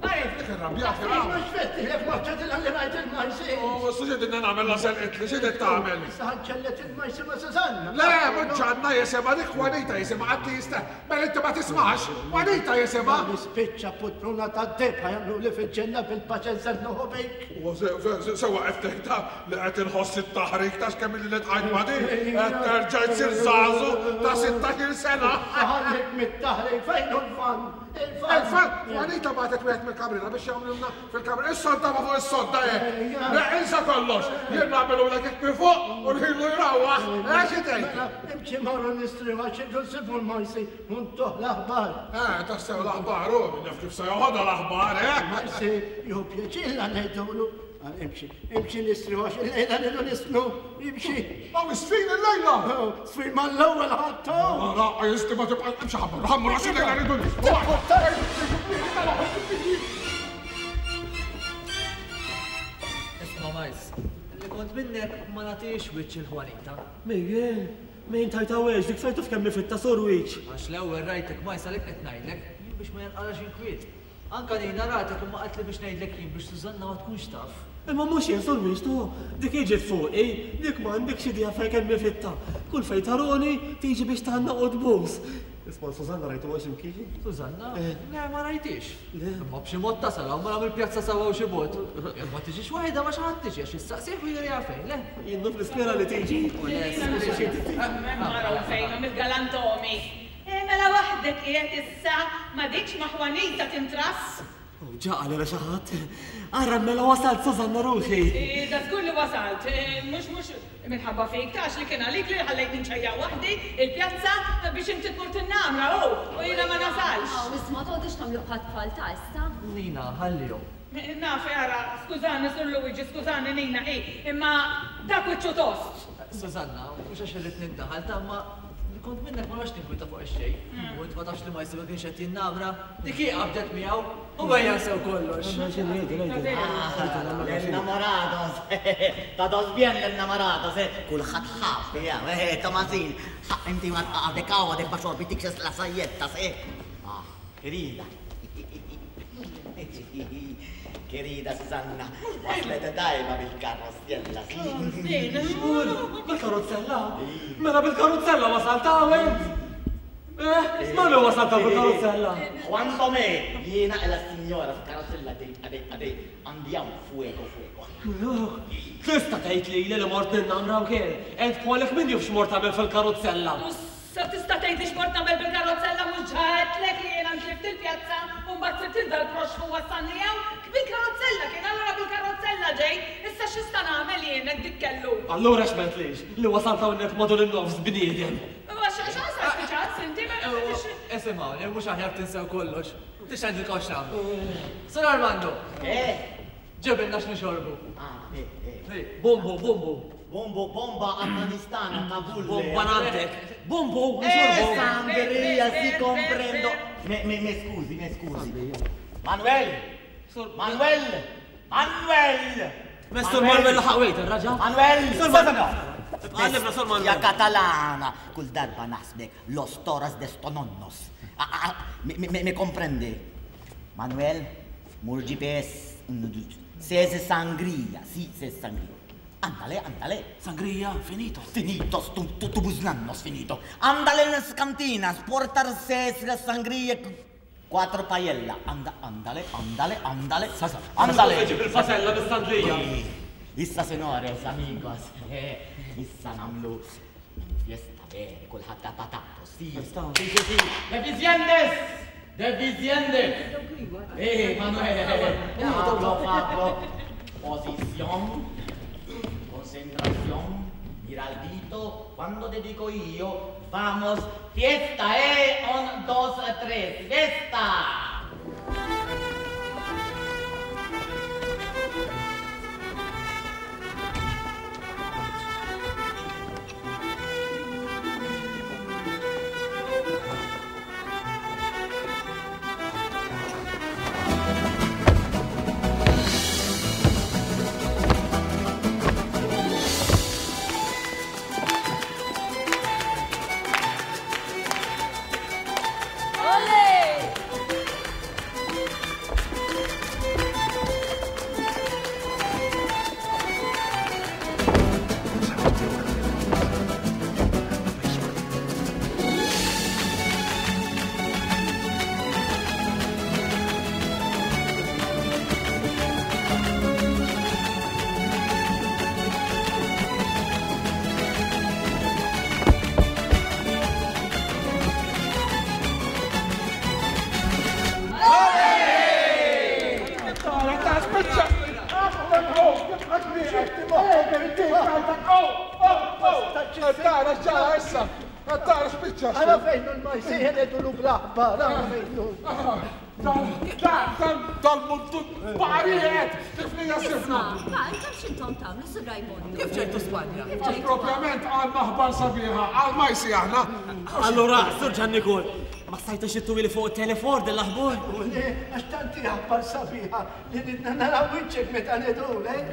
għalek. Dik irrabjat, Mhux fettilek ma ċedilha li rajt il-majsi. U x'ġedinna nagħmel la selqitli, x'qed tagħmel? Issa ħanċellet il-majsi ma' Susanna. Le, mhux ġanna jisimha dik Juanita jisimha qatt li jista' Mela inti ma tismax, Juanita jisimha. Nispiċċa putruna tad-deb ħajamlu li fil-ġenna bil-paċenza nnuħu bik. U sewa qed tgħidha li qed inħoss it-taħrik ta' x'kemm ili nitqajt ma' din, qed terġa' jsir żagħżugħ ta' 16-il sena. Ħallik mit-taħrik fejn hu l-fann? Il-fann, Juanita bagħtet wieħed mill-kamrina biex jagħmlilna fil-kamra. Is-sodda ma fuq is-sodda hekk. Le, insa kollox. Jien nagħmilulek hekk minn fuq u nħillu jrawwaħ. Eh, xi tgħid? Mela, imxi morru nistri għax irridu nsibu l-Majsi u ntuh l-aħbar. Eh, tassew l-aħbar, hu min jaf kif se joħodha l-aħbar, eh? Majsi, jieħu pjaċir la ngħidulu. Imxi, imxi nistriħu għax il-lejla rridu nisfnu, imxi. Aw, isfin il-lejla! Sfin mal-ewwel ħadd. Ara, jisti ma tibqa' imxi ħammur, ħammur għax il-lejla rridu nisfnu. Isma' Majs, li kont minnek ma nagħtix wiċċ il-Juanita. Mejjen, mejn tajta wex, dik sajtu f'kemm fitta sur wiċċ. Għax l-ewwel rajtek Majs għalhekk qed ngħidlek, jien biex ma janqalax inkwiet. Anka Nina ratek imma qaltli biex ngħidlek jien biex Susanna ma tkunx taf. Imma mhux jien sur Wiċ tu, dik hi ġiet fuqi, dik m'għandekx idea fejn kemm hi fitta. Kull fejn taruni tiġi biex tgħannaq u tbus. Isma' Susanna rajtuha xi mkien? Susanna? Le ma rajthiex. Imma b'xi mod tasal hawn mela mill-pjazza sewwa u xi bogħod. Jekk ma tiġix waħidha ma' xi ħadd tiġi għax issaqsih u juriha fejn, le? Jien naf nispera li tiġi. U le, Araw fejnhom il-galantomi. Eh, mela waħdek qiegħed issa, m'għadikx ma' Juanita tintrass? Oh, ġa qalilha xi ħadd. Ara mela wasalt Susanna ruħi. Eh, da żgur li wasalt. Eh, mhux mhux minħabba fik, ta' li kien għalik li ħallejtni nċejja waħdi il-pjazza biex inti tmur tinnamra, hu, u jiena ma nasalx. Aw, isma' toqgħodux tagħmlu bħat-tfal ta' issa. Nina, ħallihom. Naf, ara, skużani Sur Luigi, skużani Nina, hi, imma dak wiċċu tost. Susanna, mhux għax irrid nindaħal ta' imma li kont minnek ma noqgħodx ninkwieta fuq ix-xejn. U int ma tafx li Majsi ma kienx qed jinnamra, dik hi qabdet miegħu u ejja nsew kollox. L-innamorados, todos bien l-innamorados, eh, kulħadd ħabb, eh, Tomasin, inti ma għadek hawn għadek ma xorbitikx la sajjettas, eh. Ah, querida. Querida Susanna, waslet tajba bil-karrozzella. Xmur, bil-karozzella? Mela bil-karozzella wasalt hawn int? Eh, ma wasalt hawn bil-karozzella? Juan Tomé, jiena e la signora f'karozzella dejt għadej għadej, andiamo fuego fuego. Tista' tgħid lili li mort ninnamra wkoll? Int bħalek min jaf x'mort tagħmel fil-karozzella? Sa tista' tgħidli x'mort nagħmel bil-karozzella mhux ġa għedtlek li jiena ntlift il-pjazza u mbagħad sibt lil dal-proxxmu wassalni hawn? Bil-karozzella kien, allura bil-karozzella ġejt, issa x'nista' nagħmel jien hekk dik kellu? Allura x'm'għedtlix li wasalt hawnhekk madwar in-nofs bniedem? Għax għax spiċċat inti ma tix. Isimgħuni, mhux aħjar tinsew kollox. Tix ngħidilkom x'nagħmlu. Sur Armando! Eh? Ġibilna x'nixorbu. Ah, eh, eh. Bumbu, bumbu. Bumbu, bomba Afganistana, Kabul. Bomba nandek. Bumbu, Eh, nixorbu. sangria, si comprendo. Me, me, me scusi, me scusi. Manuel! Manuel! Manuel! Mestur Manuel laħaq wejt, raġa. Manuel! Sur Manuel! Għallimna Sur Manuel. Ja katalana, kull darba naħsbek los toras de stononnos. Ah, ah, me, me, me comprende. Manuel, mur GPS, sese sangria, si, se sangria. Andale, andale. Sangria, finito. Finito, tu, tu, tu busnannos finito. Andale en las cantinas, portar ses la sangria, cuatro paella. Anda, andale, andale, andale. Andale. Ġib il-fasella bis-sandrija. Issa senores, amigos, eh, issa namlu fiesta vere, kulħadd ta' patato, si. Si, si, si. Deficientes! Deficientes! Eh, Manuel, Pablo, Pablo. Posición, concentración, mira al dito, cuando te digo io, vamos, fiesta, eh, un, dos, tres, fiesta! Olé! Tara, ta' spiċċa. Tara, ġara issa. Tara, spiċċa. Ara fejnu l-majsi, ħenedu l-blaħbar, ara fejnu. Tara, Dal-muntu baqarijiet tiflija sifna. Ma, intom x'intom tagħmlu, Sur Rajmondu? Kif ġejtu Spanja? Għax propjament għandna aħbar sabiħa, għal majsi aħna. Allura, Sur Ġannikol, ma stajtux ittuli fuq it-telefon din l-aħbar? U le, għax tant hi aħbar sabiħa li ridna naraw wiċċek meta ngħidulek.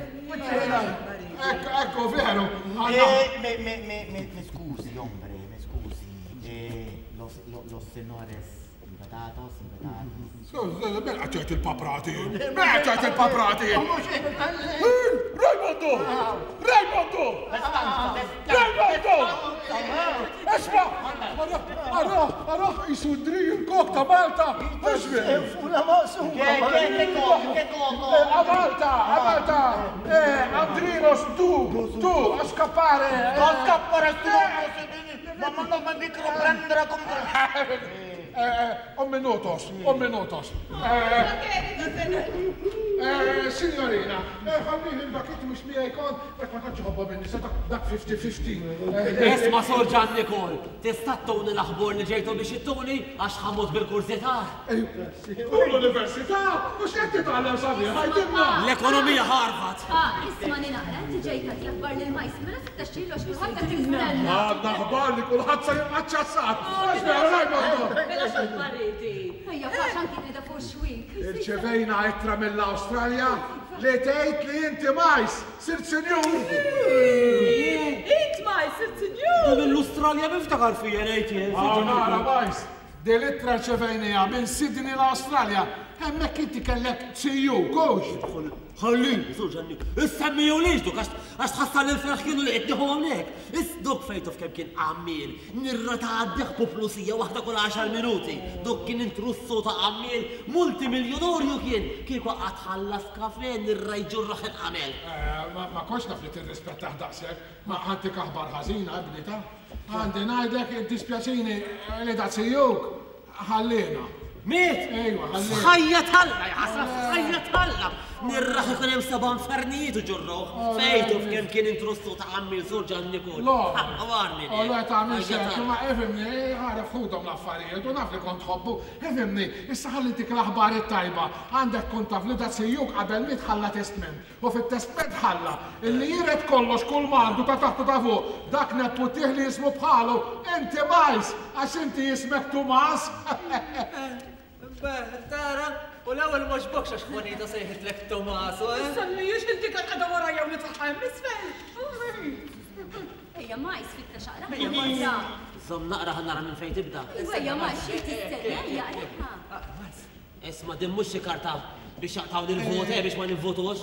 Ekku, ekku, veru. Eh, me, me, me, me, me scusi, hombre, me scusi. Eh, los, los senores invitados, invitados. Mela ċert il-paprati. Mela ċert il-paprati. Rajmondu! Rajmondu! Rajmondu! Esma! Ara, ara, jisu dri il-kok ta' Malta! Fula maqsuma! A Malta, a Malta! Andrinos, tu, tu, a scappare! A scappare, ma non mi micro prendere con... Un minutos, un minutos. Signorina, ħallini dak inti mhux miegħi kont, dak ma tantx ħobba minni, se dak 50-50. Isma' Sur Ġan Nikol, tista' ttuni l-aħbor li ġejtu biex ittuni għax ħa mmut bil-kurżità. U l-università, u x'qed titgħallem sabiħ, għidilna. L-ekonomija Harvard. Ah, isma' naqra, inti ġejt tagħti l-aħbar lil Majs, mela fittex xilu għax kulħadd qed jistenna. Għandna aħbar li kulħadd se jibqa' ċassat. Għax vera Rajmondu. Mela x'aħbar inti? Ejja, fax anki qiegħda fuq xwik. Irċevejna ittra mill-Awstralja li tgħid li inti Majs sirt sinjur. Int Majs sirt sinjur. Din l-Australja miftakar fija ngħid jien. Ah, nara Majs, din l-ittra rċevejniha minn Sydney l-Awstralja. Hemmhekk inti kellek CU, kux? Ħallini, Sur Ġanni, issemmijulix duk għax tħassar l-ferħ kienu li qed nieħu hawnhekk. Is duk fejtu f'kemm kien għammiel, nirra ta' għaddih puplusija waħda kull 10 minuti. Duk kien intrussu ta' għammiel, multimiljonorju kien, kieku qatt ħallas kafe nirra jġurraħ il-qamel. Ma kontx naf li tirrispettah daqshekk, ma ħantik aħbar ħażina, ibni ta'. Għandi ngħidlek iddispjaċini li da sijuk ħallina. Miet? Ejwa, ħallina. F'ħajja t'Alla, jaħasra, f'ħajja t'Alla. Nirraħ ikun hemm seba' infernijiet u ġurruh. Fejtu f'kemm kien intrussu ta' għammi Sur Ġan Nikol. Lo. Għarni. O le tagħmilx hekk, imma ifhimni, għaref ħudhom l-affarijiet u naf li kont tħobbu. Ifhimni, issa ħalli ntik l-aħbar it-tajba. Għandek tkun taf li da sijuk qabel miet ħalla testment. U fit-testment ħalla illi jiret kollox kull m'għandu ta' taħt u ta' fuq, dak neputih li jismu bħalu, inti Majs, għax inti jismek Tumas. Beh, tara, u l-ewwel m'għoġbokx għax Juanita sejħitlek Tomaso, eh? Semmijiex inti kont qiegħda warajja u nitlaħħa hemm isfel. Ejja Majs fitta xaqra. Ejja Majs. Żomm naqra ħa nara minn fejn tibda. Ejja Majs xi tistenna, ejja aqraha. Isma' din mhux xi karta biex jaqtgħu l-vot, eh, biex ma nivvotux.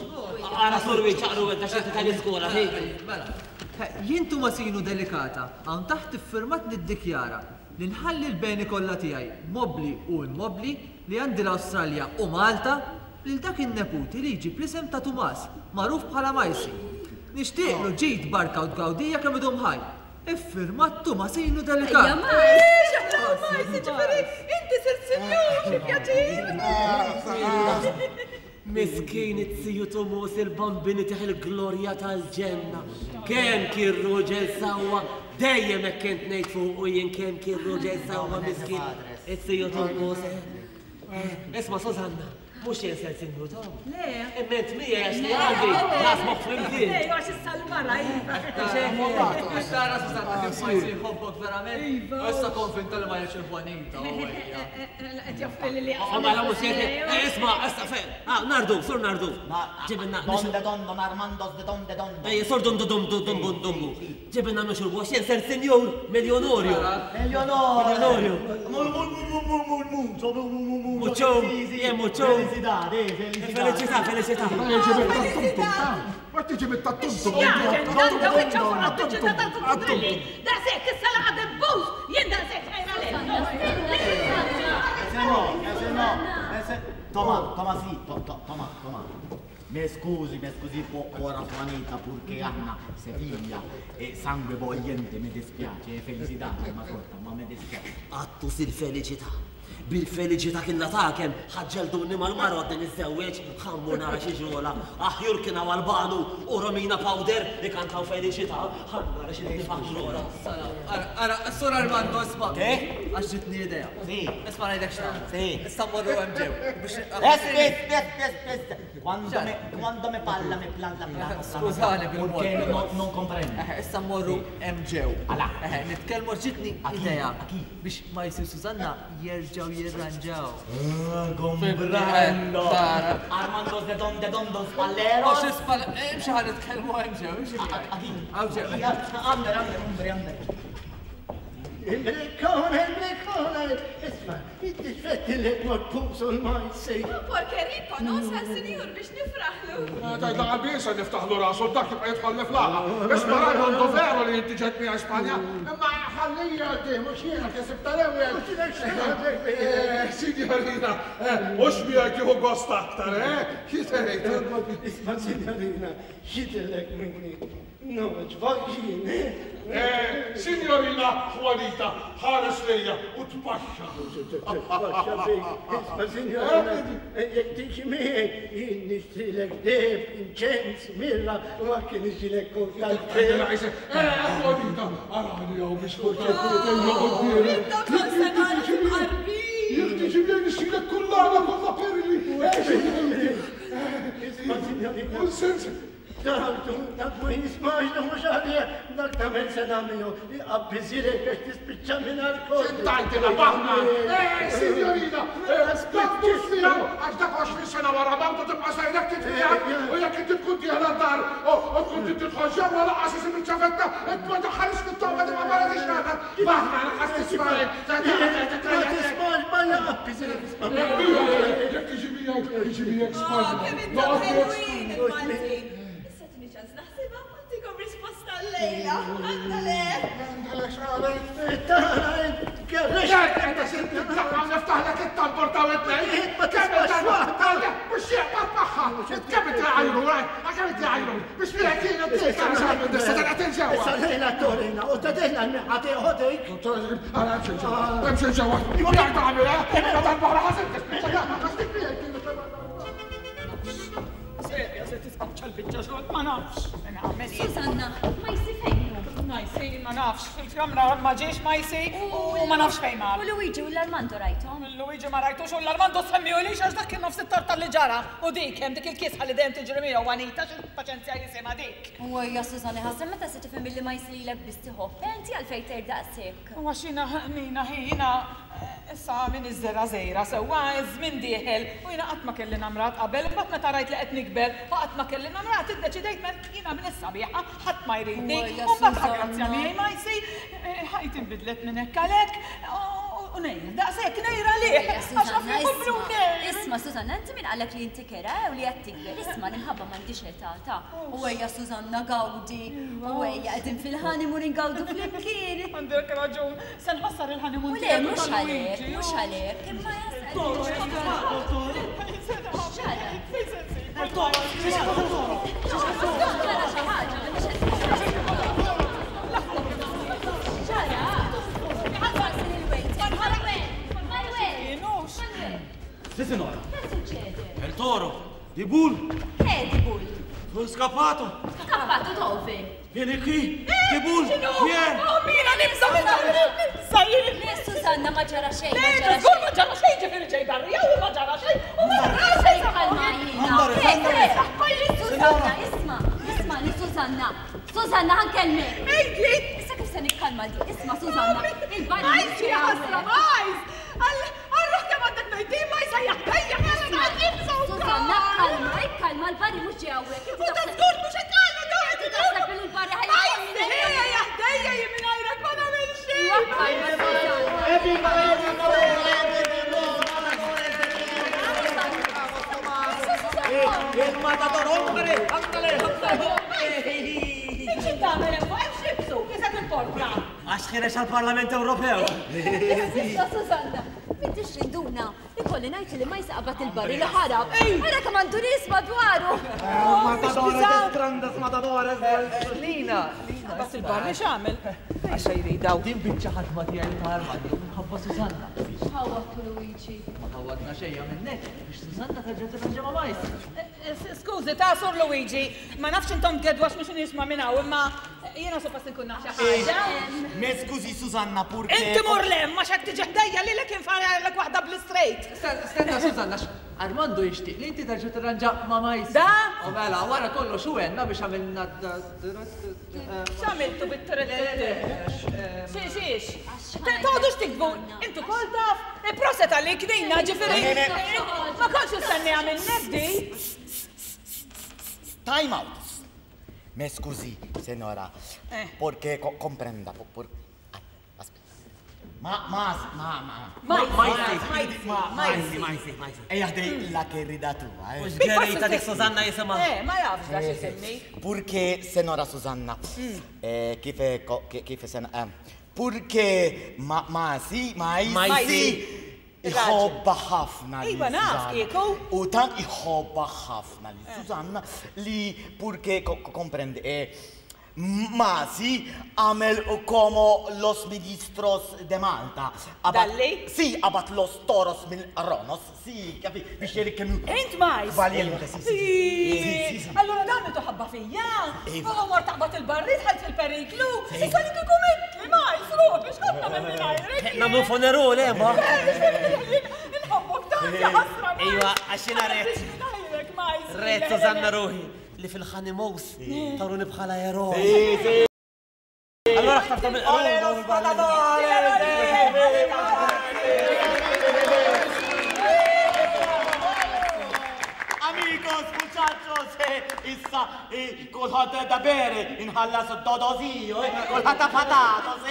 Ara Sur Wiċċ aqru int għax inti tal-iskola, hi. Mela, jien Tumasinu Delicata, hawn taħt iffirmat niddikjara li nħalli l-beni kollha tiegħi, mobbli u immobbli, li għandi l-Awstralja u Malta, lil dak in-neputi li jġib l-isem ta' Tumas, magħruf bħala Majsi. Nixtieqlu ġid, barka u tgawdija kemm idum ħaj. Iffirmat Tumasinu Delicat. Ejja Majs! Majs, jiġifieri inti sirt sinjur, xi pjaċir! Miskin it-ziju Tumus il-bambini tih il-glorja tal-ġenna. Kemm kien ruġel sewwa, dejjem hekk kont ngħid fuqu jien kemm kien ruġel sewwa miskin it-ziju Tumus. Isma' Susanna, mhux jien ser sinjur Tom. Le. Imma int miegħi għax li għandi nasmoħ flimkien. Le, għax issa l-mara iva. Tara Susanna kif Majsi jħobbok verament. Iva. Issa konvinta li ma jridx il-Juanita. Qed joffri li li. Mela mhux jgħid. Isma' issa fejn. Ah, Nardu, sur Nardu. Ġibilna. Donde don don Armandos de donde donde. Ejja, sur dum dum dum dum dum dum. Ġibilna nixorbu għax jien ser sinjur miljonorju. Miljonorju. Miljonorju. Mucho, jien mucho. Felicidad, eh, felicità. Felicità, felicità. Ma tiġi mit-tattumtum. Daqshekk issa laqgħa debbuż, jien daqshekk ħajra lek. Ese no, ese no, ese. Toma, toma sì, to, to, toma, toma. Me scusi, me scusi ora Juanita, purché Anna Seviglia e sangue bollente, mi dispiace, e felicità, ma sorta, ma mi dispiace. Għattu sil-felicità. Bil-feliċità kien takem, ħaġġelduni mal-mara għadni niżżewweġ, ħammu nara xi ġrola. Aħjur kien hawn Albanu u Romina Powder ikantaw feliċità, ħa nara xi niftaħ ġrola. Ara, ara, Sur Armando, isma'. Che? Għax ġitni idea. Sì. Isma' ngħidlek x'nagħmlu. Sì. Issa mmorru hemm ġew. Biex Aspetta, aspetta, aspetta. Quando me, quando me parla, me planta, planta. Skużani bil-mod. Perché non, non comprendo. Eħe, issa mmorru hemm ġew. Ala. Eħe, nitkellmu ġitni idea biex Majsi u Susanna jerġgħu jirranġaw. Comprendo. Tara. Armando de donde donde spalleros. Mhux ispall, imxi ħa nitkellmu hemm ġew, imxi miegħi. Hawn ġew. Ander, ander, ombre, ander. Il-brikkone, il-brikkone, isma, id-difetti li tmur l-majsi. Porkeriko, non sal sinjur biex nifraħlu. Tajda għabisa niftaħlu rasu, dak jibqa jitħallef laqa. Isma Rajmondo veru li inti ġejt miegħi Spanja, imma ħallija di mhux jiena kisib tal-ewwel. Signorina, mhux miegħek jieħu gost aktar, eh? Xi tgħid? Isma, signorina, xidilek minni. No, ġvagġin, Eh, Signorina Juanita, ħares lejja u tpaxxa. Isma, signorina, jek tiġi miegħi, jien nixtrilek deb, inċens, mirra, u anke nixtrilek kol tal-pel. Eh, Juanita, arani jew biex Intom senora tqarbin. Jek tiġi miegħi nixtrilek kullana kollha perli. Isma, signorina. Un sens. Dak, dak ma jismax, dak mhux għalija, dak tagħmel sena minnu, jqabbiżilek biex tispiċċa minn alkohol. Tajtina baħna! Eh, signorina! Dak mhux miegħu għax dak 20 sena wara mawtu tibqa' sejrek titfiegħek u jekk inti tkun dieħla d-dar u tkun trid tidħol ġewwa lanqas isib iċ-ċavetta, int ma daħħalix fit-tomba tibqa' barra tixxaħat. Baħna lanqas tisma' Ma tismax, ma jqabbiżilek, isma' Jekk tiġi miegħek, tiġi miegħek Oh, kemm Spanja. intom Noqgħod miegħek ħelwin il-Maltin. Issa tini ċans naħsibha, għantikom risposta l-lejla. Andale. Niftaħlek it-tambur ta' widnej. Ma tismax waħda. Mux jaqbad magħha. Kemm inti għajru, kemm inti għajru. Biex miegħek jiena Issa tal-qed ġewwa. Issa lejla torina, u ta' dejna l-miħati ħodejk. Ara, hemm xi ġewwa. Hemm xi ġewwa. Jekk tagħmel, eh? Darba ħażin Serja, se tispiċċa l-biċċa xogħol, ma nafx. Nagħmel. Susanna, ma jsi fejnu. Majsi, ma nafx, fil-kamra ma ġiex Majsi u ma nafx fejn mar. U Luigi u l-Armando rajtom? Luigi ma rajtux u l-Armando semmiju li għax dak kien nofs it-torta li ġara u dik hemm dik il-kisħa li dejjem tiġri miegħu Anita x'il-paċenzja jisimha dik. U ejja Susanna, ħasra meta se tifhem illi ma jsililek biss tiħobb, inti għalfejn tgħid daqshekk. U għax jiena Nina ħina issa min iż-żera żejra sewwa iż-żmien dieħel u jiena qatt ma kelli namrat qabel, imbagħad meta rajt li qed nikber u qatt ma kelli namrat iddeċidejt mela jiena minn issa sabiħa ħadd ma jridni. Ejja, U mbagħad Susanna. grazzja miegħi Majsi ħajti nbidlet minn hekk għalhekk u nejr, daqshekk nejra lih. Ejja, Għax naf Susanna, li jkun isma, nejr. isma, Susanna, inti min qalek li inti kera u li qed tikber, isma, l-imħabba m'għandix età ta' U ejja Susanna gawdi, u ejja qegħdin fil-honeymoon ingawdu flimkien. Għandek raġun, se nħassar il-honeymoon U le, tiegħek u mhux ta' għalhekk, Luigi, mhux u- għalhekk, imma Ġara xi ħaġa, mhix Ġara. Ħadd il-waiter. Manuel, Manuel. Manuel. Sì, signora. Che succede? Il toro, di bull, Che di bull? sono scappato. Scappato dove? Vieni qui, di bull, vieni. Oh, Mira, nibża' minn nibża' jien. Le, Susanna, ma ġara xejn, ma Le, ġara żgur xejn. ma ġara xejn ġifieri ġej barrija u ma ġara xejn u ma ġara xejn. Kalma jina. Andare, Che, andare. che? Susanna, isma, isma, li Susanna. Susanna, ħankellmek. Għidli. Issa kif se nikkalma di? Isma, Susanna, il-barri. Majs, ja ħasra, Majs! Għal-ruħ kemm għandek ngħidin, Majs, ejja, ejja, ejja, nibża' Susanna, kalma, ikkalma, l-barri mhux ġej hawnhekk. U ta' żgur mhux qed tgħallu daw qed Inti taħseb li l-barri ħajja. Majs, ejja, ħdejja jien mingħajrek ma nagħmel xejn. Il matador, hombre, andale, andale. Xi tagħmel hemm fuq hemm x'libsu, isek il-porpra. Għax ħireġ għall-Parlament Ewropew. Issa Susanna, m'intix rinduna. Ikolli ngħid li ma jisaqbat il-barri li ħarab. Ara kemm għandu nies madwaru. Matadores, grandes matadores. Lina, Lina. Qabad il-barri x'għamel? Għax jridaw. Din biċċa ħadma tiegħi ta' Armando minħabba Susanna. X'ħawwadtu Luigi? Ma ħawadna xejn minnek biex Susanna terġa' tirranġa ma' Majsi. Skużi, ta' Sur Luigi, ma nafx intom tgeddu għax mhux nisma' minn hawn, imma jiena suppost inkun naf xi ħaġa. Me skużi Susanna purché. Inti mur 'l hemm għax hekk tiġi ħdejja lilek infargħalek waħda bl-istraight. Stenna Susanna, Armando jixtieq li inti terġa' tirranġa ma' Majsi. Da? U mela, wara kollox hu għenna biex għamilna X'għamiltu bit-trittitti? Xiex? Toqgħodux tikbu, intu kol taf, proset għalik Nina, ġifieri. Ma kontx nistenniha minnek di. Time out. Me scusi, senora, porque comprenda, por, Ma, ma, ma, ma. Majsi, majsi, majsi, majsi. Ejja ħdej la querida tua, eh. Mhux gerita dik Susanna jisimha. Eh, ma jafx da x'isimni. Purché senora Susanna, eh, kif kif sen, eh, purché ma, ma si, ma si, iħobba ħafna lil Iva naf Susanna. kieku. U tant iħobba ħafna lil Susanna li purché comprende, eh, Masi għamel como los ministros de Malta. Dalli? Si, abat los toros mill Ronos, si, kapi, biex jeri kemm. Int majs? Valiente, si, si. Si, si, si. Allura dan li toħabba fija? Iva. U mor taqbad il-barri dħalt fil-periklu? Issa li kieku mitli majs, ruħi, x'kont nagħmel mingħajrek? Nagħmlu funerul, eh, ma? Inħobbok tant, ja ħasra. Iva, għax jiena rett. Mingħajrek, majs. Rett Susanna ruħi li fil-ħanimous taruni bħala eroj. Allora ħtarta mill Ole los Amigos, muchachos, issa kulħadd da bere, inħallas dodozio, kulħadd patatos,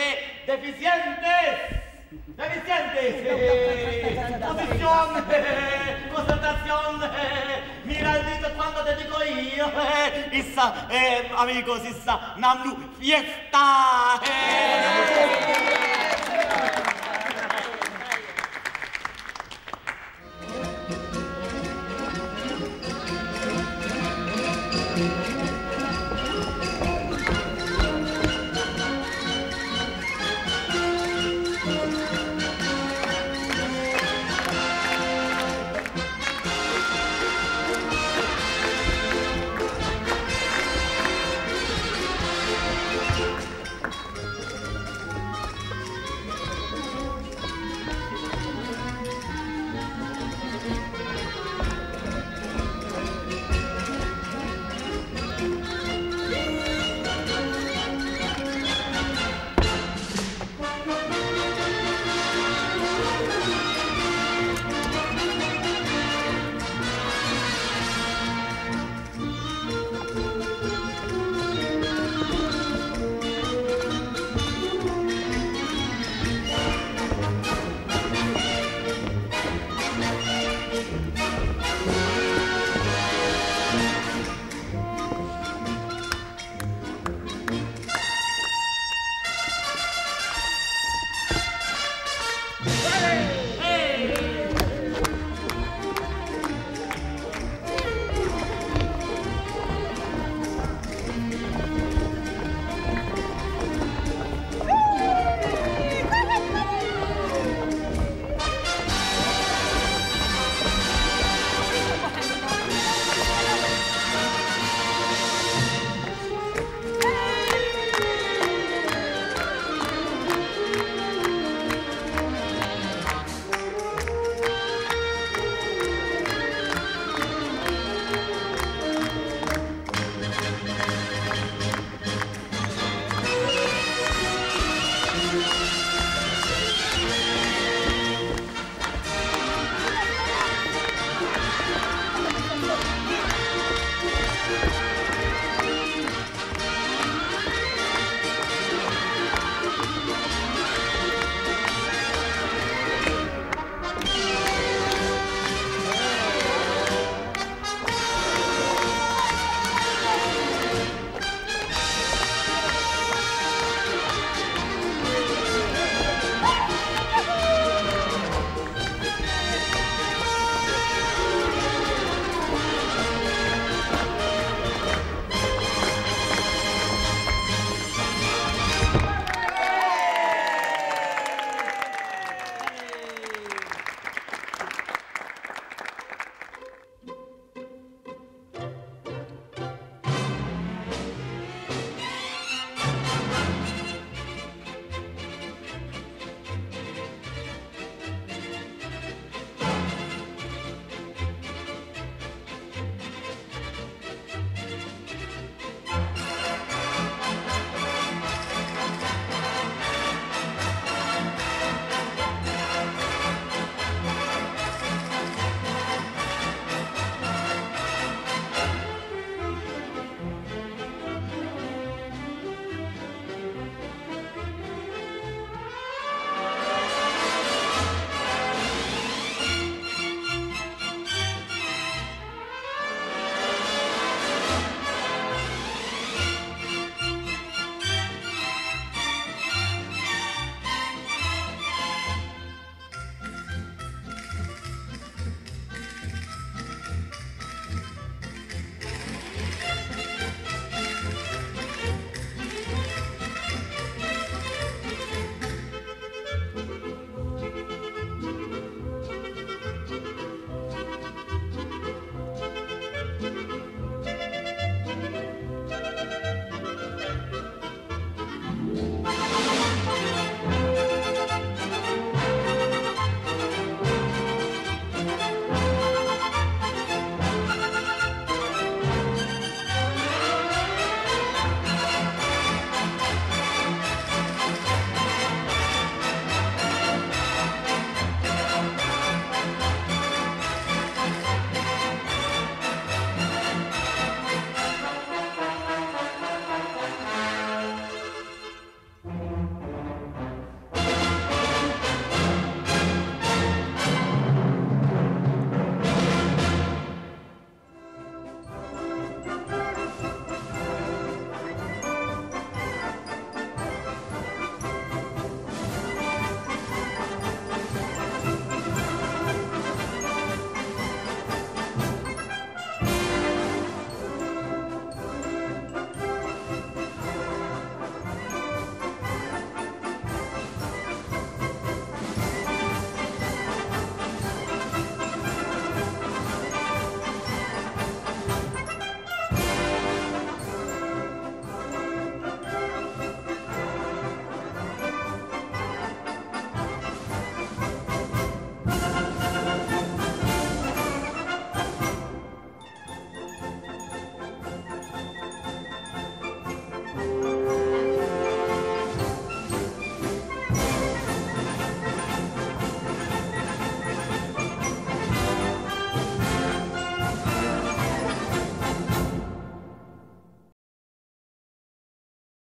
deficientes! Deficientes! Posición, concentración, mira el dito quando te dico io, issa, amigos, issa, namlu fiesta!